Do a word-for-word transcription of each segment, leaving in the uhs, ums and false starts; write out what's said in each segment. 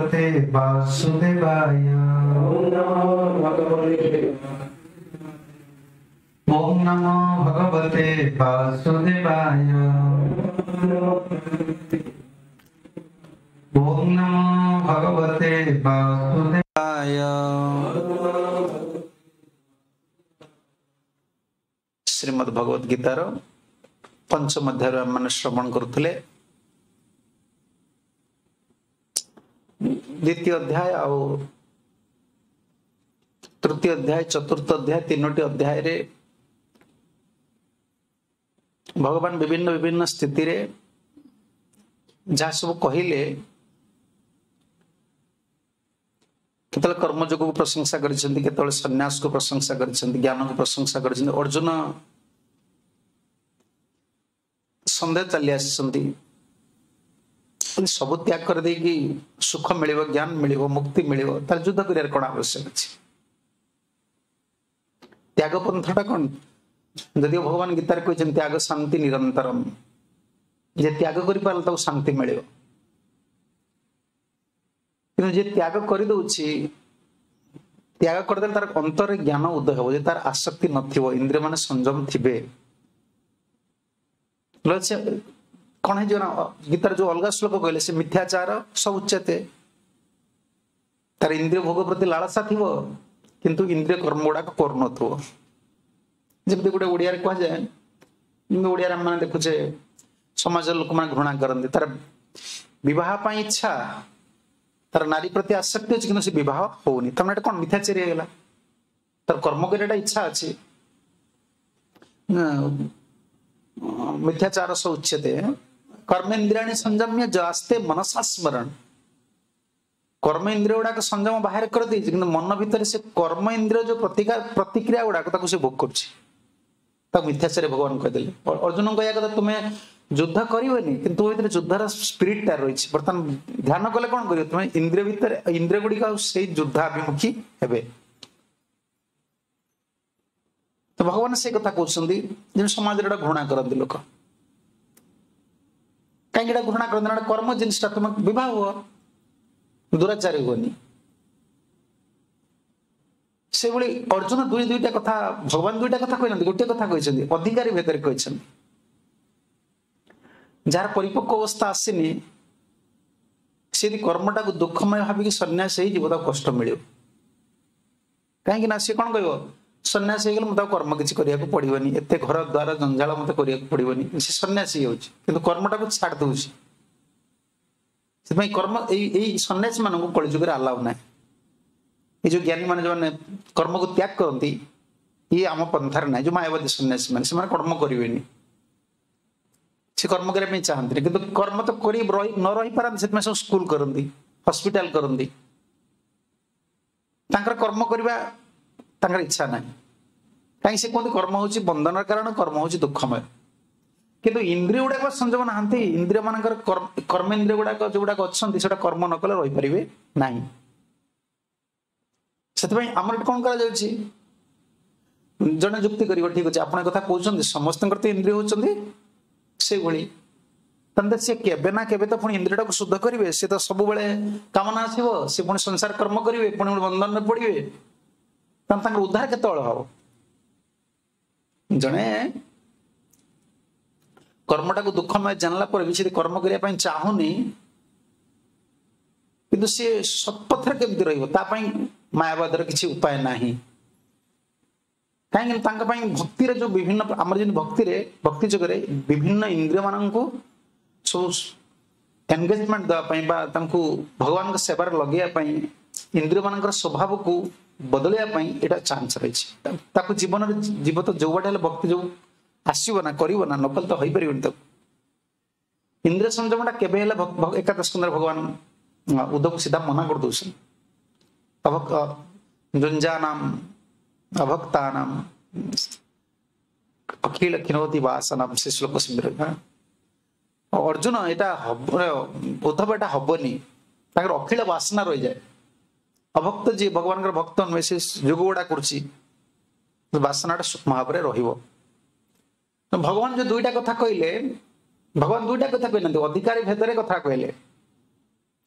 भगवते वासुदेवाय। ओम नमो भगवते वासुदेवाय। ओम नमो भगवते वासुदेवाय। श्रीमद् भगवद गीतार पंचम अध्याय आम श्रवण करुले। द्वितीय अध्याय आउ तृतीय अध्याय चतुर्थ अध्याय तीनोटी अध्याय रे भगवान विभिन्न विभिन्न स्थिति रे जहाँ सब कहिले केतले कर्मयोग को प्रशंसा करिसंती, केतले सन्यास को प्रशंसा करिसंती, ज्ञान को प्रशंसा करिसंती। अर्जुन सन्देह चली आसिसंती, सब त्याग कर देकी सुख मिलिବ, ज्ञान मिलिବ, मुक्ति मिलिବ, तार युद्ध करियार कोन आवश्यक अछि? त्याग पंथटा कोन? यदि भगवान गीतार कहिছেন त्याग शांति निरंतरम, जे त्याग करि पारल ताको शांति मिलिବ। କିନ୍ତୁ ଯେ ତ୍ୟାଗ କରିଦଉଛି, ତ୍ୟାଗ କରିଦେଲେ ତାର ଅନ୍ତରରେ ଜ୍ଞାନ ଉଦୟ ହେବ, ଯେ ତାର ଆସକ୍ତି ନଥିବ, ଇନ୍ଦ୍ରିୟ ମାନେ ସଂଯମ ଥିବେ। ସେ କଣ ହେଇଯିବ ନା, ଗୀତାର ଯୋଉ ଅଲଗା ଶ୍ଲୋକ କହିଲେ ସେ ମିଥ୍ୟାଚାର ସବୁ ଉଚ୍ଚତେ, ତାର ଇନ୍ଦ୍ରିୟ ଭୋଗ ପ୍ରତି ଲାଳସା ଥିବ କିନ୍ତୁ ଇନ୍ଦ୍ରିୟ କର୍ମ ଗୁଡାକ କରୁନଥିବ। ଯେମିତି ଗୋଟେ ଓଡ଼ିଆରେ କୁହାଯାଏ, ଯେମିତି ଓଡ଼ିଆରେ ଆମେ ଦେଖୁଛେ ସମାଜର ଲୋକମାନେ ଘୃଣା କରନ୍ତି, ତାର ବିବାହ ପାଇଁ ଇଚ୍ଛା, ତାର ନାରୀ ପ୍ରତି ଆସକ୍ତି ଅଛି କିନ୍ତୁ ସେ ବିବାହ ହଉନି, ତାମାନେ ଏଟା କଣ ମିଥ୍ୟାଚାରୀ ହେଇଗଲା। ତାର କର୍ମ କରିବାଟା ଇଚ୍ଛା ଅଛି, ମିଥ୍ୟାଚାର ସ ଉଚ୍ୟତେ କର୍ମେନ୍ଦ୍ରିୟାଣି ସଂଯମ୍ୟ ଯାସ୍ତେ ମନସା ସ୍ମରଣ। କର୍ମ ଇନ୍ଦ୍ରିୟ ଗୁଡାକ ସଂଯମ ବାହାରେ କରିଦେଇଛି କିନ୍ତୁ ମନ ଭିତରେ ସେ କର୍ମ ଇନ୍ଦ୍ରିୟ ଯୋଉ ପ୍ରତିକାର ପ୍ରତିକ୍ରିୟା ଗୁଡାକ ତାକୁ ସେ ଭୋଗ କରୁଛି, ତାକୁ ମିଥ୍ୟାଚାରୀ ଭଗବାନ କହିଦେଲେ। ଅର୍ଜୁନଙ୍କ କହିବା କଥା ତୁମେ ଯୁଦ୍ଧ କରିବନି କିନ୍ତୁ ତୁମ ଭିତରେ ଯୁଦ୍ଧର ସ୍ପିରିଟଟା ରହିଛି। ବର୍ତ୍ତମାନ ଧ୍ୟାନ କଲେ କଣ କରିବ, ତୁମେ ଇନ୍ଦ୍ରିୟ ଭିତରେ ଇନ୍ଦ୍ରିୟ ଗୁଡିକ ଆଉ ସେଇ ଯୁଦ୍ଧାଭିମୁଖୀ ହେବେ। ତ ଭଗବାନ ସେଇ କଥା କହୁଛନ୍ତି ଯେମିତି ସମାଜରେ ଏଟା ଘୃଣା କରନ୍ତି ଲୋକ। କାହିଁକି ଏଟା ଘୃଣା କରନ୍ତି ନା, କର୍ମ ଜିନିଷଟା ତୁମେ ବିବାହ ହୁଅ, ଦୁରାଚାରୀ ହୁଅନି। ସେଇଭଳି ଅର୍ଜୁନ ଦୁଇ ଦୁଇଟା କଥା, ଭଗବାନ ଦୁଇଟା କଥା କହିନାହାନ୍ତି, ଗୋଟିଏ କଥା କହିଛନ୍ତି, ଅଧିକାରୀ ଭେଦରେ କହିଛନ୍ତି। ଯାହାର ପରିପକ୍ୱ ଅବସ୍ଥା ଆସିନି ସେ ଯଦି କର୍ମଟାକୁ ଦୁଃଖମୟ ଭାବିକି ସନ୍ନ୍ୟାସ ହେଇଯିବ ତାକୁ କଷ୍ଟ ମିଳିବ। କାହିଁକି ନା ସିଏ କଣ କହିବ, ସନ୍ନ୍ୟାସ ହେଇଗଲେ ମୁଁ ତାକୁ କର୍ମ କିଛି କରିବାକୁ ପଡିବନି, ଏତେ ଘର ଦ୍ୱାର ଜଞ୍ଜାଳ ମତେ କରିବାକୁ ପଡିବନି। ସେ ସନ୍ନ୍ୟାସୀ ହେଇଯାଉଛି କିନ୍ତୁ କର୍ମଟାକୁ ଛାଡି ଦଉଛି। ସେଥିପାଇଁ କର୍ମ ଏଇ ଏଇ ସନ୍ନ୍ୟାସୀ ମାନଙ୍କୁ କଳିଯୁଗରେ ଆଲାଉ ନାହିଁ। ଏଇ ଯୋଉ ଜ୍ଞାନୀ ମାନେ ଯୋଉମାନେ କର୍ମକୁ ତ୍ୟାଗ କରନ୍ତି ଇଏ ଆମ ପନ୍ଥାରେ ନାହିଁ। ଯୋଉ ମାୟାବାଦୀ ସନ୍ନ୍ୟାସୀ ମାନେ ସେମାନେ କର୍ମ କରିବେନି, ସେ କର୍ମ କରିବା ପାଇଁ ଚାହାନ୍ତିନି କିନ୍ତୁ କର୍ମ ତ କରି ରହି ନ ରହିପାରନ୍ତି, ସେଥିପାଇଁ ସବୁ ସ୍କୁଲ କରନ୍ତି, ହସ୍ପିଟାଲ କରନ୍ତି। ତାଙ୍କର କର୍ମ କରିବା ତାଙ୍କର ଇଚ୍ଛା ନାହିଁ। କାହିଁକି ସେ କୁହନ୍ତି କର୍ମ ହଉଛି ବନ୍ଧନର କାରଣ, କର୍ମ ହଉଛି ଦୁଃଖମୟ। କିନ୍ତୁ ଇନ୍ଦ୍ରିୟ ଗୁଡାକ ସଂଯମ ନାହାନ୍ତି, ଇନ୍ଦ୍ରିୟ ମାନଙ୍କର କର୍ମେନ୍ଦ୍ରିୟ ଗୁଡାକ ଯୋଉଗୁଡାକ ଅଛନ୍ତି ସେଟା କର୍ମ ନ କଲେ ରହିପାରିବେ ନାହିଁ। ସେଥିପାଇଁ ଆମର ଏଠି କଣ କରାଯାଉଛି, ଜଣେ ଯୁକ୍ତି କରିବ ଠିକ ଅଛି ଆପଣ କଥା କହୁଛନ୍ତି ସମସ୍ତଙ୍କର ତ ଇନ୍ଦ୍ରିୟ ହଉଛନ୍ତି ସେଇଭଳି, ତାହେଲେ ସେ କେବେ ନା କେବେ ତ ପୁଣି ଇନ୍ଦ୍ରିୟଟାକୁ ଶୁଦ୍ଧ କରିବେ। ସେ ତ ସବୁବେଳେ କାମନା ଆସିବ, ସେ ପୁଣି ସଂସାର କର୍ମ କରିବେ, ପୁଣି ବନ୍ଧନରେ ପଡିବେ, ତାହେଲେ ତାଙ୍କର ଉଦ୍ଧାର କେତେବେଳେ ହବ? ଜଣେ କର୍ମଟାକୁ ଦୁଃଖମୟ ଜାଣିଲା ପରେ ବି ସେ କର୍ମ କରିବା ପାଇଁ ଚାହୁଁନି କିନ୍ତୁ ସିଏ ସତ୍ପଥରେ କେମିତି ରହିବ, ତା ପାଇଁ ମାୟାବାଦର କିଛି ଉପାୟ ନାହିଁ। କାହିଁକି ତାଙ୍କ ପାଇଁ ଭକ୍ତିରେ ଯୋଉ ବିଭିନ୍ନ ଆମର ଯେମିତି ଭକ୍ତିରେ ଭକ୍ତି ଯୁଗରେ ବିଭିନ୍ନ ଇନ୍ଦ୍ରିୟ ମାନଙ୍କୁ ସବୁ ଏନଗେଜମେଣ୍ଟ ଦେବା ପାଇଁ ବା ତାଙ୍କୁ ଭଗବାନଙ୍କ ସେବାରେ ଲଗେଇବା ପାଇଁ ଇନ୍ଦ୍ରିୟ ମାନଙ୍କର ସ୍ୱଭାବକୁ ବଦଳିବା ପାଇଁ ଏଇଟା ଚାନ୍ସ ରହିଛି। ତାକୁ ଜୀବନରେ ଜୀବ ତ ଯୋଉ ବାଟେ ହେଲେ ଭକ୍ତି ଯୋଉ ଆସିବ ନା କରିବ ନା, ନକଲେ ତ ହେଇପାରିବନି। ତାକୁ ଇନ୍ଦ୍ରିୟ ସଂଯମଟା କେବେ ହେଲେ ଏକାଦଶ ସ୍କନ୍ଧରେ ଭଗବାନ ଉଦ୍ଧବକୁ ସିଧା ମନା କରିଦଉଛନ୍ତି। ଅଭକ୍ତ ଯୁଞ୍ଜାନାମ ଅଭକ୍ତାନାମ ଅଖିଳ କ୍ଷୀଣୋତି ବାସନାମ, ସେ ଶ୍ଲୋକ ସେମିତି। ଅର୍ଜୁନ ଏଇଟା ହବ, ଉଦ୍ଧବ ଏଇଟା ହବନି, ତାଙ୍କର ଅଖିଳ ବାସନା ରହିଯାଏ। ଅଭକ୍ତ ଯିଏ ଭଗବାନଙ୍କର ଭକ୍ତ ନୁହେଁ ସେ ଯୋଗ ଗୁଡା କରୁଛି, ବାସନାଟା ସୂକ୍ଷ୍ମ ଭାବରେ ରହିବ। ଭଗବାନ ଯୋଉ ଦୁଇଟା କଥା କହିଲେ, ଭଗବାନ ଦୁଇଟା କଥା କହିନାହାନ୍ତି, ଅଧିକାରୀ ଭେଦରେ କଥା କହିଲେ।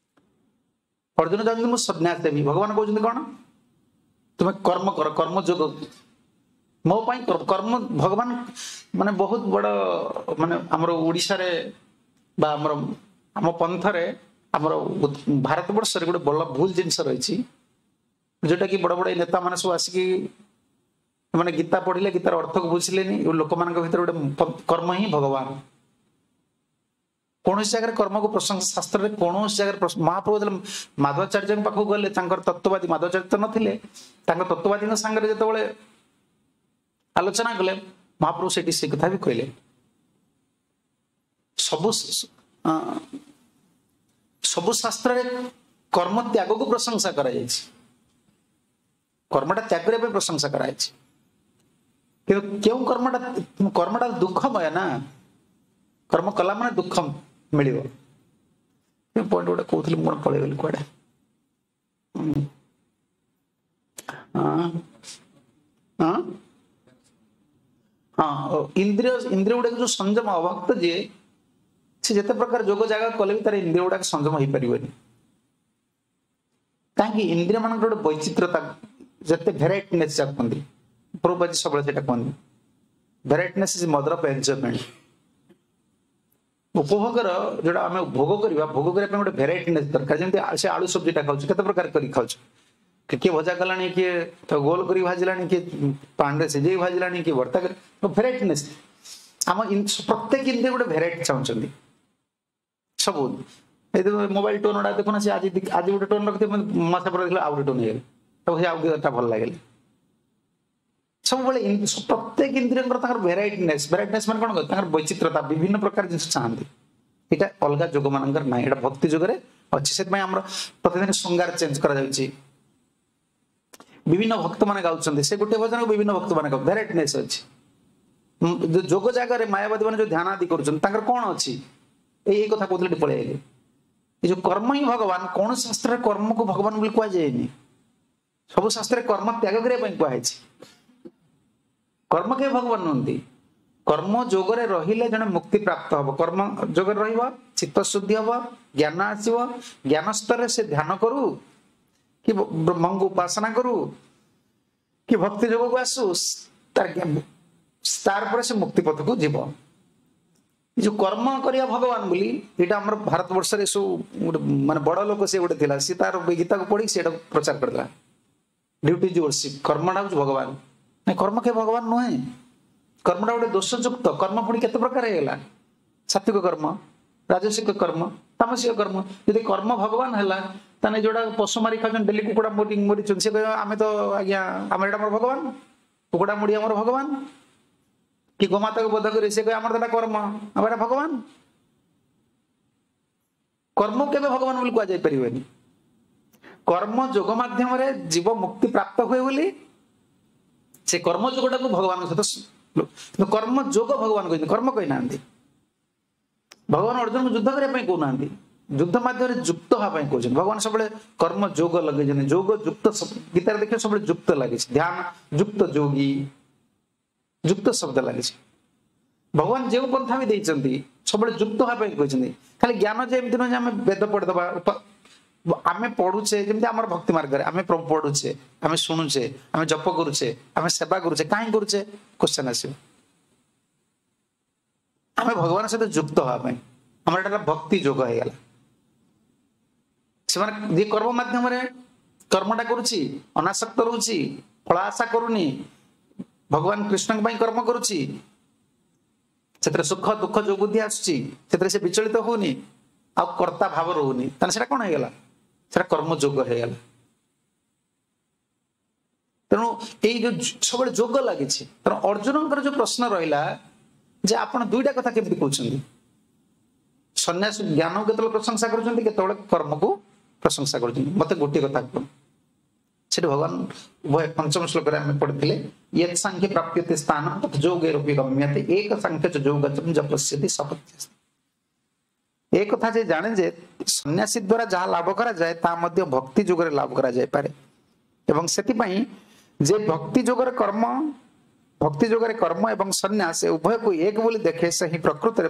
ଅର୍ଜୁନ ଚାହୁଁଛନ୍ତି ମୁଁ ସନ୍ନ୍ୟାସ ଦେବି, ଭଗବାନ କହୁଛନ୍ତି କଣ? ତୁମେ କର୍ମ କର, କର୍ମ ଯୋଗ ମୋ ପାଇଁ କର୍ମ। ଭଗବାନ ମାନେ ବହୁତ ବଡ, ମାନେ ଆମର ଓଡିଶାରେ ବା ଆମର ଆମ ପନ୍ଥରେ, ଆମର ଭାରତ ବର୍ଷରେ ଗୋଟେ ବଡ ଭୁଲ ଜିନିଷ ରହିଛି, ଯୋଉଟା କି ବଡ ବଡ ନେତା ମାନେ ସବୁ ଆସିକି ମାନେ ଗୀତା ପଢିଲେ, ଗୀତାର ଅର୍ଥକୁ ବୁଝିଲେନି। ଲୋକମାନଙ୍କ ଭିତରେ ଗୋଟେ କର୍ମ ହିଁ ଭଗବାନ। କୌଣସି ଜାଗାରେ କର୍ମକୁ ପ୍ରଶଂସା ଶାସ୍ତ୍ରରେ କୌଣସି ଜାଗାରେ, ମହାପ୍ରଭୁ ଯେତେବେଳେ ମାଧବାଚାର୍ଯ୍ୟଙ୍କ ପାଖକୁ ଗଲେ, ତାଙ୍କର ତତ୍ତ୍ୱବାଦୀ, ମାଧବାଚାର୍ଯ୍ୟ ତ ନଥିଲେ, ତାଙ୍କ ତତ୍ତ୍ୱବାଦୀଙ୍କ ସାଙ୍ଗରେ ଯେତେବେଳେ ଆଲୋଚନା କଲେ, ମହାପ୍ରଭୁ ସେଠି ସେ କଥା ବି କହିଲେ। ସବୁ ସବୁ ଶାସ୍ତ୍ରରେ କର୍ମ ତ୍ୟାଗକୁ ପ୍ରଶଂସା କରାଯାଇଛି, କର୍ମଟା ତ୍ୟାଗ କରିବା ପାଇଁ ପ୍ରଶଂସା କରାଯାଇଛି। କିନ୍ତୁ କେଉଁ କର୍ମଟା? କର୍ମଟା ଦୁଃଖମୟ ନା, କର୍ମ କଲା ମାନେ ଦୁଃଖ ମିଳିବ। ପଏଣ୍ଟ ଗୋଟେ କହୁଥିଲି, ମୁଁ କଣ ପଳେଇଗଲି କୁଆଡେ। ହଁ ହଁ, ଇନ୍ଦ୍ରିୟ ଇନ୍ଦ୍ରିୟ ଗୁଡାକ ଯୋଉ ସଂଯମ, ଅଭକ୍ତ ଯିଏ ସେ ଯେତେ ପ୍ରକାର ଯୋଗ ଜାଗା କଲେ ବି ତାର ଇନ୍ଦ୍ରିୟ ଗୁଡାକ ସଂଯମ ହେଇପାରିବନି। କାହିଁକି? ଇନ୍ଦ୍ରିୟ ମାନଙ୍କର ଗୋଟେ ବୈଚିତ୍ରତା, ଯେତେ ଭେରାଇଟିନେସ୍ ଯାକ କୁହନ୍ତି, ପ୍ରଭୁପାଦ ସବୁବେଳେ ସେଇଟା କୁହନ୍ତି, varietiness is mother of enjoyment. ଉପଭୋଗର ଯୋଉଟା ଆମେ ଭୋଗ କରିବା, ଭୋଗ କରିବା ପାଇଁ ଗୋଟେ ଭେରାଇଟିନେସ୍ ଦରକାର। ଯେମିତି ସେ ଆଳୁ ସବଜିଟା ଖାଉଛୁ, କେତେ ପ୍ରକାର କରି ଖାଉଛୁ, କିଏ ଭଜା କଲାଣି, କିଏ ଗୋଲ କରି ଭାଜିଲାଣି, କିଏ ପାଣିରେ ସିଝେଇ ଭାଜିଲାଣି, କିଏ ଭର୍ତ୍ତା କରି, ଭେରାଇଟିନେସ୍। ଆମ ପ୍ରତ୍ୟେକ ଇନ୍ଦ୍ରିୟ ଗୋଟେ ଭେରାଇଟି ଚାହୁଁଛନ୍ତି ସବୁ। ଏଇ ମୋବାଇଲ ଟୋନ୍ ଗୁଡା ଦେଖୁନ, ସେ ଆଜି ଆଜି ଗୋଟେ ଟୋନ୍ ରଖିଥିବ, ମାସେ ପରେ ଦେଖିଲେ ଆଉ ଗୋଟେ ଟୋନ୍ ହେଇଗଲା, ତାକୁ ସେ ଆଉ ଗୋଟେ ଭଲ ଲାଗିଲା। ସବୁବେଳେ ପ୍ରତ୍ୟେକ ଇନ୍ଦ୍ରିୟଙ୍କର ତାଙ୍କର ଭେରାଇଟିନେସ୍। ଭେରାଇଟିନେସ୍ ମାନେ କଣ? ତାଙ୍କର ବୈଚିତ୍ରତା, ବିଭିନ୍ନ ପ୍ରକାର ଜିନିଷ ଚାହାନ୍ତି। ଏଇଟା ଅଲଗା ଯୋଗ ମାନଙ୍କର ନାହିଁ, ଏଇଟା ଭକ୍ତି ଯୁଗରେ ଅଛି। ସେଥିପାଇଁ ଆମର ପ୍ରତିଦିନ ଶୃଙ୍ଗାର ଚେଞ୍ଜ କରାଯାଉଛି, ବିଭିନ୍ନ ଭକ୍ତ ମାନେ ଗାଉଛନ୍ତି, ସେ ଗୋଟେ ଭଜନକୁ ବିଭିନ୍ନ ଭକ୍ତ ମାନେ ଗାଉ, ଭେରାଇଟିନେସ୍ ଅଛି। ଯୋଗ ଜାଗାରେ ମାୟାବାଦୀ ମାନେ ଯୋଉ ଧ୍ୟାନ ଆଦି କରୁଛନ୍ତି, ତାଙ୍କର କଣ ଅଛି? ଏଇ ଏଇ କଥା କହୁଥିଲେ, ପଳେଇ ଆଇଲେ। ଏ ଯୋଉ କର୍ମ ହିଁ ଭଗବାନ, କୌଣସି ଶାସ୍ତ୍ରରେ କର୍ମକୁ ଭଗବାନ ବୋଲି କୁହାଯାଏନି। ସବୁ ଶାସ୍ତ୍ରରେ କର୍ମ ତ୍ୟାଗ କରିବା ପାଇଁ କୁହାଯାଇଛି। କର୍ମ କେବେ ଭଗବାନ ନୁହନ୍ତି। କର୍ମ ଯୋଗରେ ରହିଲେ ଜଣେ ମୁକ୍ତି ପ୍ରାପ୍ତ ହବ। କର୍ମ ଯୋଗରେ ରହିବ, ଚିତ୍ତ ଶୁଦ୍ଧି ହବ, ଜ୍ଞାନ ଆସିବ। ଜ୍ଞାନ ସ୍ତରରେ ସେ ଧ୍ୟାନ କରୁ କି ବ୍ରହ୍ମଙ୍କୁ ଉପାସନା କରୁ କି ଭକ୍ତି ଯୋଗକୁ ଆସୁ, ତାର ତାର ପରେ ସେ ମୁକ୍ତି ପଥକୁ ଯିବ। ଏ ଯୋଉ କର୍ମ କରିବା ଭଗବାନ ବୋଲି, ଏଇଟା ଆମର ଭାରତ ବର୍ଷରେ ସବୁ ଗୋଟେ ମାନେ ବଡ ଲୋକ ସେ ଗୋଟେ ଥିଲା, ସେ ତାର ଗୀତାକୁ ପଢିକି ସେଇଟାକୁ ପ୍ରଚାର କରିଦେଲା। ଡ୍ୟୁଟି is worship, କର୍ମଟା ହଉଛି ଭଗବାନ। ନାଇଁ, କର୍ମ କେବେ ଭଗବାନ ନୁହେଁ। କର୍ମଟା ଗୋଟେ ଦୋଷଯୁକ୍ତ। କର୍ମ ପୁଣି କେତେ ପ୍ରକାର ହେଇଗଲା? ସାତ୍ବିକ କର୍ମ, ରାଜସିକ କର୍ମ, ତାମସିକ କର୍ମ। ଯଦି କର୍ମ ଭଗବାନ ହେଲା, ତାହେଲେ ଯୋଉଟା ପଶୁ ମାରି ଖାଉଛନ୍ତି, ଡେଲି କୁକୁଡ଼ା ମରିଛନ୍ତି, ସେ କହିବ ଆମେ ତ ଆଜ୍ଞା ଆମର ଏଇଟା ଆମର ଭଗବାନ, କୁକୁଡ଼ା ମୁଢି ଆମର ଭଗବାନ। କି ଗୋମାତାକୁ ବଧ କରି ସେ କହିବ ଆମର ତ ଏଟା କର୍ମ, ଆମର ଏଟା ଭଗବାନ। କର୍ମ କେବେ ଭଗବାନ ବୋଲି କୁହାଯାଇ ପାରିବନି। କର୍ମ ଯୋଗ ମାଧ୍ୟମରେ ଜୀବ ମୁକ୍ତି ପ୍ରାପ୍ତ ହୁଏ ବୋଲି ସେ କର୍ମ ଯୋଗଟାକୁ ଭଗବାନଙ୍କ ସହିତ, କର୍ମ ଯୋଗ ଭଗବାନ କହିଛନ୍ତି, କର୍ମ କହିନାହାନ୍ତି। ଭଗବାନ ଅର୍ଜୁନକୁ ଯୁଦ୍ଧ କରିବା ପାଇଁ କହୁନାହାନ୍ତି, ଯୁଦ୍ଧ ମାଧ୍ୟମରେ ଯୁକ୍ତ ହେବା ପାଇଁ କହୁଛନ୍ତି। ଭଗବାନ ସବୁବେଳେ କର୍ମ ଯୋଗ ଲଗେଇଛନ୍ତି, ଯୋଗ ଯୁକ୍ତ। ଗୀତାରେ ଦେଖିବେ ସବୁବେଳେ ଯୁକ୍ତ ଲାଗିଛି, ଧ୍ୟାନ ଯୁକ୍ତ, ଯୋଗୀ ଯୁକ୍ତ ଶବ୍ଦ ଲାଗିଛି। ଭଗବାନ ଯେଉଁ ପନ୍ଥା ବି ଦେଇଛନ୍ତି ସବୁବେଳେ ଯୁକ୍ତ ହେବା ପାଇଁ କହିଛନ୍ତି। ଖାଲି ଜ୍ଞାନ ଯେ ଏମିତି ନୁହେଁ ଯେ ଆମେ ବେଦ ପଢିଦବା, ଆମେ ପଢୁଛେ, ଯେମିତି ଆମର ଭକ୍ତି ମାର୍ଗରେ ଆମେ ପଢୁଛେ, ଆମେ ଶୁଣୁଛେ, ଆମେ ଜପ କରୁଛେ, ଆମେ ସେବା କରୁଛେ, କାହିଁ କରୁଛେ? କ୍ୱେଶ୍ଚନ ଆସିବ। ଆମେ ଭଗବାନ ସହିତ ଯୁକ୍ତ ହେବା ପାଇଁ, ଆମର ଏଟା ଭକ୍ତି ଯୋଗ ହେଇଗଲା। ସେମାନେ ଯିଏ କର୍ମ ମାଧ୍ୟମରେ କର୍ମଟା କରୁଛି, ଅନାସକ୍ତ ରହୁଛି, ଫଳ ଆଶା କରୁନି, ଭଗବାନ କୃଷ୍ଣଙ୍କ ପାଇଁ କର୍ମ କରୁଛି, ସେଥିରେ ସୁଖ ଦୁଃଖ ଯୋଉ ବୁଦ୍ଧି ଆସୁଛି ସେଥିରେ ସେ ବିଚଳିତ ହଉନି, ଆଉ କର୍ତ୍ତା ଭାବ ରହୁନି, ତାହେଲେ ସେଟା କଣ ହେଇଗଲା? ସେଟା କର୍ମ ଯୋଗ ହେଇଗଲା। ତେଣୁ ଏଇ ଯୋଉ ସବୁବେଳେ ଯୋଗ ଲାଗିଛି। ତେଣୁ ଅର୍ଜୁନଙ୍କର ଯୋଉ ପ୍ରଶ୍ନ ରହିଲା ଯେ ଆପଣ ଦୁଇଟା କଥା କେମିତି କହୁଛନ୍ତି, ସନ୍ନ୍ୟାସ ଜ୍ଞାନକୁ କେତେବେଳେ ପ୍ରଶଂସା କରୁଛନ୍ତି, କେତେବେଳେ କର୍ମକୁ ପ୍ରଶଂସା କରୁଛନ୍ତି, ମତେ ଗୋଟିଏ କଥା କୁହନ୍ତୁ। ସେଠି ଭଗବାନ ଉଭୟ ପଞ୍ଚମ ଶ୍ଲୋକରେ ଆମେ ପଢିଥିଲେ, ୟତ୍ ସାଂଖ୍ୟ ପ୍ରାପ୍ୟତେ ସ୍ଥାନ ତତ୍ ଯୋଗୈରପି ଗମ୍ୟତେ ଏକ ସାଂଖ୍ୟ ଚ ଯୋଗଚ ଜପସ୍ୟତି ସପତ୍ୟସ୍ତି। ଏ କଥା ଯେ ଜାଣେ ଯେ ସନ୍ନ୍ୟାସୀ ଦ୍ୱାରା ଯାହା ଲାଭ କରାଯାଏ ତାହା ମଧ୍ୟ ଭକ୍ତି ଯୋଗରେ ଲାଭ କରାଯାଇପାରେ, ଏବଂ ସେଥିପାଇଁ ଯେ ଭକ୍ତି ଯୋଗରେ କର୍ମ, ଭକ୍ତି ଯୋଗରେ କର୍ମ ଏବଂ ସନ୍ନ୍ୟାସ ଉଭୟକୁ ଏକ ବୋଲି ଦେଖେ, ସେ ହିଁ ପ୍ରକୃତରେ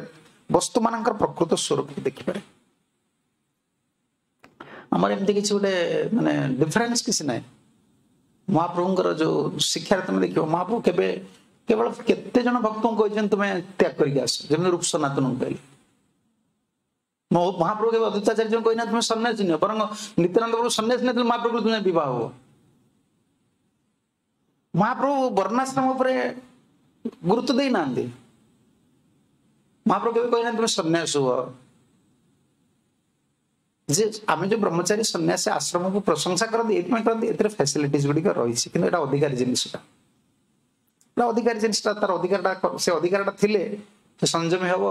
ବସ୍ତୁମାନଙ୍କର ପ୍ରକୃତ ସ୍ୱରୂପ ଦେଖିପାରେ। ଆମର ଏମିତି କିଛି ଗୋଟେ ମାନେ ଡିଫରେନ୍ସ କିଛି ନାହିଁ। ମହାପ୍ରଭୁଙ୍କର ଯୋଉ ଶିକ୍ଷାରେ ତମେ ଦେଖିବ, ମହାପ୍ରଭୁ କେବେ କେବଳ କେତେ ଜଣ ଭକ୍ତଙ୍କୁ କହିଛନ୍ତି ତୁମେ ତ୍ୟାଗ କରିକି ଆସ, ଯେମିତି ରୂପ ସନାତନଙ୍କୁ କହିଲେ। ମହାପ୍ରଭୁ କେବେ ଅଦ୍ୱୈତାଚାର୍ଯ୍ୟଙ୍କୁ କହିନା ତୁମେ ସନ୍ନ୍ୟାସୀ ନିଅ, ବରଂ ନିତ୍ୟାନନ୍ଦ ପ୍ରଭୁ ସନ୍ନ୍ୟାସୀ ନେଇଥିଲେ ମହାପ୍ରଭୁ ତୁମେ ବିବାହ ହୁଅ। ମହାପ୍ରଭୁ ବର୍ଣ୍ଣାଶ୍ରମ ଉପରେ ଗୁରୁତ୍ୱ ଦେଇନାହାନ୍ତି। ମହାପ୍ରଭୁ କେବେ କହିନାହାନ୍ତି ତୁମେ ସନ୍ନ୍ୟାସ ହୁଅ। ଯେ ଆମେ ଯୋଉ ବ୍ରହ୍ମଚାରୀ ସନ୍ନ୍ୟାସୀ ଆଶ୍ରମକୁ ପ୍ରଶଂସା କରନ୍ତି ଏଇଥିପାଇଁ କରନ୍ତି, ଏଥିରେ ଫ୍ୟାସିଲିଟିଜ ଗୁଡିକ ରହିଛି, କିନ୍ତୁ ଏଇଟା ଅଧିକାରୀ ଜିନିଷଟା, ଏଟା ଅଧିକାରୀ ଜିନିଷଟା, ତାର ଅଧିକାରଟା, ସେ ଅଧିକାରଟା ଥିଲେ ସେ ସଂଯମୀ ହବ।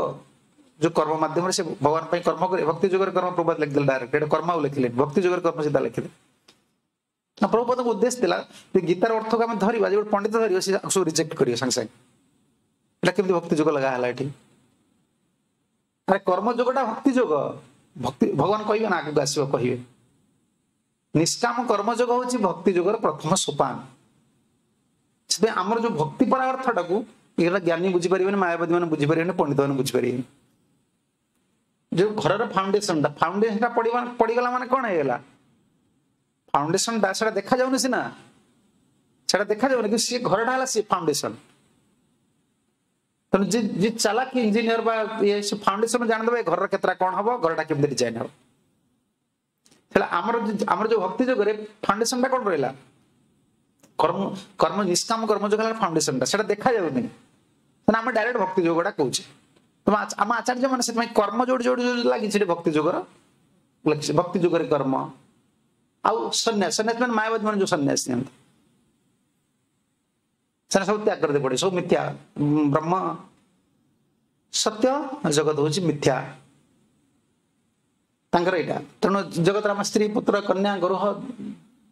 ଯୋଉ କର୍ମ ମାଧ୍ୟମରେ ସେ ଭଗବାନ ପାଇଁ କର୍ମ କରିବେ, ଭକ୍ତି ଯୋଗରେ କର୍ମ ପ୍ରଭୁପାଦ ଲେଖିଦେଲେ ଡାଇରେକ୍ଟ, ଏଟା କର୍ମ ଆଉ ଲେଖିଲେନି, ଭକ୍ତି ଯୋଗରେ କର୍ମ ସିଧା ଲେଖିଲେ। ନା ପ୍ରଭୁପାଦଙ୍କ ଉଦ୍ଦେଶ୍ୟ ଥିଲା ଯେ ଗୀତାର ଅର୍ଥକୁ ଆମେ ଧରିବା, ଯେ ଗୋଟେ ପଣ୍ଡିତ ଧରିବ ସେ ସବୁ ରିଜେକ୍ଟ କରିବ ସାଙ୍ଗେ ସାଙ୍ଗେ, ଏଟା କେମିତି ଭକ୍ତି ଯୋଗ ଲଗା ହେଲା ଏଠି? ଆରେ କର୍ମ ଯୋଗଟା ଭକ୍ତି ଯୋଗ, ଭକ୍ତି ଭଗବାନ କହିବେ ନା ଆଗକୁ ଆସିବ କହିବେ। ନିଷ୍କାମ କର୍ମ ଯୋଗ ହଉଛି ଭକ୍ତି ଯୋଗର ପ୍ରଥମ ସୋପାନ। ସେଥିପାଇଁ ଆମର ଯୋଉ ଭକ୍ତି ପରା ଅର୍ଥଟାକୁ ଏଇଟା ଜ୍ଞାନୀ ବୁଝିପାରିବେନି, ମାୟାବାଦୀ ମାନେ ବୁଝିପାରିବେନି, ପଣ୍ଡିତ ମାନେ ବୁଝିପାରିବେନି। ଯୋଉ ଘରର ଫାଉଣ୍ଡେସନଟା, ଫାଉଣ୍ଡେସନଟା ପଡିବା ପଡିଗଲା ମାନେ କଣ ହେଇଗଲା? ଫାଉଣ୍ଡେସନଟା ସେଟା ଦେଖାଯାଉନି ସିନା, ସେଟା ଦେଖାଯାଉନି, କିନ୍ତୁ ସିଏ ଘରଟା ହେଲା ସିଏ ଫାଉଣ୍ଡେସନ। ତେଣୁ ଯିଏ ଯିଏ ଚାଲାକି ଇଞ୍ଜିନିୟର ବା ଇଏ ସେ ଫାଉଣ୍ଡେସନ ଜାଣିଦେବେ ଘରର କେତେଟା କଣ ହବ, ଘରଟା କେମିତି ଡିଜାଇନ ହବ। ହେଲେ ଆମର ଆମର ଯୋଉ ଭକ୍ତି ଯୋଗରେ ଫାଉଣ୍ଡେସନଟା କଣ ରହିଲା? କର୍ମ କର୍ମ ନିଷ୍କାମ କର୍ମ ଯୋଗ ହେଲା ଫାଉଣ୍ଡେସନଟା, ସେଟା ଦେଖାଯାଉନି, ତେଣୁ ଆମେ ଡାଇରେକ୍ଟ ଭକ୍ତି ଯୋଗଟା କହୁଛେ। ତମ ଆମ ଆଚାର୍ଯ୍ୟ ମାନେ ସେଥିପାଇଁ କର୍ମ ଯୋଉଠି ଯୋଉଠି ଯୋଉଠି ଲାଗିଛି ସେଠି ଭକ୍ତି ଯୋଗର ଲେଖିଛି, ଭକ୍ତି ଯୋଗରେ କର୍ମ। ଆଉ ସନ୍ନ୍ୟାସ, ସନ୍ନ୍ୟାସ ମାନେ ମାୟାବାଦୀ ମାନେ ଯୋଉ ସନ୍ନ୍ୟାସ ନିଅନ୍ତି ସେଟା ସବୁ ତ୍ୟାଗ କରିଦେଇ ପଡେ, ସବୁ ମିଥ୍ୟା। ବ୍ରହ୍ମ ସତ୍ୟ, ଜଗତ ହଉଛି ମିଥ୍ୟା ତାଙ୍କର ଏଇଟା। ତେଣୁ ଜଗତର ଆମ ସ୍ତ୍ରୀ ପୁତ୍ର କନ୍ୟା ଗୃହ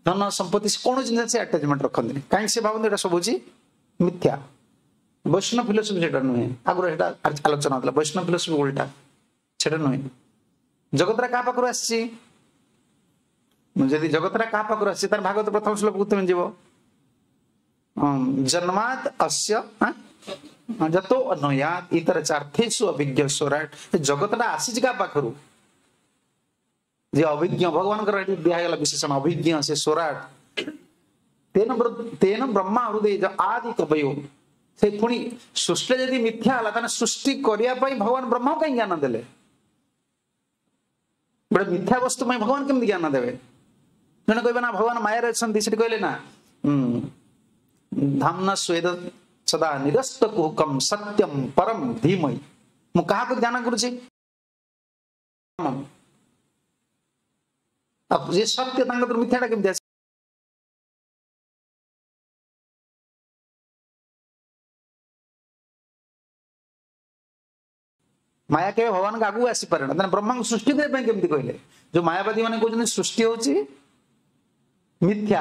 ଧନ ସମ୍ପତ୍ତି କୌଣସି ଜିନିଷ ସେ ଆଟାଚମେଣ୍ଟ ରଖନ୍ତିନି, କାହିଁକି ସେ ଭାବନ୍ତି ଏଇଟା ସବୁ ହଉଛି ମିଥ୍ୟା। ବୈଷ୍ଣବ ଫିଲୋସଫି ସେଟା ନୁହେଁ, ଆଗରୁ ସେଟା ଆଲୋଚନା ହଉଥିଲା, ବୈଷ୍ଣବ ଫିଲୋସଫି ଉଲ୍ଟା, ସେଟା ନୁହେଁ। ଜଗତଟା କାହା ପାଖରୁ ଆସିଛି? ଯଦି ଜଗତଟା କାହା ପାଖରୁ ଆସିଛି ତାର ଭାଗବତ ପ୍ରଥମ ଶ୍ଲୋକକୁ ତୁମେ ଯିବ, ଜନ୍ମାତ ଅସ୍ୟ ଯତୋ ଅନୟାତ ଇତର ଚାର୍ଥେଷୁ ଅଭିଜ୍ଞ ସ୍ୱରାଟ। ଜଗତଟା ଆସିଛି କାହା ପାଖରୁ? ଯେ ଅଭିଜ୍ଞ, ଭଗବାନଙ୍କର ଏଠି ଦିଆହେଇଗଲା ବିଶେଷଣ ଅଭିଜ୍ଞ, ସେ ସ୍ୱରାଟ। ତେନ ତେନ ବ୍ରହ୍ମା ହୃଦୟ ଆଦି କବୟୋ। ସେ ପୁଣି ସୃଷ୍ଟି ଯଦି ମିଥ୍ୟା ହେଲା ତାହେଲେ ସୃଷ୍ଟି କରିବା ପାଇଁ ଭଗବାନ ବ୍ରହ୍ମ କାହିଁ ଜ୍ଞାନ ଦେଲେ? ଗୋଟେ ମିଥ୍ୟା ବସ୍ତୁ ପାଇଁ ଭଗବାନ କେମିତି ଜ୍ଞାନ ଦେବେ? ଜଣେ କହିବେ ନା ଭଗବାନ ମାୟାରେ ଅଛନ୍ତି, ସେଠି କହିଲେ ନା ଧାମ୍ନା ସ୍ୱେଦ ସଦା ନିରସ୍ତ କୁହକମ ସତ୍ୟମ ପରମ ଧୀମହି। ମୁଁ କାହାକୁ ଧ୍ୟାନ କରୁଛି? ଯେ ସତ୍ୟ, ତାଙ୍କ ମିଥ୍ୟାଟା କେମିତି ଆସେ? ମାୟା କେବେ ଭଗବାନଙ୍କ ଆଗକୁ ଆସିପାରେ ନା। ତାହେଲେ ବ୍ରହ୍ମାଙ୍କୁ ସୃଷ୍ଟି କରିବା ପାଇଁ କେମିତି କହିଲେ? ଯୋଉ ମାୟାବାଦୀ ମାନେ କହୁଛନ୍ତି ସୃଷ୍ଟି ହଉଛି ମିଥ୍ୟା,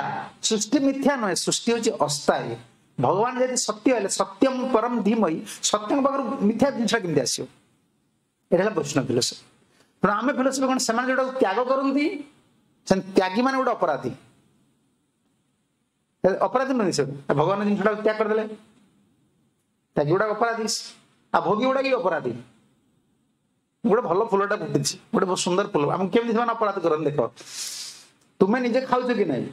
ସୃଷ୍ଟି ମିଥ୍ୟା ନୁହେଁ, ସୃଷ୍ଟି ହଉଛି ଅସ୍ଥାୟୀ। ଭଗବାନ ଯଦି ସତ୍ୟ ହେଲେ ସତ୍ୟମ ପରମ ଧୀମହି, ସତ୍ୟଙ୍କ ପାଖରୁ ମିଥ୍ୟା ଜିନିଷଟା କେମିତି ଆସିବ? ଏଇଟା ହେଲା ବୈଷ୍ଣବ ଫିଲୋସଫି। ତେଣୁ ଆମେ ଫିଲୋସଫି କଣ, ସେମାନେ ଯୋଉଟାକୁ ତ୍ୟାଗ କରନ୍ତି ସେ ତ୍ୟାଗୀ ମାନେ ଗୋଟେ ଅପରାଧୀ, ଅପରାଧୀ ନୁହେଁ ସେ, ଭଗବାନ ଜିନିଷଟାକୁ ତ୍ୟାଗ କରିଦେଲେ ତ୍ୟାଗୀ ଗୁଡାକ ଅପରାଧୀ, ଆଉ ଭୋଗୀ ଗୁଡାକ ବି ଅପରାଧୀ। ଗୋଟେ ଭଲ ଫୁଲଟା ଫୁଟିଛି, ଗୋଟେ ବହୁତ ସୁନ୍ଦର ଫୁଲ, ଆମକୁ କେମିତି ସେମାନେ ଅପରାଧ କରନ୍ତି ଦେଖ। ତୁମେ ନିଜେ ଖାଉଛ କି ନାହିଁ?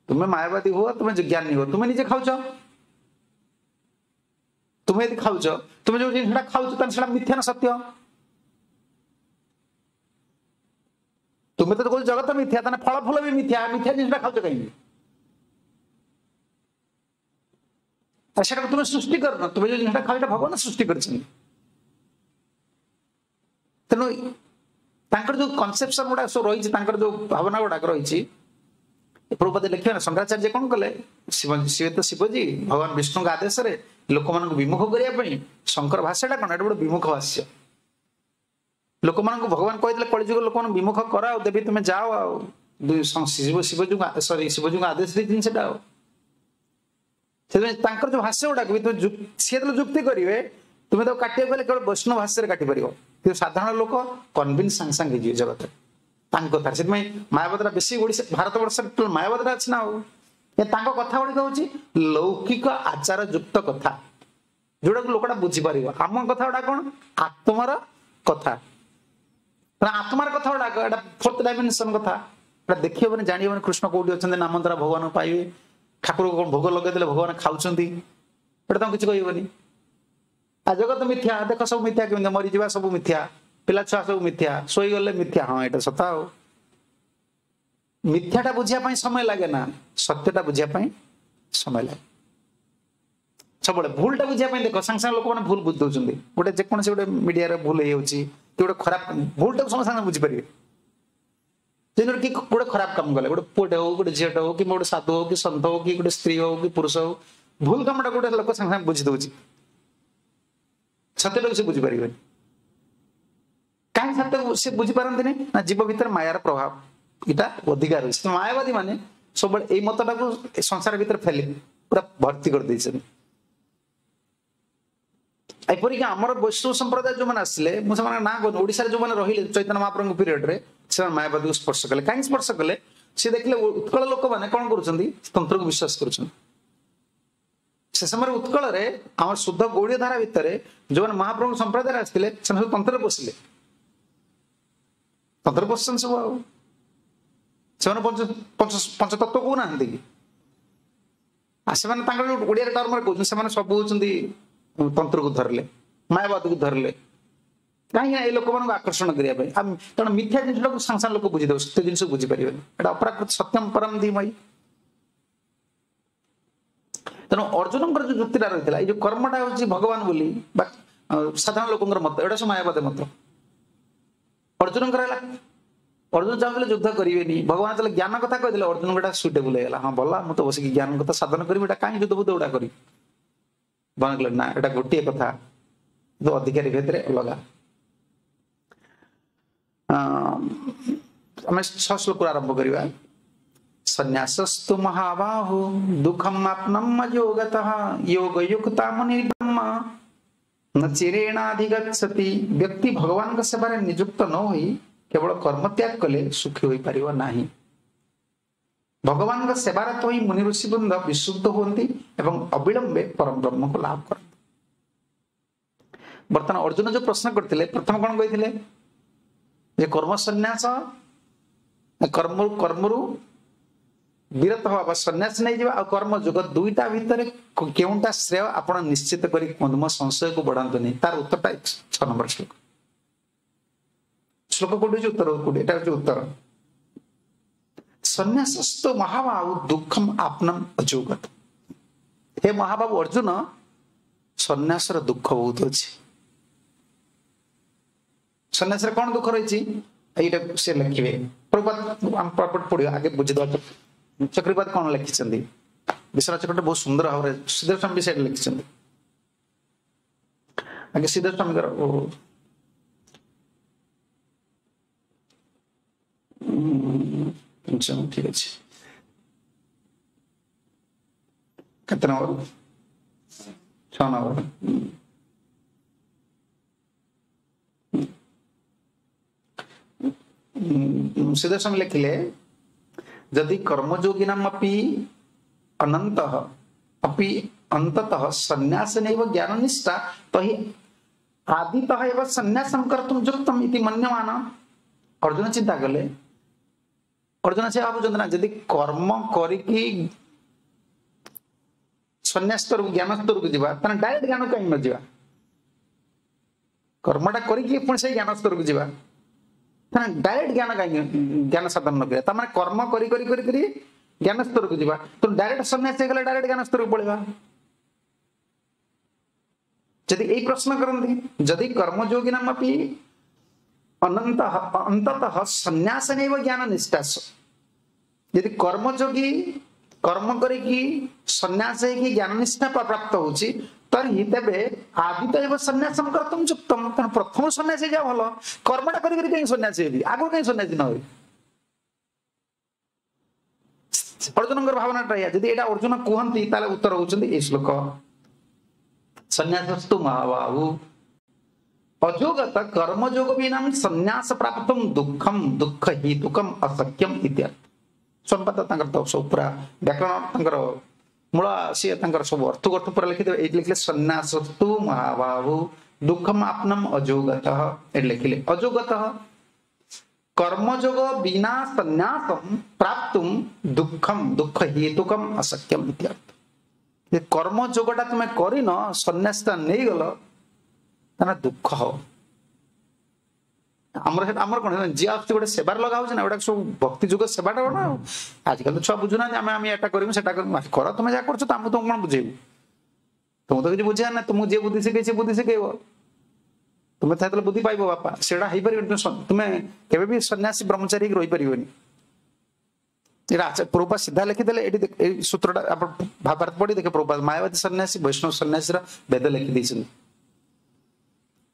ତୁମେ ମାୟାବାଦୀ ହୁଅ, ତୁମେ ଜ୍ଞାନୀ ହୁଅ, ତୁମେ ନିଜେ ଖାଉଛ। ତୁମେ ଯଦି ଖାଉଛ, ତୁମେ ଯୋଉ ଜିନିଷଟା ଖାଉଛ ତାହେଲେ ସେଟା ମିଥ୍ୟା ନା ସତ୍ୟ? ତୁମେ ତ କହୁଛ ଜଗତ ମିଥ୍ୟା, ତାହେଲେ ଫଳ ଫୁଲ ବି ମିଥ୍ୟା, ମିଥ୍ୟା ଜିନିଷଟା ଖାଉଛ କାହିଁକି? ଆଉ ସେଟାକୁ ତୁମେ ସୃଷ୍ଟି କରୁନ, ତୁମେ ଯୋଉ ଜିନିଷଟା ଖାଉଛ ଭଗବାନ ସୃଷ୍ଟି କରିଛନ୍ତି। ତେଣୁ ତାଙ୍କର ଯୋଉ କନସେପସନ ଗୁଡାକ ସବୁ ରହିଛି, ତାଙ୍କର ଯୋଉ ଭାବନା ଗୁଡାକ ରହିଛି, ପ୍ରଭୁପାଦ ଲେଖିବେ ନା ଶଙ୍କରାଚାର୍ଯ୍ୟ କଣ କଲେ, ଶିବ ଶିବ ତ ଶିବଜୀ ଭଗବାନ ବିଷ୍ଣୁଙ୍କ ଆଦେଶରେ ଲୋକମାନଙ୍କୁ ବିମୁଖ କରିବା ପାଇଁ ଶଙ୍କର ଭାଷ୍ୟଟା କଣ, ଏଟା ଗୋଟେ ବିମୁଖ ଭାଷ୍ୟ। ଲୋକମାନଙ୍କୁ ଭଗବାନ କହିଥିଲେ କଳିଯୁଗ ଲୋକମାନଙ୍କୁ ବିମୁଖ କର, ଆଉ ଦେବୀ ତୁମେ ଯାଅ, ଆଉ ଶିବ ଶିବଜୀଙ୍କୁ ସରି ଶିବଜୀଙ୍କୁ ଆଦେଶ ଦେଇଛନ୍ତି ସେଟା। ଆଉ ସେଥିପାଇଁ ତାଙ୍କର ଯୋଉ ଭାଷ୍ୟ ଗୁଡାକ ବି ସିଏ ଯେତେବେଳେ ଯୁକ୍ତି କରିବେ, ତୁମେ ତାକୁ କାଟିବାକୁ ଗଲେ କେବଳ ବୈଷ୍ଣବ ଭାଷ୍ୟରେ କାଟିପାରିବ, କିନ୍ତୁ ସାଧାରଣ ଲୋକ କନଭିନ୍ସ ସାଙ୍ଗେ ସାଙ୍ଗେ ହେଇଯିବେ ଜଗତରେ ତାଙ୍କ କଥାରେ। ସେଥିପାଇଁ ମାୟାବାଦଟା ବେଶୀ ଓଡ଼ିଶା ଭାରତ ବର୍ଷରେ ମାୟାବାଦଟା ଅଛି ନା। ଆଉ ତାଙ୍କ କଥା ଗୁଡିକ ହଉଛି ଲୌକିକ ଆଚାର ଯୁକ୍ତ କଥା, ଯୋଉଟାକୁ ଲୋକଟା ବୁଝିପାରିବ। ଆମ କଥା ଗୁଡା କଣ? ଆତ୍ମାର କଥା। ତେଣୁ ଆତ୍ମାର କଥା ଗୁଡାକ ଏଟା ଫୋର୍ଥ ଡାଇମେନସନ କଥା, ଏଟା ଦେଖି ହବନି, ଜାଣି ହବନି କୃଷ୍ଣ କୋଉଠି ଅଛନ୍ତି, ନାମ ଦ୍ୱାରା ଭଗବାନଙ୍କୁ ପାଇବେ, ଠାକୁରକୁ କଣ ଭୋଗ ଲଗେଇଦେଲେ ଭଗବାନ ଖାଉଛନ୍ତି, ଏଟା ତାଙ୍କୁ କିଛି କହିବନି। ଆଉ ଜଗତ ମିଥ୍ୟା, ଦେଖ ସବୁ ମିଥ୍ୟା, କେମିତି ମରିଯିବା ସବୁ ମିଥ୍ୟା, ପିଲା ଛୁଆ ସବୁ ମିଥ୍ୟା, ଶୋଇଗଲେ ମିଥ୍ୟା। ହଁ ଏଇଟା ସତ। ଆଉ ମିଥ୍ୟାଟା ବୁଝିବା ପାଇଁ ସମୟ ଲାଗେ ନା, ସତ୍ୟଟା ବୁଝିବା ପାଇଁ ସମୟ ଲାଗେ। ସବୁବେଳେ ଭୁଲଟା ବୁଝିବା ପାଇଁ ଦେଖ ସାଙ୍ଗେ ସାଙ୍ଗେ ଲୋକମାନେ ଭୁଲ ବୁଝି ଦଉଛନ୍ତି। ଗୋଟେ ଯେକୌଣସି ଗୋଟେ ମିଡିଆରେ ଭୁଲ ହେଇଯାଉଛି କି ଗୋଟେ ଖରାପ ଭୁଲଟାକୁ ସମସ୍ତେ ସାଙ୍ଗେ ବୁଝିପାରିବେ। ଯେମିତି କି ଗୋଟେ ଖରାପ କାମ କଲେ, ଗୋଟେ ପୁଅଟେ ହଉ, ଗୋଟେ ଝିଅଟେ ହଉ, କିମ୍ବା ଗୋଟେ ସାଧୁ ହଉ କି ସନ୍ଥ ହଉ, କି ଗୋଟେ ସ୍ତ୍ରୀ ହଉ କି ପୁରୁଷ ହଉ, ଭୁଲ କାମଟା ଗୋଟେ ଲୋକ ସାଙ୍ଗେ ସାଙ୍ଗେ ବୁଝି ଦଉଛି, ସତ୍ୟଟାକୁ ସେ ବୁଝିପାରିବେନି। କାହିଁ ସତ୍ୟ ସେ ବୁଝିପାରନ୍ତିନି ନା, ଜୀବ ଭିତରେ ମାୟାର ପ୍ରଭାବ ଏଇଟା ଅଧିକା ରହିଛି। ମାୟାବାଦୀ ମାନେ ସବୁବେଳେ ଏଇ ମତଟାକୁ ସଂସାର ଭିତରେ ଫେଲି ପୁରା ଭର୍ତ୍ତି କରିଦେଇଛନ୍ତି। ଏପରିକି ଆମର ବୈଷ୍ଣବ ସମ୍ପ୍ରଦାୟ ଯୋଉମାନେ ଆସିଲେ, ମୁଁ ସେମାନଙ୍କ ନାଁ କହୁନି, ଓଡ଼ିଶାରେ ଯୋଉମାନେ ରହିଲେ ଚୈତନ୍ୟ ମହାପ୍ରଭୁଙ୍କ ପିରିୟଡରେ, ସେମାନେ ମାୟାବାଦୀକୁ ସ୍ପର୍ଶ କଲେ। କାହିଁକି ସ୍ପର୍ଶ କଲେ? ସେ ଦେଖିଲେ ଉତ୍କଳ ଲୋକମାନେ କଣ କରୁଛନ୍ତି, ତନ୍ତ୍ରକୁ ବିଶ୍ୱାସ କରୁଛନ୍ତି। ସେ ସମୟରେ ଉତ୍କଳରେ ଆମର ଶୁଦ୍ଧ ଗୌଡ଼ୀୟ ଧାରା ଭିତରେ ଯୋଉମାନେ ମହାପ୍ରଭୁଙ୍କ ସମ୍ପ୍ରଦାୟରେ ଆସିଥିଲେ, ସେମାନେ ସବୁ ତନ୍ତ୍ରରେ ପଶିଲେ, ତନ୍ତ୍ରରେ ପଶିଛନ୍ତି ସବୁ। ଆଉ ସେମାନେ ପଞ୍ଚ ପଞ୍ଚ ପଞ୍ଚତତ୍ଵ କହୁନାହାନ୍ତି କି? ଆଉ ସେମାନେ ତାଙ୍କର ଯୋଉ ଓଡ଼ିଆରେ ଟର୍ମରେ କହୁଛନ୍ତି, ସେମାନେ ସବୁ ହଉଛନ୍ତି ତନ୍ତ୍ରକୁ ଧରିଲେ, ମାୟାବାଦକୁ ଧରିଲେ। କାହିଁକି ନା ଏଇ ଲୋକମାନଙ୍କୁ ଆକର୍ଷଣ କରିବା ପାଇଁ। ଆଉ କାରଣ ମିଥ୍ୟା ଜିନିଷଟାକୁ ସାଙ୍ଗେ ସାଙ୍ଗେ ଲୋକ ବୁଝିଦେବେ, ସତ୍ୟ ଜିନିଷ ବୁଝିପାରିବେନି। ଏଟା ଅପ୍ରାକୃତ ସତ୍ୟମ ପରମ ଧୀମହି। ତେଣୁ ଅର୍ଜୁନଙ୍କର ଯୋଉ ଯୁକ୍ତିଟା ରହିଥିଲା, ଏଇ ଯୋଉ କର୍ମଟା ହଉଛି ଭଗବାନ ବୋଲି ବା ସାଧାରଣ ଲୋକଙ୍କର ମତ, ଏଇଟା ସବୁ ମାୟାବାଦ ମତ। ଅର୍ଜୁନଙ୍କର ହେଲା, ଅର୍ଜୁନ ଚାହୁଁଥିଲେ ଯୁଦ୍ଧ କରିବେନି, ଭଗବାନ ଯେତେବେଳେ ଜ୍ଞାନ କଥା କହିଦେଲେ ଅର୍ଜୁନଙ୍କ ଏଟା ସୁଇଟେବୁଲ ହେଇଗଲା। ହଁ ଭଲ, ମୁଁ ତ ବସିକି ଜ୍ଞାନ କଥା ସାଧନ କରିବି, ଏଟା କାହିଁ ଯୁଦ୍ଧ ବୁଦ୍ଧ ଗୁଡା କରିବି। ଭଗବାନ କହିଲେ ନା, ଏଟା ଗୋଟିଏ କଥା, କିନ୍ତୁ ଅଧିକାରୀ ଭିତରେ ଅଲଗା। ଆମେ ଛଅ ଶ୍ଲୋକରୁ ଆରମ୍ଭ କରିବା। ସନ୍ନ୍ୟାସସ୍ତୁ ମହାବାହୁ ଦୁଃଖମ୍ ଆପ୍ନମ୍ ଅଯୋଗତଃ ଯୋଗୟୁକ୍ତା ମୁନି ବ୍ରହ୍ମ ନ ଚିରେଣାଧିଗଚ୍ଛତି। ବ୍ୟକ୍ତି ଭଗବାନଙ୍କ ସେବାରେ ନିଯୁକ୍ତ ନ ହୋଇ କେବଳ କର୍ମ ତ୍ୟାଗ କଲେ ସୁଖୀ ହୋଇପାରିବ ନାହିଁ। ଭଗବାନଙ୍କ ସେବାରତ ହୋଇ ମୁନି ଋଷି ବୃନ୍ଦ ବିଶୁଦ୍ଧ ହୁଅନ୍ତି ଏବଂ ଅବିଳମ୍ବେ ପରମ ବ୍ରହ୍ମକୁ ଲାଭ କରନ୍ତି। ବର୍ତ୍ତମାନ ଅର୍ଜୁନ ଯୋଉ ପ୍ରଶ୍ନ କରିଥିଲେ, ପ୍ରଥମ କଣ କହିଥିଲେ? ଯେ କର୍ମ ସନ୍ନ୍ୟାସ, କର୍ମ କର୍ମରୁ ବିରତ ହବା ବା ସନ୍ନ୍ୟାସ ନେଇଯିବା ଆଉ କର୍ମ ଯୋଗ ଦୁଇଟା ଭିତରେ କେଉଁଟା ଶ୍ରେୟ ଆପଣ ନିଶ୍ଚିତ କରି କୁହନ୍ତୁ, ମୋ ସଂଶୟକୁ ବଢାନ୍ତୁନି। ତାର ଉତ୍ତରଟା ଛଅ ନମ୍ବର ଶ୍ଲୋକ। ଶ୍ଲୋକ କୋଉଠି ଅଛି, ଉତ୍ତର କୋଉଠି? ଏଟା ହଉଛି ଉତ୍ତର। ସନ୍ନ୍ୟାସସ୍ତ ମହାବାହୁ ଦୁଃଖମ ଆପ୍ନମ ଅଯୋଗତ। ହେ ମହାବାହୁ ଅର୍ଜୁନ, ସନ୍ନ୍ୟାସର ଦୁଃଖ ବହୁତ ଅଛି। ସନ୍ନ୍ୟାସରେ କଣ ଦୁଃଖ ରହିଛି ଏଇଟା ସେ ଲେଖିବେ। ପ୍ରଭୁପାଦ ଆମ ପର୍ପଟ ପଢିବା, ଆଗେ ବୁଝିଦେବା ଚକ୍ରପାତ କଣ ଲେଖିଛନ୍ତି। ବିଶ୍ୱନାଥ ଚକ୍ରବର୍ତ୍ତୀ ବହୁତ ସୁନ୍ଦର ଭାବରେ ଶ୍ରୀଧର ସ୍ୱାମୀ ବି ସେଇଟା ଲେଖିଛନ୍ତି। ଆଗେ ଶ୍ରୀଧର ସ୍ୱାମୀଙ୍କର ଠିକ ଅଛି, କେତେ ନମ୍ବର? ଛଅ ନମ୍ବର। ଶ୍ରୀଧର ସ୍ୱାମୀ ଲେଖିଲେ, ଯଦି କର୍ମଯୋଗିନାମପି ଅନନ୍ତଃ अपि अंततः सन्यासेनैव ज्ञाननिष्ठा तहि आदितः एव सन्यासं कर्तुं युक्तम् इति मन्यमान। अर्जुन चिंता कले, अर्जुन से भाबुचନ୍ତି ना, ଯଦି କର୍ମ କରିକି ସନ୍ନ୍ୟାସ ସ୍ତରକୁ ଜ୍ଞାନ ସ୍ତରକୁ ଯିବା, ତାହେଲେ ଡାଇରେକ୍ଟ ଜ୍ଞାନ କାହିଁ ନ ଯିବା? କର୍ମଟା କରିକି ପୁଣି ସେଇ ଜ୍ଞାନ ସ୍ତରକୁ ଯିବା, ତାହେଲେ ଡାଇରେକ୍ଟ ଜ୍ଞାନ କାହିଁକି ଜ୍ଞାନ ସାଧନ ନ କରିବା? ତାମାନେ କର୍ମ କରି କରି କରି କରି ଜ୍ଞାନ ସ୍ତରକୁ ଯିବା, ତେଣୁ ଡାଇରେକ୍ଟ ସନ୍ନ୍ୟାସ ହେଇଗଲେ ଡାଇରେକ୍ଟ ଜ୍ଞାନ ସ୍ତରକୁ ପଳେଇବା। ଯଦି ଏଇ ପ୍ରଶ୍ନ କରନ୍ତି, ଯଦି କର୍ମଯୋଗିନାମପି ଅନନ୍ତ ଅନ୍ତତଃ ସନ୍ନ୍ୟାସନୈବ ଜ୍ଞାନ ନିଷ୍ଠା, ଯଦି କର୍ମଯୋଗୀ କର୍ମ କରିକି ସନ୍ନ୍ୟାସ ହେଇକି ଜ୍ଞାନ ନିଷ୍ଠା ପ୍ରାପ୍ତ ହଉଛି, ତର୍ହି ତେବେ ଆଦିତ ଏବ ସନ୍ନ୍ୟାସମ କର୍ତ୍ତୁମ ଯୁକ୍ତମ। ତେଣୁ ପ୍ରଥମ ସନ୍ନ୍ୟାସ ହେଇଯାଅ ଭଲ, କର୍ମଟା କରି କରି କାହିଁ ସନ୍ନ୍ୟାସୀ ହେବି, ଆଗରୁ କାହିଁ ସନ୍ନ୍ୟାସୀ ନ ହେବି? ଅର୍ଜୁନଙ୍କର ଭାବନାଟା ଏଇଆ। ଯଦି ଏଇଟା ଅର୍ଜୁନ କୁହନ୍ତି, ତାହେଲେ ଉତ୍ତର ହଉଛନ୍ତି ଏଇ ଶ୍ଲୋକ, ସନ୍ନ୍ୟାସସ୍ତୁ ମହାବାହୁ ଅଯୋଗତ କର୍ମଯୋଗ ବିନାମ ସନ୍ନ୍ୟାସ ପ୍ରାପ୍ତମ ଦୁଃଖମ ଦୁଃଖ ହେତୁକମ ଅସକ୍ୟମ ଇତ୍ୟର୍ଥ। ସମ୍ପାଦ ତାଙ୍କର ତ ସବୁ ପୁରା ବ୍ୟାକରଣ ତାଙ୍କର ମୂଳ, ସିଏ ତାଙ୍କର ସବୁ ଅର୍ଥକୁ ଅର୍ଥ ପୁରା ଲେଖିଦେବେ। ଏଇଠି ଲେଖିଲେ ସନ୍ନ୍ୟାସସ୍ତୁ ମହାବାହୁ ଦୁଃଖମ ଆପ୍ନମ ଅଯୋଗତଃ, ଏଠି ଲେଖିଲେ ଅଯୋଗତଃ। କର୍ମଯୋଗ ବିନା ସନ୍ନ୍ୟାସಂ ପ୍ରାପ୍ତୁମ୍ ଦୁଃଖಂ ଦୁଃଖ ହେତୁକମ୍ ଅସତ୍ୟମ ଇତ୍ୟର୍ଥ। ଯେ କର୍ମଯୋଗଟା ତୁମେ କରିନ, ସନ୍ନ୍ୟାସଟା ନେଇଗଲ, ତାହେଲେ ଦୁଃଖ ହବ। ଆମର ଆମର କଣ ଯିଏ ଆସୁଛି ଗୋଟେ ସେବାରେ ଲଗା ହଉଛି ନା, ଏଗୁଡା ସବୁ ଭକ୍ତି ଯୁଗ ସେବାଟା କଣ? ଆଉ ଆଜିକାଲି ତ ଛୁଆ ବୁଝୁନାହାନ୍ତି, ଆମେ ଆମେ ଏଟା କରିବୁ ସେଟା କରିବୁ। କର ତୁମେ ଯାହା କରୁଛ, ତ ଆମକୁ ତମକୁ କଣ ବୁଝେଇବୁ? ତୁମକୁ ତ କିଛି ବୁଝେଇବା ନା, ତୁମକୁ ଯିଏ ବୁଦ୍ଧି ଶିଖେଇ ସେ ବୁଦ୍ଧି ଶିଖେଇବ। ତୁମେ ତାହେଲେ ବୁଦ୍ଧି ପାଇବ ବାପା, ସେଇଟା ହେଇପାରିବନି। ତୁମେ କେବେ ବି ସନ୍ନ୍ୟାସୀ ବ୍ରହ୍ମଚାରୀ ହେଇକି ରହିପାରିବନି। ଏଇଟା ପ୍ରଭୁପାଦ ସିଧା ଲେଖିଦେଲେ ଏଠି। ଏଇ ସୂତ୍ରଟା ଆପଣ ଭାବାର୍ଥ ପଢି ଦେଖେ, ପ୍ରଭୁପାଦ ମାୟାବାଦୀ ସନ୍ନ୍ୟାସୀ ବୈଷ୍ଣବ ସନ୍ନ୍ୟାସୀର ଭେଦ ଲେଖି ଦେଇଛନ୍ତି।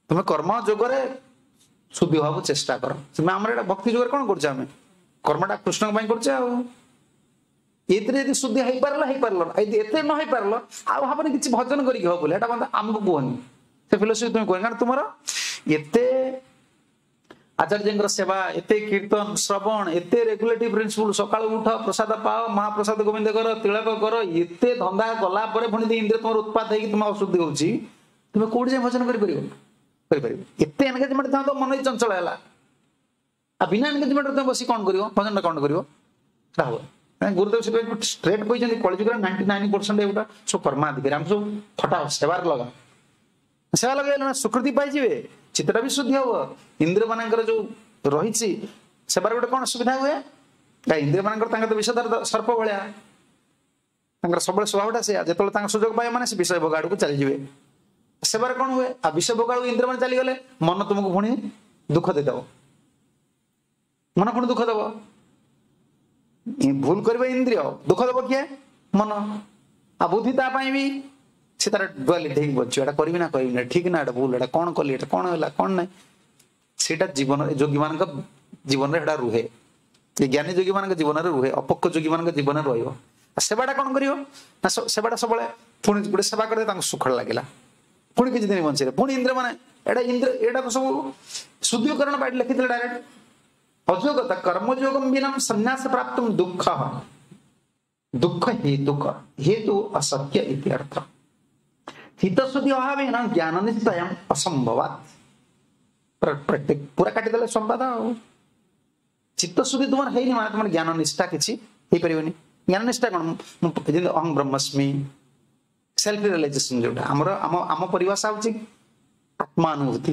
ତୁମେ କର୍ମ ଯୋଗରେ ଶୁଦ୍ଧି ହବାକୁ ଚେଷ୍ଟା କର। ତୁମେ ଆମର ଏଇଟା ଭକ୍ତି ଯୁଗରେ କଣ କରୁଛେ ଆମେ? କର୍ମଟା କୃଷ୍ଣଙ୍କ ପାଇଁ କରୁଛେ। ଆଉ ଏଥିରେ ଯଦି ଶୁଦ୍ଧି ହେଇପାରିଲ ହେଇପାରିଲ, ଯଦି ଏଥିରେ ନ ହେଇପାରିଲ ଆଉ ଭାବନି କିଛି ଭଜନ କରିକି ହବ ବୋଲି। ଏଟା ଆମକୁ କୁହନି, ସେ ଫିଲୋସଫି ତୁମେ କୁହନି। କାରଣ ତୁମର ଏତେ ଆଚାର୍ଯ୍ୟଙ୍କର ସେବା, ଏତେ କୀର୍ତ୍ତନ ଶ୍ରବଣ, ଏତେ ରେଗୁଲେଟିଭ ପ୍ରିନ୍ସିପଲ, ସକାଳୁ ଉଠ, ପ୍ରସାଦ ପାଅ, ମହାପ୍ରସାଦ ଗୋବିନ୍ଦ କର, ତିଳକ କର, ଏତେ ଧନ୍ଦା କଲା ପରେ ପୁଣି ଇନ୍ଦ୍ରିୟ ତୁମର ଉତ୍ପାତ ହେଇକି ତୁମେ ଅଶୁଦ୍ଧି ହଉଛି, ତୁମେ କୋଉଠି ଯାଇ ଭଜନ କରିପାରିବ? କରିପାରିବ ଏତେ ଏନଗେଜମେଣ୍ଟ ଥାନ୍ତ, ମନ ଚଞ୍ଚଳ ହେଲା। ଆଉ ବିନା ଏନଗେଜମେଣ୍ଟ ତୁମେ ବସି କଣ କରିବ? ଭଜନଟା କଣ କରିବ? ସେଟା ହବ। ଗୁରୁଦେବ ସେଥିପାଇଁ ଷ୍ଟ୍ରେଟ୍ କହିଛନ୍ତି, କଳିଯୁଗରେ ନାଇଣ୍ଟି ନାଇନ୍ ପରସେଣ୍ଟ ଏଗୁଟା ସବୁ କର୍ମାଧିକାରୀ। ଆମେ ସବୁ ଖଟା ସେବାରେ ଲଗା, ସେବା ଲଗେଇଲେ ନା ସୁକୃତି ପାଇଯିବେ, ଚିତ୍ତଟା ବି ଶୁଦ୍ଧି ହବ। ଇନ୍ଦ୍ରିୟ ମାନଙ୍କର ଯୋଉ ରହିଛି ସେବାରେ ଗୋଟେ କଣ ସୁବିଧା ହୁଏ? ଇନ୍ଦ୍ରିୟ ମାନଙ୍କର ତାଙ୍କର ତ ବିଷଧର ସର୍ପ ଭଳିଆ, ତାଙ୍କର ସବୁବେଳେ ସ୍ୱଭାବଟା ସେଇଆ। ଯେତେବେଳେ ତାଙ୍କ ସୁଯୋଗ ପାଇବେ ମାନେ ସେ ବିଷୟ ଭୋଗ ଆଡକୁ ଚାଲିଯିବେ। ସେବାରେ କଣ ହୁଏ? ଆଉ ବିଷୟ ଭୋଗ ଆଡକୁ ଇନ୍ଦ୍ରିୟ ମାନେ ଚାଲିଗଲେ ମନ ତୁମକୁ ପୁଣି ଦୁଃଖ ଦେଇଦବ, ମନ ପୁଣି ଦୁଃଖ ଦବ। ଭୁଲ କରିବ ଇନ୍ଦ୍ରିୟ, ଦୁଃଖ ଦବ କିଏ? ମନ। ଆଉ ବୁଦ୍ଧି ତା ପାଇଁ ବି ସେ ତାର ଡୁଆଲିଟି ହେଇକି ବଞ୍ଚିବ, ଏଟା କରିବି ନା କରିବି ନା, ଠିକ ନା ଏଟା ଭୁଲ, ଏଟା କଣ କଲି, ଏଟା କଣ ହେଲା କଣ ନାହିଁ। ସେଇଟା ଜୀବନ ଯୋଗୀ ମାନଙ୍କ ଜୀବନରେ ସେଟା ରୁହେ, ଜ୍ଞାନୀ ଯୋଗୀ ମାନଙ୍କ ଜୀବନରେ ରୁହେ, ଅପକ୍ୱ ଯୋଗୀ ମାନଙ୍କ ଜୀବନରେ ରହିବ। ଆଉ ସେବାଟା କଣ କରିବ ନା, ସେବାଟା ସବୁବେଳେ ପୁଣି ଗୋଟେ ସେବା କରିଦେଲେ ତାଙ୍କୁ ସୁଖ ଲାଗିଲା, ପୁଣି କିଛି ଦିନ ବଞ୍ଚିଲେ ପୁଣି ଇନ୍ଦ୍ର ମାନେ ଏଇଟା ଇନ୍ଦ୍ର ଏଇଟାକୁ ସବୁ ଶୁଦ୍ଧିକରଣ ପାଇଁ ଲେଖିଥିଲେ ଡାଇରେକ୍ଟ। ଅଯୋଗତା କର୍ମଯୋଗମ ବିନା ସନ୍ନ୍ୟାସ ପ୍ରାପ୍ତ ଦୁଃଖ ଦୁଃଖ ହେତୁକ ହେତୁ ଅସତ୍ୟ ଇତି ଅର୍ଥ। ଚିତ୍ତଶୁଦ୍ଧି ଅଭାବେନ ଜ୍ଞାନ ନିଶ୍ଚୟ ଅସମ୍ଭବାତ। ପୁରା କାଟିଦେଲେ ସମ୍ବାଦ। ଆଉ ଚିତ୍ତଶୁଦ୍ଧି ତୁମର ହେଇନି ମାନେ ତୁମର ଜ୍ଞାନ ନିଷ୍ଠା କିଛି ହେଇପାରିବନି। ଜ୍ଞାନ ନିଷ୍ଠା କଣ? ଯେମିତି ଅହଂ ବ୍ରହ୍ମସ୍ମି, ସେଲ୍ଫ ରିଅଲାଇଜେସନ, ଯୋଉଟା ଆମର ଆମ ଆମ ପରିଭାଷା ହଉଛି ଆତ୍ମାନୁଭୂତି।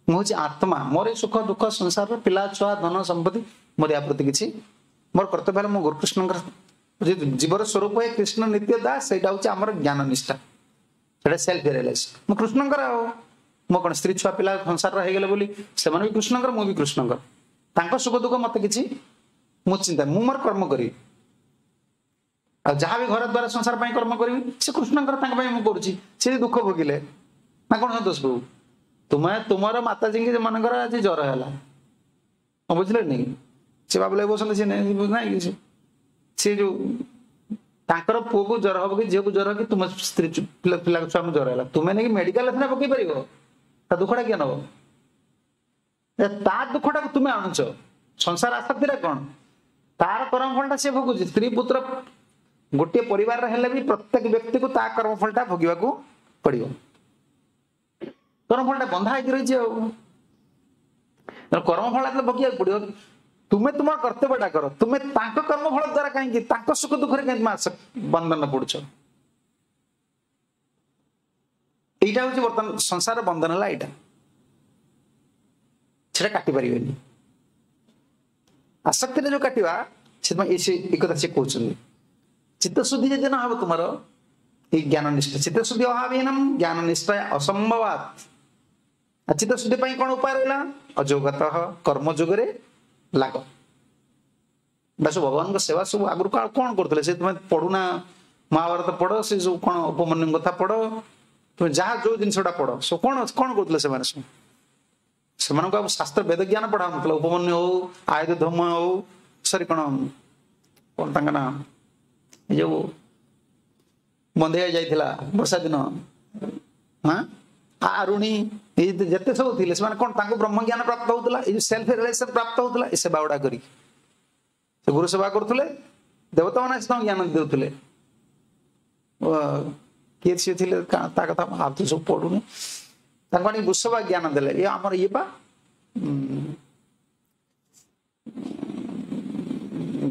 ମୁଁ ହଉଛି ଆତ୍ମା, ମୋର ଏ ସୁଖ ଦୁଃଖ ସଂସାରର ପିଲା ଛୁଆ ଧନ ସମ୍ପତ୍ତି ମୋର ୟା ପ୍ରତି କିଛି ମୋର କର୍ତ୍ତବ୍ୟ ହେଲା ମୁଁ ଗୁରୁକୃଷ୍ଣଙ୍କର ଜୀବର ସ୍ୱରୂପ ହେ କୃଷ୍ଣ ନିତ୍ୟ ଦାସ। ସେଇଟା ହଉଛି ଆମର ଜ୍ଞାନ ନିଷ୍ଠା, ସେଇଟା ସେଲ୍ଫ ରିଅଲାଇଜେସନ। ମୁଁ କୃଷ୍ଣଙ୍କର, ଆଉ ମୋ କଣ ସ୍ତ୍ରୀ ଛୁଆ ପିଲା ସଂସାରର ହେଇଗଲେ ବୋଲି ସେମାନେ ବି କୃଷ୍ଣଙ୍କର, ମୁଁ ବି କୃଷ୍ଣଙ୍କର। ତାଙ୍କ ସୁଖ ଦୁଃଖ ମତେ କିଛି ମୁଁ ଚିନ୍ତା, ମୁଁ ମୋର କର୍ମ କରିବି, ଆଉ ଯାହା ବି ଘର ଦ୍ୱାରା ସଂସାର ପାଇଁ କର୍ମ କରିବି ସେ କୃଷ୍ଣଙ୍କର, ତାଙ୍କ ପାଇଁ ମୁଁ କରୁଛି। ସେ ଦୁଃଖ ଭୋଗିଲେ ନା କଣ ସନ୍ତୋଷ ପ୍ରଭୁ? ତୁମେ ତୁମର ମାତାଜୀଙ୍କ ମାନଙ୍କର ଆଜି ଜ୍ୱର ହେଲା, ବୁଝିଲେନି? ସେ ବାବୁଲା ବସନ୍ତି, ସେ ନାଇଁ କିଛି ସେ ଯୋଉ ତାଙ୍କର ପୁଅକୁ ଜ୍ୱର ହବ କି ଝିଅକୁ ଜ୍ୱର କି ତୁମ ସ୍ତ୍ରୀ ପିଲା ପିଲା ଛୁଆଙ୍କୁ ଜ୍ୱର ହେଲା, ତୁମେ ନେଇକି ମେଡିକାଲ ସିନା ପକେଇ ପାରିବ, ତା ଦୁଃଖଟା କିଏ ନବ? ତା ଦୁଃଖଟାକୁ ତୁମେ ଆଣୁଛ। ସଂସାର ଆସକ୍ତିଟା କଣ? ତାର କର୍ମଫଳଟା ସେ ଭୋଗୁଛି। ସ୍ତ୍ରୀ ପୁତ୍ର ଗୋଟିଏ ପରିବାରରେ ହେଲେ ବି ପ୍ରତ୍ୟେକ ବ୍ୟକ୍ତିକୁ ତା କର୍ମଫଳଟା ଭୋଗିବାକୁ ପଡିବ। କର୍ମଫଳଟା ବନ୍ଧା ହେଇକି ରହିଛି, ଆଉ କର୍ମଫଳ ଭୋଗିବାକୁ ପଡିବ। ତୁମେ ତୁମର କର୍ତ୍ତବ୍ୟଟା କର, ତୁମେ ତାଙ୍କ କର୍ମଫଳ ଦ୍ୱାରା କାହିଁକି ତାଙ୍କ ସୁଖ ଦୁଃଖରେ କାହିଁକି ବନ୍ଧନ ପଡୁଛ? ଏଇଟା ହଉଛି ବର୍ତ୍ତମାନ ସଂସାର ବନ୍ଧନ ହେଲା ଏଇଟା, ସେଟା କାଟି ପାରିବେନି। ଆସକ୍ତିରେ ଯୋଉ କାଟିବା, ସେଥିପାଇଁ ଏଇ କଥା ସେ କହୁଛନ୍ତି। ଚିତ୍ତଶୁଦ୍ଧି ଯଦି ନ ହବ ତୁମର ଏଇ ଜ୍ଞାନ ନିଷ୍ଠା, ଚିତ୍ତଶୁଦ୍ଧି ଅଭାବହୀନମ ଜ୍ଞାନ ନିଷ୍ଠା ଅସମ୍ଭବାତ। ଚିତ୍ତଶୁଦ୍ଧି ପାଇଁ କଣ ଉପାୟ ରହିଲା? ଅଯୋଗତଃ କର୍ମ ଯୋଗରେ ଲାଗ। ସବୁ ଭଗବାନଙ୍କ ସେବା ସବୁ ଆଗରୁ କଣ କରୁଥିଲେ? ସେ ତୁମେ ପଢୁନା ମହାଭାରତ ପଢ, ସେ ସବୁ କଣ ଉପମନ୍ୟୁଙ୍କ କଥା ପଢ, ତୁମେ ଯାହା ଯୋଉ ଜିନିଷଟା ପଢ, ସବୁ କଣ କଣ କରୁଥିଲେ ସେମାନେ? ସବୁ ସେମାନଙ୍କୁ ଆଉ ଶାସ୍ତ୍ର ବେଦ ଜ୍ଞାନ ପଢା ହଉନଥିଲା। ଉପମନ୍ୟୁ ହଉ, ଆୟୁଧ ଧର୍ମ ହଉ, ସରି କଣ କଣ ତାଙ୍କ ନାଁ, ଏ ଯୋଉ ବନ୍ଧେଇ ଯାଇଥିଲା ବର୍ଷା ଦିନ, ହଁ ଆରୁଣୀ, ଏଇ ଯେତେ ସବୁ ଥିଲେ ସେମାନେ କଣ ତାଙ୍କୁ ବ୍ରହ୍ମ ଜ୍ଞାନ ପ୍ରାପ୍ତ ହଉଥିଲା, ଏଇ ଯୋଉ ସେଲ୍ଫ ରିଅଲାଇଜେସନ ପ୍ରାପ୍ତ ହଉଥିଲା ଏ ସେବା ଗୁଡା କରିକି। ସେ ଗୁରୁ ସେବା କରୁଥିଲେ, ଦେବତା ମାନେ ଆସି ତାଙ୍କୁ ଜ୍ଞାନ ଦେଉଥିଲେ। କିଏ ସିଏ ଥିଲେ ତା କଥା ଆଉ ତ ସବୁ ପଢୁନି। ତାଙ୍କୁ ଆଣି ବୃଷଭ ଜ୍ଞାନ ଦେଲେ। ଇଏ ଆମର ଇଏ ପା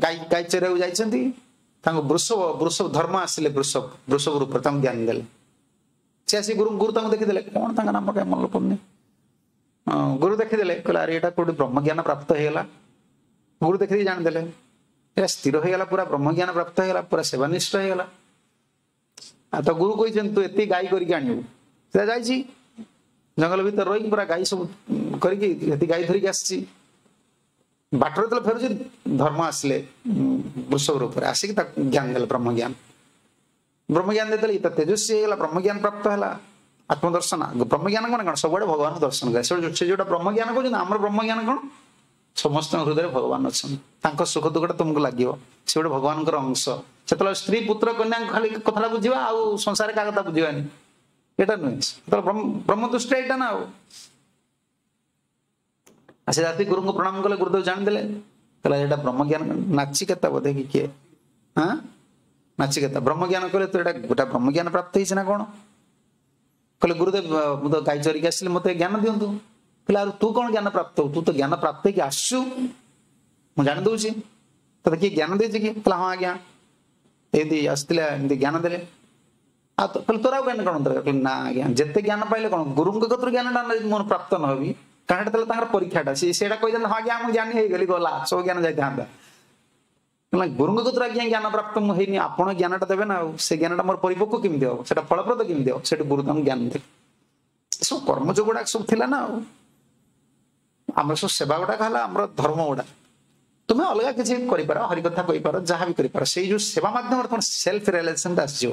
ଗାଈ ଗାଈ ଚରେଇବାକୁ ଯାଇଛନ୍ତି, ତାଙ୍କୁ ବୃଷଭ ବୃଷଭ ଧର୍ମ ଆସିଲେ, ବୃଷଭ ବୃଷଭ ରୂପରେ ତାଙ୍କୁ ଜ୍ଞାନ ଦେଲେ। ସେ ଆସି ଗୁରୁ ଗୁରୁ ତାଙ୍କୁ ଦେଖିଦେଲେ, କଣ ତାଙ୍କ ନାମ କାଇଁ ମନେ ପଡୁନି, ଗୁରୁ ଦେଖିଦେଲେ, କହିଲେ ଆରେ ଏଇଟା କୋଉଠି ବ୍ରହ୍ମଜ୍ଞାନ ପ୍ରାପ୍ତ ହେଇଗଲା। ଗୁରୁ ଦେଖିଦେଇ ଜାଣିଦେଲେ ଏଇଟା ସ୍ଥିର ହେଇଗଲା, ପୁରା ବ୍ରହ୍ମଜ୍ଞାନ ପ୍ରାପ୍ତ ହେଇଗଲା, ପୁରା ସେବାନିଷ୍ଠ ହେଇଗଲା। ଆଉ ତ ଗୁରୁ କହିଛନ୍ତି ତୁ ଏତିକି ଗାଈ କରିକି ଆଣିବୁ। ସେ ଯାଇଛି ଜଙ୍ଗଲ ଭିତରେ ରହିକି ପୁରା ଗାଈ ସବୁ କରିକି ଏତିକି ଗାଈ ଧରିକି ଆସିଛି। ବାଟରେ ଯେତେବେଳେ ଫେରୁଛି ଧର୍ମ ଆସିଲେ ବୃଷଭ ରୂପରେ, ଆସିକି ତାକୁ ଜ୍ଞାନ ଦେଲେ, ବ୍ରହ୍ମଜ୍ଞାନ। ବ୍ରହ୍ମଜ୍ଞାନ ଦେଇଦେଲେ, ଇଏ ତ ତେଜସ୍ୱୀ ହେଇଗଲା, ବ୍ରହ୍ମଜ୍ଞାନ ପ୍ରାପ୍ତ ହେଲା, ଆତ୍ମଦର୍ଶନ। ବ୍ରହ୍ମଜ୍ଞାନ ମାନେ କଣ? ସବୁଆଡେ ଭଗବାନଙ୍କୁ ଦର୍ଶନ କରେ। ସେ ଯୋଉଟା ବ୍ରହ୍ମଜ୍ଞାନ କହୁଛନ୍ତି, ଆମର ବ୍ରହ୍ମଜ୍ଞାନ କଣ? ସମସ୍ତଙ୍କ ହୃଦୟରେ ଭଗବାନ ଅଛନ୍ତି, ତାଙ୍କ ସୁଖ ଦୁଃଖଟା ତୁମକୁ ଲାଗିବ, ସେ ଗୋଟେ ଭଗବାନଙ୍କର ଅଂଶ। ସେତେବେଳେ ସ୍ତ୍ରୀ ପୁତ୍ର କନ୍ୟାଙ୍କ ଖାଲି କଥାଟା ବୁଝିବା, ଆଉ ସଂସାରରେ କାହା କଥା ବୁଝିବାନି, ଏଇଟା ନୁହେଁ। ସେତେବେଳେ ବ୍ରହ୍ମ ଦୃଷ୍ଟି ଏଇଟା ନା। ଆଉ ସେ ରାତି ଗୁରୁଙ୍କୁ ପ୍ରଣାମ କଲେ, ଗୁରୁଦେବ ଜାଣିଦେଲେ, କହିଲା ଏଇଟା ବ୍ରହ୍ମଜ୍ଞାନ। ନାଚିକେତା ବୋଧେ କି କିଏ, ହଁ ନାଚିକେତା ବ୍ରହ୍ମଜ୍ଞାନ କଲେ, ତୁ ଏଇଟା ଗୋଟା ବ୍ରହ୍ମଜ୍ଞାନ ପ୍ରାପ୍ତ ହେଇଛି ନା କଣ? କହିଲେ ଗୁରୁଦେବ ମୁଁ ତ ଗାଈ ଚରିକି ଆସିଲି, ମତେ ଜ୍ଞାନ ଦିଅନ୍ତୁ। କହିଲେ ଆଉ ତୁ କଣ ଜ୍ଞାନ ପ୍ରାପ୍ତ ହଉ, ତୁ ତ ଜ୍ଞାନ ପ୍ରାପ୍ତ ହେଇକି ଆସୁଛୁ, ମୁଁ ଜାଣି ଦଉଛି। ତତେ କିଏ ଜ୍ଞାନ ଦେଇଛି କି? କହିଲା ହଁ ଆଜ୍ଞା, ଏମିତି ଆସିଥିଲେ, ଏମିତି ଜ୍ଞାନ ଦେଲେ। ଆଉ କହିଲେ ତୋର ଆଉ ଜ୍ଞାନ କଣ ଦରକାର? କହିଲେ ନା ଆଜ୍ଞା, ଯେତେ ଜ୍ଞାନ ପାଇଲେ କଣ, ଗୁରୁଙ୍କ କତିରୁ ଜ୍ଞାନଟା ମୋର ପ୍ରାପ୍ତ ନ ହେବି, କାରଣ ଏଟା ଥିଲା ତାଙ୍କର ପରୀକ୍ଷାଟା। ସେ ସେଇଟା କହିଦେଲେ ହଁ ଆଜ୍ଞା ମୁଁ ଜ୍ଞାନୀ ହେଇଗଲି, ଗଲା ସବୁ ଜ୍ଞାନ ଯାଇଥାନ୍ତା। ଗୁରୁଙ୍କ କତିରୁ ଆଜ୍ଞା ଜ୍ଞାନ ପ୍ରାପ୍ତ ମୁଁ ହେଇନି, ଆପଣ ଜ୍ଞାନଟା ଦେବେ ନା, ଆଉ ସେ ଜ୍ଞାନଟା ମୋର ପରିପକ୍ୱ କେମିତି ହବ, ସେଟା ଫଳପ୍ରଦ କେମିତି ହବ? ସେଠୁ ଗୁରୁ ତାଙ୍କୁ ଜ୍ଞାନ ଦେଲେ। ଏସବୁ କର୍ମଯୋଗ ଗୁଡାକ ସବୁ ଥିଲା ନା। ଆଉ ଆମର ସବୁ ସେବା ଗୁଡାକ ହେଲା ଆମର ଧର୍ମ ଗୁଡା। ତୁମେ ଅଲଗା କିଛି କରିପାର, ହରିକଥା କହିପାର, ଯାହା ବି କରିପାର, ସେଇ ଯୋଉ ସେବା ମାଧ୍ୟମରେ ତମର ସେଲ୍ଫ ରିଆଲାଇଜେସନଟା ଆସିଯିବ।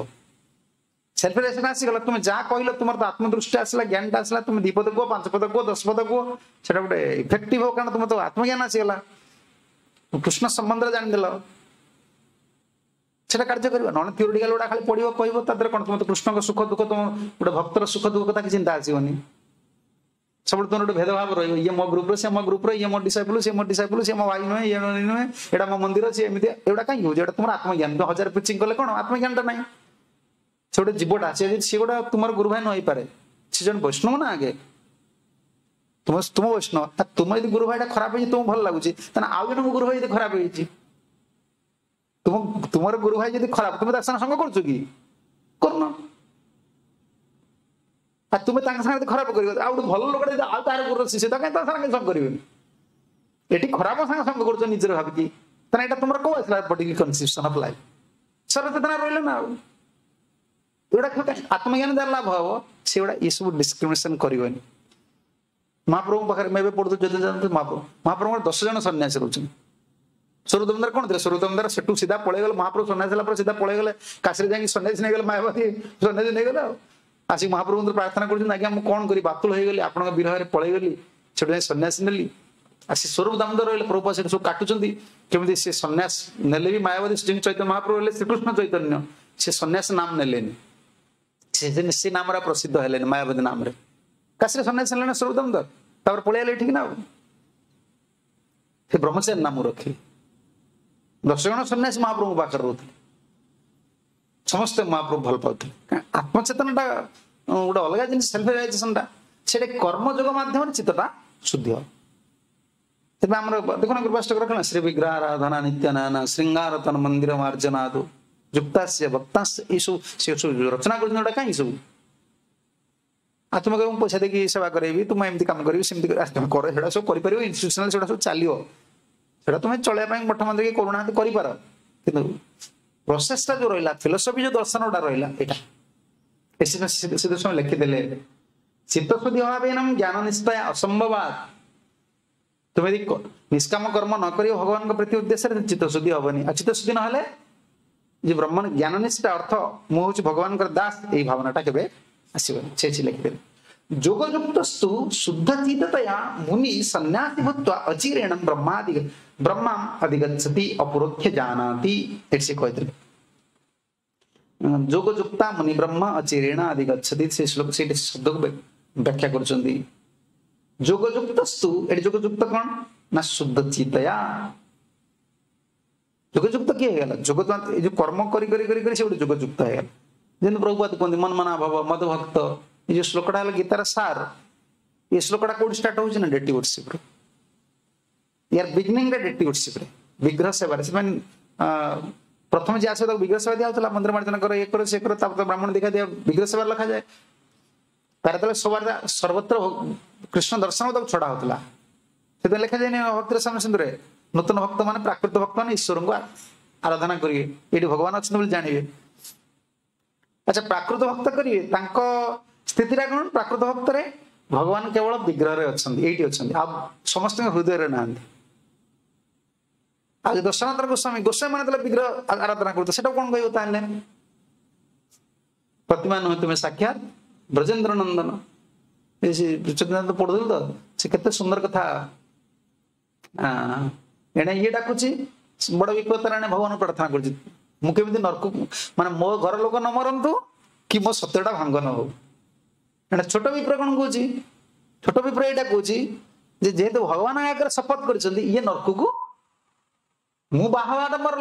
ସେଲ୍ଫ ରିଆଲାଇଜେସନ ଆସିଗଲା, ତୁମେ ଯାହା କହିଲ ତୁମର ତ ଆତ୍ମଦୃଷ୍ଟି ଆସିଲା, ଜ୍ଞାନଟା ଆସିଲା, ତୁମେ ଦି ପଦ କୁହ, ପାଞ୍ଚ ପଦ କୁହ, ଦଶ ପଦ କୁହ, ସେଟା ଗୋଟେ ଇଫେକ୍ଟିଭ ହବ, କାରଣ ତୁମର ତ ଆତ୍ମଜ୍ଞାନ ଆସିଗଲା, କୃଷ୍ଣ ସମ୍ବନ୍ଧରେ ଜାଣିଦେଲ, ସେଟା କାର୍ଯ୍ୟ କରିବ। ନହେଲେ ଥିଓରିଟିକାଲ ଗୁଡା ଖାଲି ପଢିବ କହିବ, ତା ଦେହରେ କଣ? ତୁମେ ତ କୃଷ୍ଣଙ୍କ ସୁଖ ଦୁଃଖ, ତୁମ ଗୋଟେ ଭକ୍ତର ସୁଖ ଦୁଃଖ କଥା କିଛି ଚିନ୍ତା ଆସିବନି। ସବୁବେଳେ ତୁମର ଗୋଟେ ଭେଦଭାବ ରହିବ, ଇଏ ମୋ ଗ୍ରୁପର, ସେ ମୋ ଗ୍ରୁପର, ଇଏ ମୋ ଡିସାଇପଲ, ସେ ମୋ ଡିସାଇପଲ, ସେ ମୋ ଭାଇ ନୁହେଁ, ଇଏ ନୁହେଁ, ଏଇଟା ମୋ ମନ୍ଦିର, ସେ ଏମିତି। ଏଗୁଡ଼ା କାହିଁକି ହଉଛି? ଏଇଟା ତୁମର ଆତ୍ମଜ୍ଞାନ। ତୁମେ ହଜାର ପ୍ରିଚିଂ କଲେ କଣ, ଆତ୍ମଜ୍ଞାନଟା ନାହିଁ। ସେ ଗୋଟେ ଜୀବଟା, ସେ ସେ ଗୋଟେ ତୁମର ଗୁରୁ ଭାଇ ନ ହେଇପାରେ, ସେ ଜଣେ ବୈଷ୍ଣବ ନା ଆଗେ ତୁମ ତୁମ ବୈଷ୍ଣବ। ତୁମ ଯଦି ଗୁରୁ ଭାଇଟା ଖରାପ ହେଇଛି ତୁମକୁ ଭଲ ଲାଗୁଛି, ତାହେଲେ ଆଉ ଜଣେ ଗୁରୁ ଭାଇ ଯଦି ଖରାପ ହେଇଛି, ତୁମ ତୁମର ଗୁରୁ ଭାଇ ଯଦି ଖରାପ, ତୁମେ ତା ସାଙ୍ଗେ ସଙ୍ଗ କରୁଛ କି? କରୁନ। ଆଉ ତୁମେ ତାଙ୍କ ସାଙ୍ଗରେ ଖରାପ କରିବ, ଆଉ ଗୋଟେ ଭଲ ଲୋକଟା ଯଦି ଆଉ ତାର ଗୁରୁର ଶିଷ୍ୟ, ତା କାହିଁ ତା ସାଙ୍ଗେ ସଙ୍ଗ କରିବେନି? ଏଠି ଖରାପ ସାଙ୍ଗେ ସଙ୍ଗ କରୁଛ ନିଜର ଭାବିକି, ତାହେଲେ ଏଇଟା ତୁମର କୋଉ ଆସିଲା ପର୍ଟିକୁଲାର କନସେପସନ ଅଫ ଲାଇଫ? ସରଚେତନା ରହିଲ ନା। ଆଉ ଏଗୁଡ଼ା ଆତ୍ମଜ୍ଞାନ ଯାହାର ଲାଭ ହବ, ସେଗୁଡ଼ା ଏସବୁ ଡିସ୍କ୍ରିମିନେସନ କରିବନି। ମହାପ୍ରଭୁଙ୍କ ପାଖରେ ମୁଁ ଏବେ ପଢୁଥିଲି, ଯଦି ଜାଣନ୍ତି ମହାପ୍ରଭୁ, ମହାପ୍ରଭୁଙ୍କର ଦଶ ଜଣ ସନ୍ନ୍ୟାସୀ ରହୁଛନ୍ତି। ସ୍ୱରୂପ ଦାମୋଦର କଣ ଥିଲେ? ସ୍ୱରୂପ ଦାମୋଦର ସେଠୁ ସିଧା ପଳେଇଗଲେ, ମହାପ୍ରଭୁ ସନ୍ନ୍ୟାସୀ ହେଲା ପରେ ସିଧା ପଳେଇଗଲେ କାଶୀରେ ଯାଇକି ସନ୍ନ୍ୟାସୀ ନେଇଗଲେ, ମାୟାବତୀ ସନ୍ନ୍ୟାସୀ ନେଇଗଲେ। ଆଉ ଆସିକି ମହାପ୍ରଭୁଙ୍କୁ ପ୍ରାର୍ଥନା କରୁଛନ୍ତି, ଆଜ୍ଞା ମୁଁ କଣ କରିବି, ବାତୁଳ ହେଇଗଲି, ଆପଣଙ୍କ ବିରହରେ ପଳେଇଗଲି, ସେଠୁ ଯାଇ ସନ୍ନ୍ୟାସୀ ନେଲି। ଆସି ସ୍ୱରୂପ ଦାମୋଦର ରହିଲେ, ପ୍ରଭୁପାଦ ସେଠି ସବୁ କାଟୁଛନ୍ତି କେମିତି ସେ ସନ୍ନ୍ୟାସ ନେଲେ ବି ମାୟାବତୀ। ଚୈତନ୍ୟ ମହାପ୍ରଭୁ ହେଲେ ଶ୍ରୀକୃଷ୍ଣ ଚୈତନ୍ୟ, ସେ ସନ୍ନ୍ୟାସ ନାମ ନେଲେନି, ସେ ସେ ନାମରେ ପ୍ରସିଦ୍ଧ ହେଲେନି, ମାୟାବତୀ ନାମରେ। କାଶୀରେ ସନ୍ନ୍ୟାସୀ ନେଲେ ନା ସ୍ୱରୂପ ଦାମୋଦର, ତାପରେ ପଳେଇଆଇଲେ ଏଠିକି ନା। ଆଉ ସେ ବ୍ରହ୍ମଚାରୀ ନାମ ରଖିଲେ। ଦଶ ଜଣ ସନ୍ନ୍ୟାସୀ ମହାପ୍ରଭୁଙ୍କ ପାଖରେ ରହୁଥିଲେ, ସମସ୍ତେ ମହାପ୍ରଭୁ ଭଲ ପାଉଥିଲେ। ଆତ୍ମଚେତନଟା ଗୋଟେ ଅଲଗା ଜିନିଷ, ସେଲ୍ଫ ରିଆଲାଇଜେସନଟା, ସେଇଟା କର୍ମଯୋଗ ମାଧ୍ୟମରେ ଚିତ୍ତଟା ଶୁଦ୍ଧି ହବ। ତେବେ ଆମର ଦେଖୁନ କୃପାଷ୍ଟକ ରଖନା, ଶ୍ରୀ ବିଗ୍ରହ ଆରାଧନା ନିତ୍ୟ ନାନା ଶୃଙ୍ଗାରତନ ମନ୍ଦିର ମାର୍ଜନାଦୁ ଯୁକ୍ତାସ୍ୟ ଭକ୍ତାସ୍ୟ, ଏଇସବୁ ସେ ସବୁ ରଚନା କରୁଛନ୍ତି ଗୋଟା କାହିଁ ସବୁ? ଆଉ ତୁମେ କହିବ ମୁଁ ପଇସା ଦେଇକି ସେବା କରେଇବି, ତୁମେ ଏମିତି କାମ କରିବି, ସେମିତି ତମେ କର, ସେଟା ସବୁ କରିପାରିବ, ଇନଷ୍ଟିଟ୍ୟୁସନାଲ ସେଟା ସବୁ ଚାଲିବ, ସେଟା ତୁମେ ଚଳେଇବା ପାଇଁ ମଠ ମନ୍ଦିର କରୁନାହାନ୍ତି, କରିପାର। କିନ୍ତୁ ପ୍ରୋସେସଟା ଯୋଉ ରହିଲା, ଫିଲୋସଫି ଯୋଉ ଦର୍ଶନ ଗୁଡା ରହିଲା, ଏଇଟା ସିଦ୍ଧ ଲେଖିଦେଲେ ଚିତ୍ତଶୁଦ୍ଧି ଅଭାବେନ ଜ୍ଞାନ ନିଷ୍ଠା ଅସମ୍ଭବାତ। ତୁମେ ଯଦି ନିଷ୍କାମ କର୍ମ ନ କରିବ ଭଗବାନଙ୍କ ପ୍ରତି ଉଦ୍ଦେଶ୍ୟରେ, ଚିତ୍ତଶୁଦ୍ଧି ହବନି। ଆଉ ଚିତ୍ତଶୁଦ୍ଧି ନହେଲେ ଯେ ବ୍ରହ୍ମ ଜ୍ଞାନ ନିଷ୍ଠା ଅର୍ଥ ମୁଁ ହଉଛି ଭଗବାନଙ୍କର ଦାସ, ଏଇ ଭାବନାଟା କେବେ ଆସିବନି। ସେ ଲେଖିଦେଲେ ଯୋଗଯୁକ୍ତସ୍ତୁ ଶୁଦ୍ଧ ଚିତ୍ତତୟା ମୁନି ସନ୍ନ୍ୟାସୀ ଭୂତ୍ୱା ଅଚିରେଣ ବ୍ରହ୍ମାଦି ବ୍ରହ୍ମାಂ ଅଧିଗଚ୍ଛତି ଅପରୋକ୍ଷ ଜାନାତି। ଏଠି ସେ କହିଥିଲେ ଯୋଗଯୁକ୍ତା ମୁନି ବ୍ରହ୍ମ ଅଚିରେଣ ଅଧିଗଚ୍ଛତି। ସେ ଶ୍ଲୋକ ସେଇଠି ଶବ୍ଦକୁ ବ୍ୟାଖ୍ୟା କରୁଛନ୍ତି। ଯୋଗଯୁକ୍ତସ୍ତୁ, ଏଠି ଯୋଗଯୁକ୍ତ କଣ ନା ଶୁଦ୍ଧ ଚିତ୍ତୟା। ଯୋଗଯୁକ୍ତ କିଏ ହେଇଗଲା? ଯୋଗ ଏଇ ଯୋଉ କର୍ମ କରି କରି କରି କରି ସେ ଗୋଟେ ଯୋଗଯୁକ୍ତ ହେଇଗଲା। ଯେମିତି ପ୍ରଭୁପାଦ କୁହନ୍ତି ମନମନା ଭବ ମଦ ଭକ୍ତ, ଏଇ ଯୋଉ ଶ୍ଲୋକଟା ହେଲା ଗୀତାର ସାର। ଏ ଶ୍ଲୋକଟା କୋଉଠି ଷ୍ଟାର୍ଟ ହଉଛି ନା ଡେଟି ୱର୍ସିପରେ, ୟାର ବିଗିନିଂଟା ଡେଟି ୱର୍ସିପରେ। ବିଗ୍ରହ ସେବାରେ ସେମାନେ ପ୍ରଥମେ ଯିଏ ଆସିବ ତାକୁ ବିଗ୍ରହ ସେବା ଦିଆହଉଥିଲା, ମନ୍ଦିର ମାର୍ଜନ କର, ଇଏ କର, ସେ କର, ତାପରେ ବ୍ରାହ୍ମଣ ଦେଖା ଦିଆ ବିଗ୍ରହ ସେବାରେ ଲେଖାଯାଏ। ତାର ଯେତେବେଳେ ସବାର ସର୍ବତ୍ର କୃଷ୍ଣ ଦର୍ଶନ ତାକୁ ଛଡା ହଉଥିଲା, ସେଥିପାଇଁ ଲେଖାଯାଏନି ଭକ୍ତିର ସ୍ୱାମୀ ସିନ୍ଧୁରେ ନୂତନ ଭକ୍ତ ମାନେ ପ୍ରାକୃତ ଭକ୍ତ ମାନେ ଈଶ୍ୱରଙ୍କୁ ଆରାଧନା କରିବେ, ଏଇଠି ଭଗବାନ ଅଛନ୍ତି ବୋଲି ଜାଣିବେ। ଆଚ୍ଛା, ପ୍ରାକୃତ ଭକ୍ତ କରିବେ, ତାଙ୍କ ସ୍ଥିତିଟା କଣ? ପ୍ରାକୃତ ଭକ୍ତରେ ଭଗବାନ କେବଳ ବିଗ୍ରହରେ ଅଛନ୍ତି, ଏଇଠି ଅଛନ୍ତି, ଆଉ ସମସ୍ତଙ୍କ ହୃଦୟରେ ନାହାନ୍ତି। ଆଉ ଯଦି ସନାତନ ଗୋସ୍ୱାମୀ ଗୋସ୍ୱାମୀ ମାନେ ଯେତେବେଳେ ବିଗ୍ରହ ଆରାଧନା କରୁଥିଲେ, ସେଟା କଣ କହିବ ତାହେଲେ? ପ୍ରତିମା ନୁହେଁ ତୁମେ ସାକ୍ଷାତ ବ୍ରଜେନ୍ଦ୍ର ନନ୍ଦନ। ଚୈତନ୍ୟ ପଢୁଥିଲେ ତ, ସେ କେତେ ସୁନ୍ଦର କଥା। ଏଣେ ଇଏ ଡାକୁଛି ବଡ ବିପଦ, ଏଣେ ଭଗବାନ ପ୍ରାର୍ଥନା କରୁଛି ମୁଁ କେମିତି ନରକ, ମାନେ ମୋ ଘର ଲୋକ ନ ମରନ୍ତୁ କି ମୋ ସତ୍ୟଟା ଭାଙ୍ଗ ନ ହଉ। ଏଣେ ଛୋଟ ବିପ୍ର କଣ କହୁଛି? ଛୋଟ ବିପ୍ର ଏଇଟା କହୁଛି ଯେ ଯେହେତୁ ଭଗବାନ ଆଗରେ ଶପଥ କରିଛନ୍ତି, ଇଏ ନରକକୁ ମୁଁ ବାହା ହବାଟା ମୋର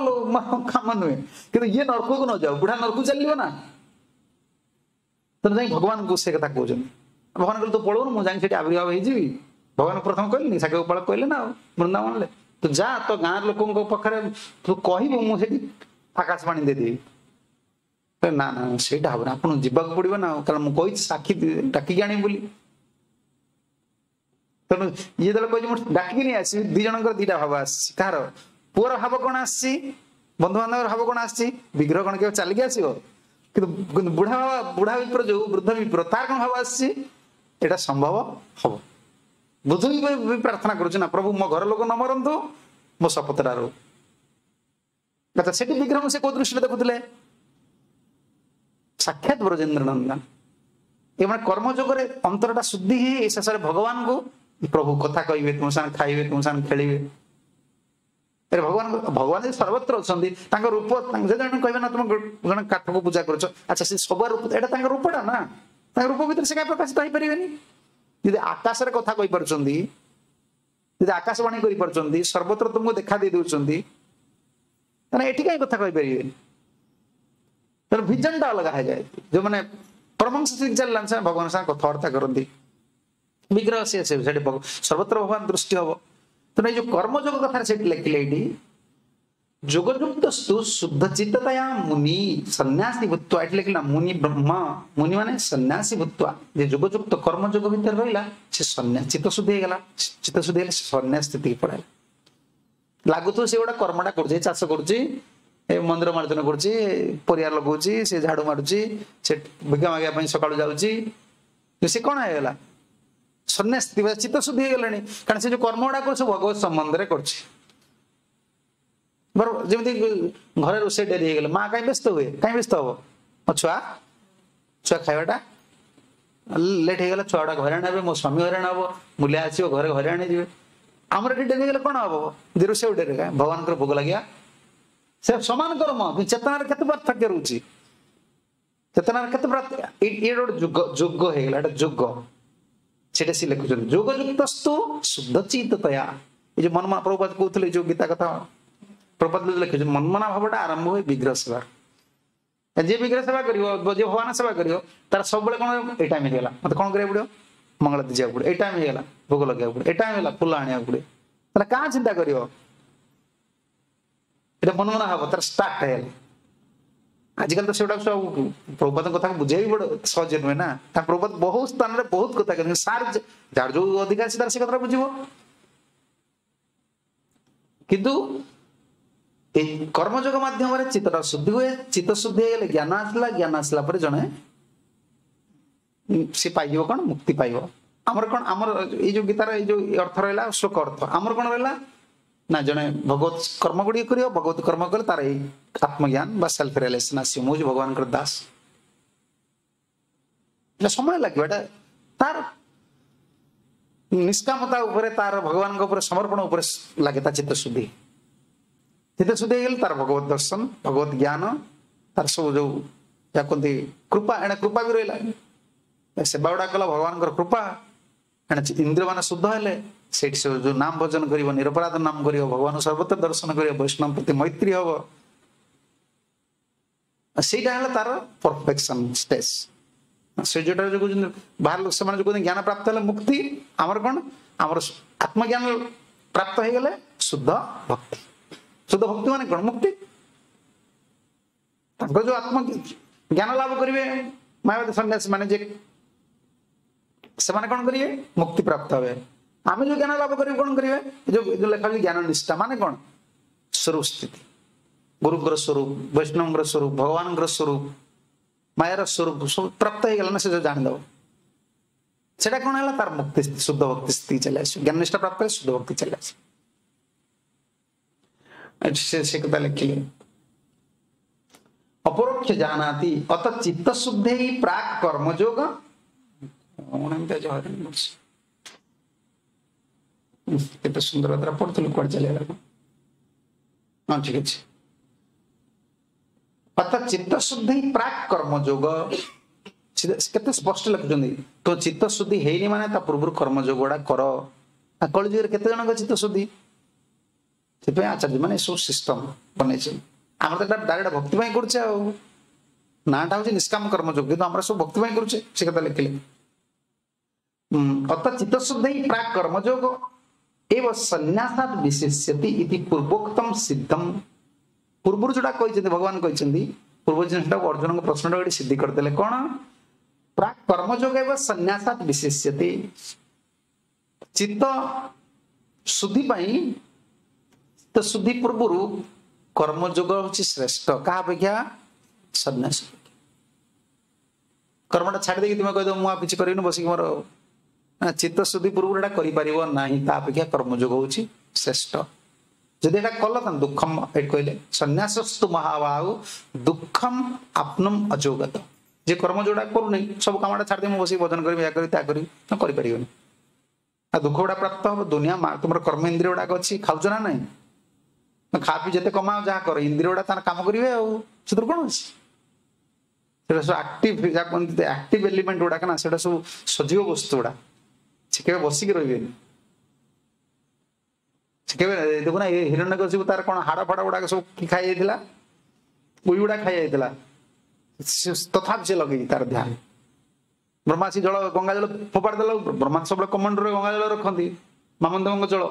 କାମ ନୁହେଁ, କିନ୍ତୁ ଇଏ ନରକକୁ ନ ଯାଉ, ବୁଢା ନରକକୁ ଚାଲିବ ନା। ତେଣୁ ଯାଇ ଭଗବାନଙ୍କୁ ସେ କଥା କହୁଛନ୍ତି। ଭଗବାନ କହିଲେ ତୁ ପଳଉନୁ, ମୁଁ ଯାଇକି ସେଠି ଆବିର୍ଭାବ ହେଇଯିବି। ଭଗବାନ ପ୍ରଥମେ କହିଲେନି, ସାକ୍ଷୀ ଗୋପାଳ କହିଲେ ନା, ଆଉ ବୃନ୍ଦାବନରେ ତୁ ଯା, ତୋ ଗାଁ ଲୋକଙ୍କ ପାଖରେ ତୁ କହିବୁ, ମୁଁ ସେଠି ଆକାଶବାଣୀ ଦେଇଦେବି। ନା ନା ସେଇଟା ହବନି, ଆପଣଙ୍କୁ ଯିବାକୁ ପଡିବ ନା, କାରଣ ମୁଁ କହିଛି ସାକ୍ଷୀ ଡାକିକି ଆଣିବି ବୋଲି। ତେଣୁ ଇଏ ଯେତେବେଳେ କହିଛି ମୁଁ ଡାକିକି ନେଇ ଆସିବି, ଦି ଜଣଙ୍କର ଦିଟା ଭାବ ଆସିଛି। କାହାର? ପୁଅର ଭାବ କଣ ଆସିଛି, ବନ୍ଧୁବାନ୍ଧବର ଭାବ କଣ ଆସିଛି? ବିଗ୍ରହ କଣ କେବେ ଚାଲିକି ଆସିବ? କିନ୍ତୁ କିନ୍ତୁ ବୁଢା ବୁଢା ବିପ୍ର ଯୋଉ ବୃଦ୍ଧ ବିପ୍ର, ତାର କଣ ଭାବ ଆସିଛି? ଏଇଟା ସମ୍ଭବ ହବ। ବୃଦ୍ଧ ବି ପ୍ରାର୍ଥନା କରୁଛି ନା, ପ୍ରଭୁ ମୋ ଘର ଲୋକ ନ ମରନ୍ତୁ, ମୋ ଶପଥଟା ରହୁ। ଆଚ୍ଛା, ସେଠି ବିଗ୍ରହଙ୍କୁ ସେ କୋଉ ଦୃଷ୍ଟିରେ ଦେଖୁଥିଲେ? ସାକ୍ଷାତ ବ୍ରଜେନ୍ଦ୍ର ନନ୍ଦନ। ଏମାନେ କର୍ମଯୋଗରେ ଅନ୍ତରଟା ଶୁଦ୍ଧି ହେଇ ଶେଷରେ ଭଗବାନଙ୍କୁ ପ୍ରଭୁ କଥା କହିବେ, ତୁମ ସାଙ୍ଗେ ଖାଇବେ, ତୁମ ସାଙ୍ଗେ ଖେଳିବେ। ଭଗବାନ ଭଗବାନ ଯେ ସର୍ବତ୍ର ଅଛନ୍ତି, ତାଙ୍କ ରୂପ ଜଣେ କହିବେ ନା ତୁମେ ଜଣେ କାଠକୁ ପୂଜା କରୁଛ, ଆଚ୍ଛା ସେ ସବୁ ରୂପ, ଏଇଟା ତାଙ୍କ ରୂପଟା ନା, ତାଙ୍କ ରୂପ ଭିତରେ ସେ କାହିଁ ପ୍ରକାଶିତ ହେଇପାରିବେନି? ଯଦି ଆକାଶରେ କଥା କହିପାରୁଛନ୍ତି, ଯଦି ଆକାଶବାଣୀ କରିପାରୁଛନ୍ତି, ସର୍ବତ୍ର ତୁମକୁ ଦେଖା ଦେଇ ଦଉଛନ୍ତି, ତାହେଲେ ଏଠି କାହିଁ କଥା କହିପାରିବେନି? ତେଣୁ ଭିଜନଟା ଅଲଗା ହେଇଯାଏ। ଯୋଉମାନେ ପରମହଂସ ଚାଲିଲାନି, ସେମାନେ ଭଗବାନ ସାଙ୍ଗେ କଥାବାର୍ତ୍ତା କରନ୍ତି, ବିଗ୍ରହ ସିଏ ସେଠି ସର୍ବତ୍ର ଭଗବାନ ଦୃଷ୍ଟି ହବ। ତେଣୁ ଏଇ ଯୋଉ କର୍ମଯୋଗ କଥାରେ ସେଠି ଲେଖିଲେ, ଏଇଠି ଯୋଗଯୁକ୍ତ ସ୍ତୁ ଶୁଦ୍ଧ ଚିତ୍ତତୟା ମୁନି ସନ୍ନ୍ୟାସୀ ଭୂତ୍ୱା। ଏଠି ଲେଖିଲା ମୁନି ବ୍ରହ୍ମ, ମୁନି ମାନେ ସନ୍ନ୍ୟାସୀ ଭୂତ୍ୱା। ଯେ ଯୋଗଯୁକ୍ତ କର୍ମଯୋଗ ଭିତରେ ରହିଲା, ସେ ସନ୍ନ୍ୟାସ ଚିତ୍ତ ଶୁଦ୍ଧି ହେଇଗଲା। ଚିତ୍ତ ଶୁଦ୍ଧି ହେଲେ ସନ୍ନ୍ୟାସ ସ୍ଥିତିକି ପଳେଇଲା। ଲାଗୁଥିବ ସେ ଗୋଟେ କର୍ମଟା କରୁଛି, ଚାଷ କରୁଛି, ଏ ମନ୍ଦିର ମାର୍ଜନ କରୁଛି, ପରିବାର ଲଗାଉଛି, ସେ ଝାଡୁ ମାରୁଛି, ସେ ଭିକ୍ଷା ମାଗିବା ପାଇଁ ସକାଳୁ ଯାଉଛି, ସେ କଣ ହେଇଗଲା? ସନ୍ନ୍ୟାସ ଚିତ୍ତ ଶୁଦ୍ଧି ହେଇଗଲାଣି। କାରଣ ସେ ଯୋଉ କର୍ମ ଗୁଡାକ ସବୁ ଭଗବତ ସମ୍ବନ୍ଧରେ କରୁଛି। ବରଂ ଯେମିତି ଘରେ ରୋଷେଇ ଡେରି ହେଇଗଲେ ମା କାହିଁ ବ୍ୟସ୍ତ ହୁଏ? କାହିଁ ବ୍ୟସ୍ତ ହବ? ମୋ ଛୁଆ ଛୁଆ ଖାଇବାଟା ଲେଟ୍ ହେଇଗଲା, ଛୁଆ ଗୁଡାକ ହଇରାଣ ହେବେ, ମୋ ସ୍ୱାମୀ ହଇରାଣ ହବ, ମୂଲିଆ ଆସିବ ଘରେ ହଇରାଣ ହେଇଯିବେ। ଆମର ଏଠି ଡେରି ହେଇଗଲେ କଣ ହବ? ଯେ ରୋଷେଇ ଡେରି, ଭଗବାନଙ୍କର ଭୋଗ ଲାଗିବା ସେ ସମାନ କର୍ମ, ଚେତନାର କେତେ ପାର୍ଥକ୍ୟ ରହୁଛି? ଚେତନାର କେତେ ଇଏ ଗୋଟେ ଯୁଗ ଯୋଗ ହେଇଗଲା, ଏଟା ଯୋଗ। ସେଟା ସେ ଲେଖୁଛନ୍ତି ଯୋଗଯୁକ୍ତସ୍ତୁ ଶୁଦ୍ଧ ଚିତ୍ତତୟା। ଏଇ ଯୋଉ ମନମନା ପ୍ରଭୁପାଦ କହୁଥିଲେ, ଯୋଉ ଗୀତା କଥା ପ୍ରଭୁପାଦ ଲେଖୁଛନ୍ତି, ମନମନା ଭାବଟା ଆରମ୍ଭ ହୁଏ ବିଗ୍ରହ ସେବାର। ଯିଏ ବିଗ୍ରହ ସେବା କରିବ, ଯିଏ ଭଗବାନ ସେବା କରିବ, ତାର ସବୁବେଳେ କଣ ଏଇ ଟାଇମ ହେଇଗଲା ମତେ କଣ କରିବାକୁ ପଡିବ? ମଙ୍ଗଳ ଯିବାକୁ ପଡିବ, ଏଇ ଟାଇମ ହେଇଗଲା ଭୋଗ ଲଗେଇବାକୁ ପଡିବ, ଏଇ ଟାଇମ ହେଇଗଲା ଫୁଲ ଆଣିବାକୁ ପଡିବ। ତାହେଲେ କାଁ ଚିନ୍ତା କରିବ? ଏଇଟା ମନମନା ହବ, ତାର ଷ୍ଟାର୍ଟ ହେଇଗଲା। ଆଜିକାଲି ତ ସେଗୁଡାକ ସବୁ ପ୍ରଭୁପାଦଙ୍କ କଥାକୁ ବୁଝେଇ ବଡ ସହଜ ନୁହେଁ ନା। ତା ପ୍ରଭୁପାଦ ବହୁତ ସ୍ଥାନରେ ବହୁତ କଥା କହୁଛନ୍ତି, ସାର୍ ଯାହାର ଯୋଉ ଅଧିକାର ଅଛି ତାର ସେ କଥାଟା ବୁଝିବ। କିନ୍ତୁ ଏଇ କର୍ମଯୋଗ ମାଧ୍ୟମରେ ଚିତ୍ତଟା ଶୁଦ୍ଧି ହୁଏ। ଚିତ୍ତ ଶୁଦ୍ଧି ହେଇଗଲେ ଜ୍ଞାନ ଆସିଲା, ଜ୍ଞାନ ଆସିଲା ପରେ ଜଣେ ସେ ପାଇଯିବ କଣ? ମୁକ୍ତି ପାଇବ। ଆମର କଣ, ଆମର ଏଇ ଯୋଉ ଗୀତାର ଏଇ ଯୋଉ ଅର୍ଥ ରହିଲା ଶ୍ଲୋକ ଅର୍ଥ, ଆମର କଣ ରହିଲା ନା ଜଣେ ଭଗବତ କର୍ମ ଗୁଡ଼ିକ କରିବ, ଭଗବତ କର୍ମ କଲେ ତାର ଏଇ ଆତ୍ମଜ୍ଞାନ ବା ସେଲ୍ଫ ରିଏଲାଇଜେସନ ଆସିବ, ମୁଁ ହଉଛି ଭଗବାନଙ୍କର ଦାସ। ଏଟା ସମୟ ଲାଗିବ, ଏଟା ତାର ନିଷ୍କାମତା ଉପରେ, ତାର ଭଗବାନଙ୍କ ଉପରେ ସମର୍ପଣ ଉପରେ ଲାଗେ ତା ଚିତ୍ତ ଶୁଦ୍ଧି। ଚିତ୍ତ ଶୁଦ୍ଧି ହେଇଗଲେ ତାର ଭଗବତ ଦର୍ଶନ, ଭଗବତ ଜ୍ଞାନ, ତାର ସବୁ ଯୋଉ ଯାହା କୁହନ୍ତି କୃପା, ଏଣେ କୃପା ବି ରହିଲା। ସେବା ଗୁଡା କଲା ଭଗବାନଙ୍କର କୃପା, ଏଣେ ଇନ୍ଦ୍ରିୟ ମାନେ ଶୁଦ୍ଧ ହେଲେ ସେଇଠି ସେ ଯୋଉ ନାମ ଭଜନ କରିବ, ନିରପରାଧ ନାମ କରିବ, ଭଗବାନ ସର୍ବତ୍ର ଦର୍ଶନ କରିବ, ବୈଷ୍ଣବ ପ୍ରତି ମୈତ୍ରୀ ହବ, ସେଇଟା ହେଲା ତାର ପରଫେକ୍ସନ ଷ୍ଟେଜ। ସେ ଯୋଉଟା ଯୋଉ କହୁଛନ୍ତି ବାହାର ଲୋକ, ସେମାନେ ଯୋଉ କହୁଛନ୍ତି ଜ୍ଞାନ ପ୍ରାପ୍ତ ହେଲେ ମୁକ୍ତି, ଆମର କଣ? ଆମର ଆତ୍ମଜ୍ଞାନ ପ୍ରାପ୍ତ ହେଇଗଲେ ଶୁଦ୍ଧ ଭକ୍ତି। ଶୁଦ୍ଧ ଭକ୍ତି ମାନେ କଣ? ମୁକ୍ତି। ତାଙ୍କର ଯୋଉ ଆତ୍ମ ଜ୍ଞାନ ଲାଭ କରିବେ ମାୟାବାଦୀ ସନ୍ନ୍ୟାସୀ ମାନେ, ଯେ ସେମାନେ କଣ କରିବେ? ମୁକ୍ତି ପ୍ରାପ୍ତ ହେବେ। ଆମେ ଯୋଉ ଜ୍ଞାନ ଲାଭ କରିବୁ କଣ କରିବେ? ଯୋଉ ଯୋଉ ଲେଖା ହଉଛି ଜ୍ଞାନ ନିଷ୍ଠା ମାନେ କଣ? ସ୍ୱରୂପ ସ୍ଥିତି, ଗୁରୁଙ୍କର ସ୍ୱରୂପ, ବୈଷ୍ଣବଙ୍କର ସ୍ୱରୂପ, ଭଗବାନଙ୍କର ସ୍ୱରୂପ, ମାୟାର ସ୍ୱରୂପ ସବୁ ପ୍ରାପ୍ତ ହେଇଗଲା ନା, ସେ ଯୋଉ ଜାଣିଦବ ସେଟା କଣ ହେଲା? ତାର ମୁକ୍ତି, ଶୁଦ୍ଧ ଭକ୍ତି ସ୍ଥିତି ଚାଲି ଆସିବ। ଜ୍ଞାନ ନିଷ୍ଠା ପ୍ରାପ୍ତ ହେଲେ ଶୁଦ୍ଧ ଭକ୍ତି ଚାଲି ଆସିବ। ସେ ସେ କଥା ଲେଖିଲେ, ଅପରୋକ୍ଷ ଜାନାତି ଅତ ଚିତ୍ତ ଶୁଦ୍ଧେଇ ପ୍ରାକ୍ କର୍ମଯୋଗ। କଣ ଏମିତି ଆଜି ହଇରାଣ କରୁଛି? କେତେ ସୁନ୍ଦର କଥା ପଢୁଥିଲୁ, କୁଆଡେ ଚାଲିଗଲା? ହଁ ଠିକ ଅଛି। ଅତ ଚିତ୍ତ ଶୁଦ୍ଧି ପ୍ରାକ୍ କର୍ମଯୋଗ, କେତେ ସ୍ପଷ୍ଟ ଲେଖୁଛନ୍ତି। ତ ଚିତ୍ତ ଶୁଦ୍ଧି ହେଇନି ମାନେ ତା ପୂର୍ବରୁ କର୍ମଯୋଗ ଗୁଡା କର। କଳିଯୁଗରେ କେତେ ଜଣଙ୍କ ଚିତ୍ତ ଶୁଦ୍ଧି? ସେଥିପାଇଁ ଆଚାର୍ଯ୍ୟ ମାନେ ଏସବୁ ସିଷ୍ଟମ ବନେଇଛନ୍ତି। ଆମର ତ ଏଟା ଡାଇରେକ୍ଟ ଭକ୍ତି ପାଇଁ କରୁଛେ, ଆଉ ନାଁଟା ହଉଛି ନିଷ୍କାମ କର୍ମଯୋଗ, କିନ୍ତୁ ଆମର ସବୁ ଭକ୍ତି ପାଇଁ କରୁଛେ। ସେ କଥା ଲେଖିଲେ, ଅତ ଚିତ୍ତ ଶୁଦ୍ଧି ପ୍ରାକ୍ କର୍ମଯୋଗ ଏବ ସନ୍ନ୍ୟାସାତ ବିଶେଷ୍ୟତି ଇତି ପୂର୍ବୋକ୍ତମ ସିଦ୍ଧମ। ପୂର୍ବରୁ ଯୋଉଟା କହିଛନ୍ତି ଭଗବାନ କହିଛନ୍ତି, ପୂର୍ବ ଜିନିଷଟାକୁ ଅର୍ଜୁନଙ୍କ ପ୍ରଶ୍ନଟାକୁ ଏଠି ସିଦ୍ଧି କରିଦେଲେ। କଣ? ପ୍ରାକ୍ କର୍ମଯୋଗ ଏବ ସନ୍ନ୍ୟାସାତ ବିଶେଷ୍ୟତି। ଚିତ୍ତ ଶୁଦ୍ଧି ପାଇଁ ଚିତ୍ତ ଶୁଦ୍ଧି ପୂର୍ବରୁ କର୍ମଯୋଗ ହଉଛି ଶ୍ରେଷ୍ଠ। କାହା ଅପେକ୍ଷା? ସନ୍ନ୍ୟାସ। କର୍ମଟା ଛାଡ଼ି ଦେଇକି ତୁମେ କହିଦବ ମୁଁ ଆଉ କିଛି କରିବିନି ବସିକି ମୋର, ଚିତ୍ତ ଶୁଦ୍ଧି ପୂର୍ବରୁ ଏଟା କରିପାରିବ ନାହିଁ, ତା ଅପେକ୍ଷା କର୍ମଯୋଗ ହଉଛି ଶ୍ରେଷ୍ଠ। ଯଦି ଏଟା କଲ ତାହେଲେ ଦୁଃଖମ, ଏଠି କହିଲେ ସନ୍ନ୍ୟାସସ୍ତୁ ମହାବାହୁ ଦୁଃଖମ ଆପ୍ନମ ଅଯୋଗତ। ଯେ କର୍ମ ଯୋଉଟା କରୁନି, ସବୁ କାମଟା ଛାଡ଼ିଦେଇ ମୁଁ ବସିକି ଭଜନ କରିବି, ଏହା କରିବି, ତା କରିବି, ତ କରିପାରିବନି। ଆଉ ଦୁଃଖ ଗୁଡା ପ୍ରାପ୍ତ ହବ। ଦୁନିଆ ତୁମର କର୍ମ ଇନ୍ଦ୍ରିୟ ଗୁଡାକ ଅଛି, ଖାଉଛ ନା ନାଇଁ? ଖା ପିଇ ଯେତେ କମାଅ ଯାହା କର, ଇନ୍ଦ୍ରିୟ ଗୁଡା ତାର କାମ କରିବେ, ଆଉ ସେଥିରୁ କଣ ଅଛି? ସେଟା ସବୁ ଆକ୍ଟିଭ, ଯାହା କୁହନ୍ତି ଆକ୍ଟିଭ ଏଲିମେଣ୍ଟ ଗୁଡାକ ନା, ସେଟା ସବୁ ସଜୀବ ବସ୍ତୁ ଗୁଡା, ସେ କେବେ ବସିକି ରହିବେନି। ସେ କେବେ ଦେଖୁନା, ଏ ହିରଣ୍ୟକଶିପୁ ତାର କଣ ହାଡ ଫାଡ ଗୁଡାକ ସବୁ ଖାଇ ଯାଇଥିଲା, ଉଇ ଗୁଡା ଖାଇ ଯାଇଥିଲା, ତଥାପି ସେ ଲଗେଇଛି ତାର ଧ୍ୟାନ। ବ୍ରହ୍ମା ସେ ଜଳ ଗଙ୍ଗା ଜଳ ଫୋପାଡ଼ି ଦେଲା, ବ୍ରହ୍ମା ସବୁବେଳେ କମଣ୍ଡରେ ଗଙ୍ଗା ଜଳ ରଖନ୍ତି, ମାମନ ଦେବଙ୍କ ଜଳ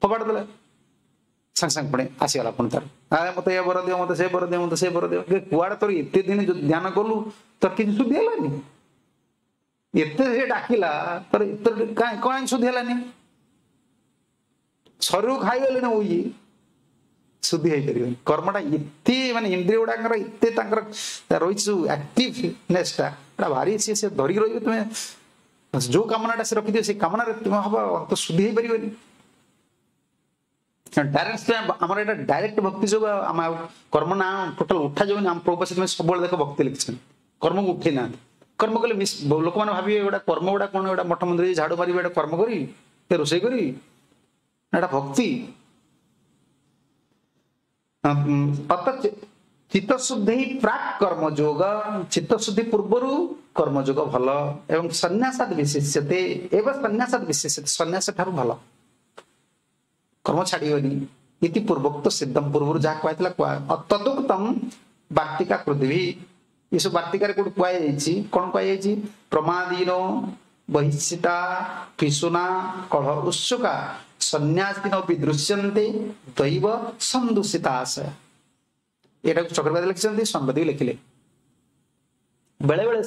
ଫୋପାଡ଼ି ଦେଲେ, ସାଙ୍ଗେ ସାଙ୍ଗେ ପୁଣି ଆସିଗଲା ପୁଣି ତାର, ମତେ ଏ ବର ଦିଅ, ମତେ ସେ ବର ଦିଅ, ମତେ ସେ ବର ଦିଅ। କୁଆଡେ ତୋର ଏତେ ଦିନ ଯୋଉ ଧ୍ୟାନ କଲୁ ତୋର କିଛି ଶୁଦ୍ଧି ହେଲାନି? ଏତେ ସେ ଡାକିଲା ତୋର ଏତେ କାଇଁ କଣ ଶୁଦ୍ଧି ହେଲାନି? ଶରୀରକୁ ଖାଇଗଲେ ନା ଉଇ ଶୁଦ୍ଧି ହେଇପାରିବନି। କର୍ମଟା ଏତେ ମାନେ ଇନ୍ଦ୍ରିୟ ଗୁଡାକର ଏତେ ତାଙ୍କର ରହିଛି ଯୋଉ ଆକ୍ଟିଭନେସ୍ ଟା, ଏଟା ଭାରି ସିଏ ସେ ଧରିକି ରହିବେ। ତୁମେ ଯୋଉ କାମନାଟା ସେ ରଖିଥିବ ସେଇ କାମନାରେ ତୁମେ ହବ ତ ଶୁଦ୍ଧି ହେଇପାରିବନି। ଡାଇରେକ୍ଟ ଆମର ଏଇଟା ଡାଇରେକ୍ଟ ଭକ୍ତି ଯୋଗ, ଆମ ଆଉ କର୍ମ ନା ଟୋଟାଲ ଉଠା ଯାଉନି। ଆମ ପ୍ରଭୁ ସେଥିପାଇଁ ସବୁବେଳେ ଦେଖ ଭକ୍ତି ଲେଖିଛନ୍ତି, କର୍ମକୁ ଉଠେଇ ନାହାନ୍ତି। କର୍ମ କଲେ ଲୋକମାନେ ଭାବିବେ ଏଗୁଡ଼ା କର୍ମ ଗୁଡା କଣ, ଏଗୁଡ଼ା ମଠ ମନ୍ଦିର ଝାଡୁ ମାରିବେ, ଏଟା କର୍ମ କରିବି, ରୋଷେଇ କରିବି, ଏଟା ଭକ୍ତି। ଅତ ଚିତ୍ତଶୁଦ୍ଧି ପ୍ରାକ୍ କର୍ମଯୋଗ, ଚିତ୍ତଶୁଦ୍ଧି ପୂର୍ବରୁ କର୍ମଯୋଗ ଭଲ। ଏବଂ ସନ୍ନ୍ୟାସାଦ ବିଶେଷ୍ୟତେ, ଏବଂ ସନ୍ନ୍ୟାସାଦ ବିଶେଷ୍ୟତେ, ସନ୍ନ୍ୟାସ ଠାରୁ ଭଲ, କର୍ମ ଛାଡିବନି। ଇତି ପୂର୍ବୋକ୍ତ ସିଦ୍ଧମ, ପୂର୍ବରୁ ଯାହା କୁହାଯାଇଥିଲା କୁହା। ତଦୁକ୍ତମ ବାର୍ତ୍ତିକା ପୃଥିବୀ, ଏସବୁ ବାର୍ତ୍ତିକାରେ କୋଉଠି କୁହାଯାଇଛି? କଣ କୁହାଯାଇଛି? ପ୍ରମାଦୀନ ବହିଷ୍ଠିତା ପିଶୁନା କଳହ ଉତ୍ସୁକା ସନ୍ନ୍ୟାସିନ ଦୃଶ୍ୟନ୍ତେ ଦୈବ ସନ୍ଦୂଷିତା ଆଶୟ। ଏଟାକୁ ଚକ୍ରବାଦୀ ଲେଖିଛନ୍ତି, ସମ୍ବାଦୀ ଲେଖିଲେ। ବେଳେ ବେଳେ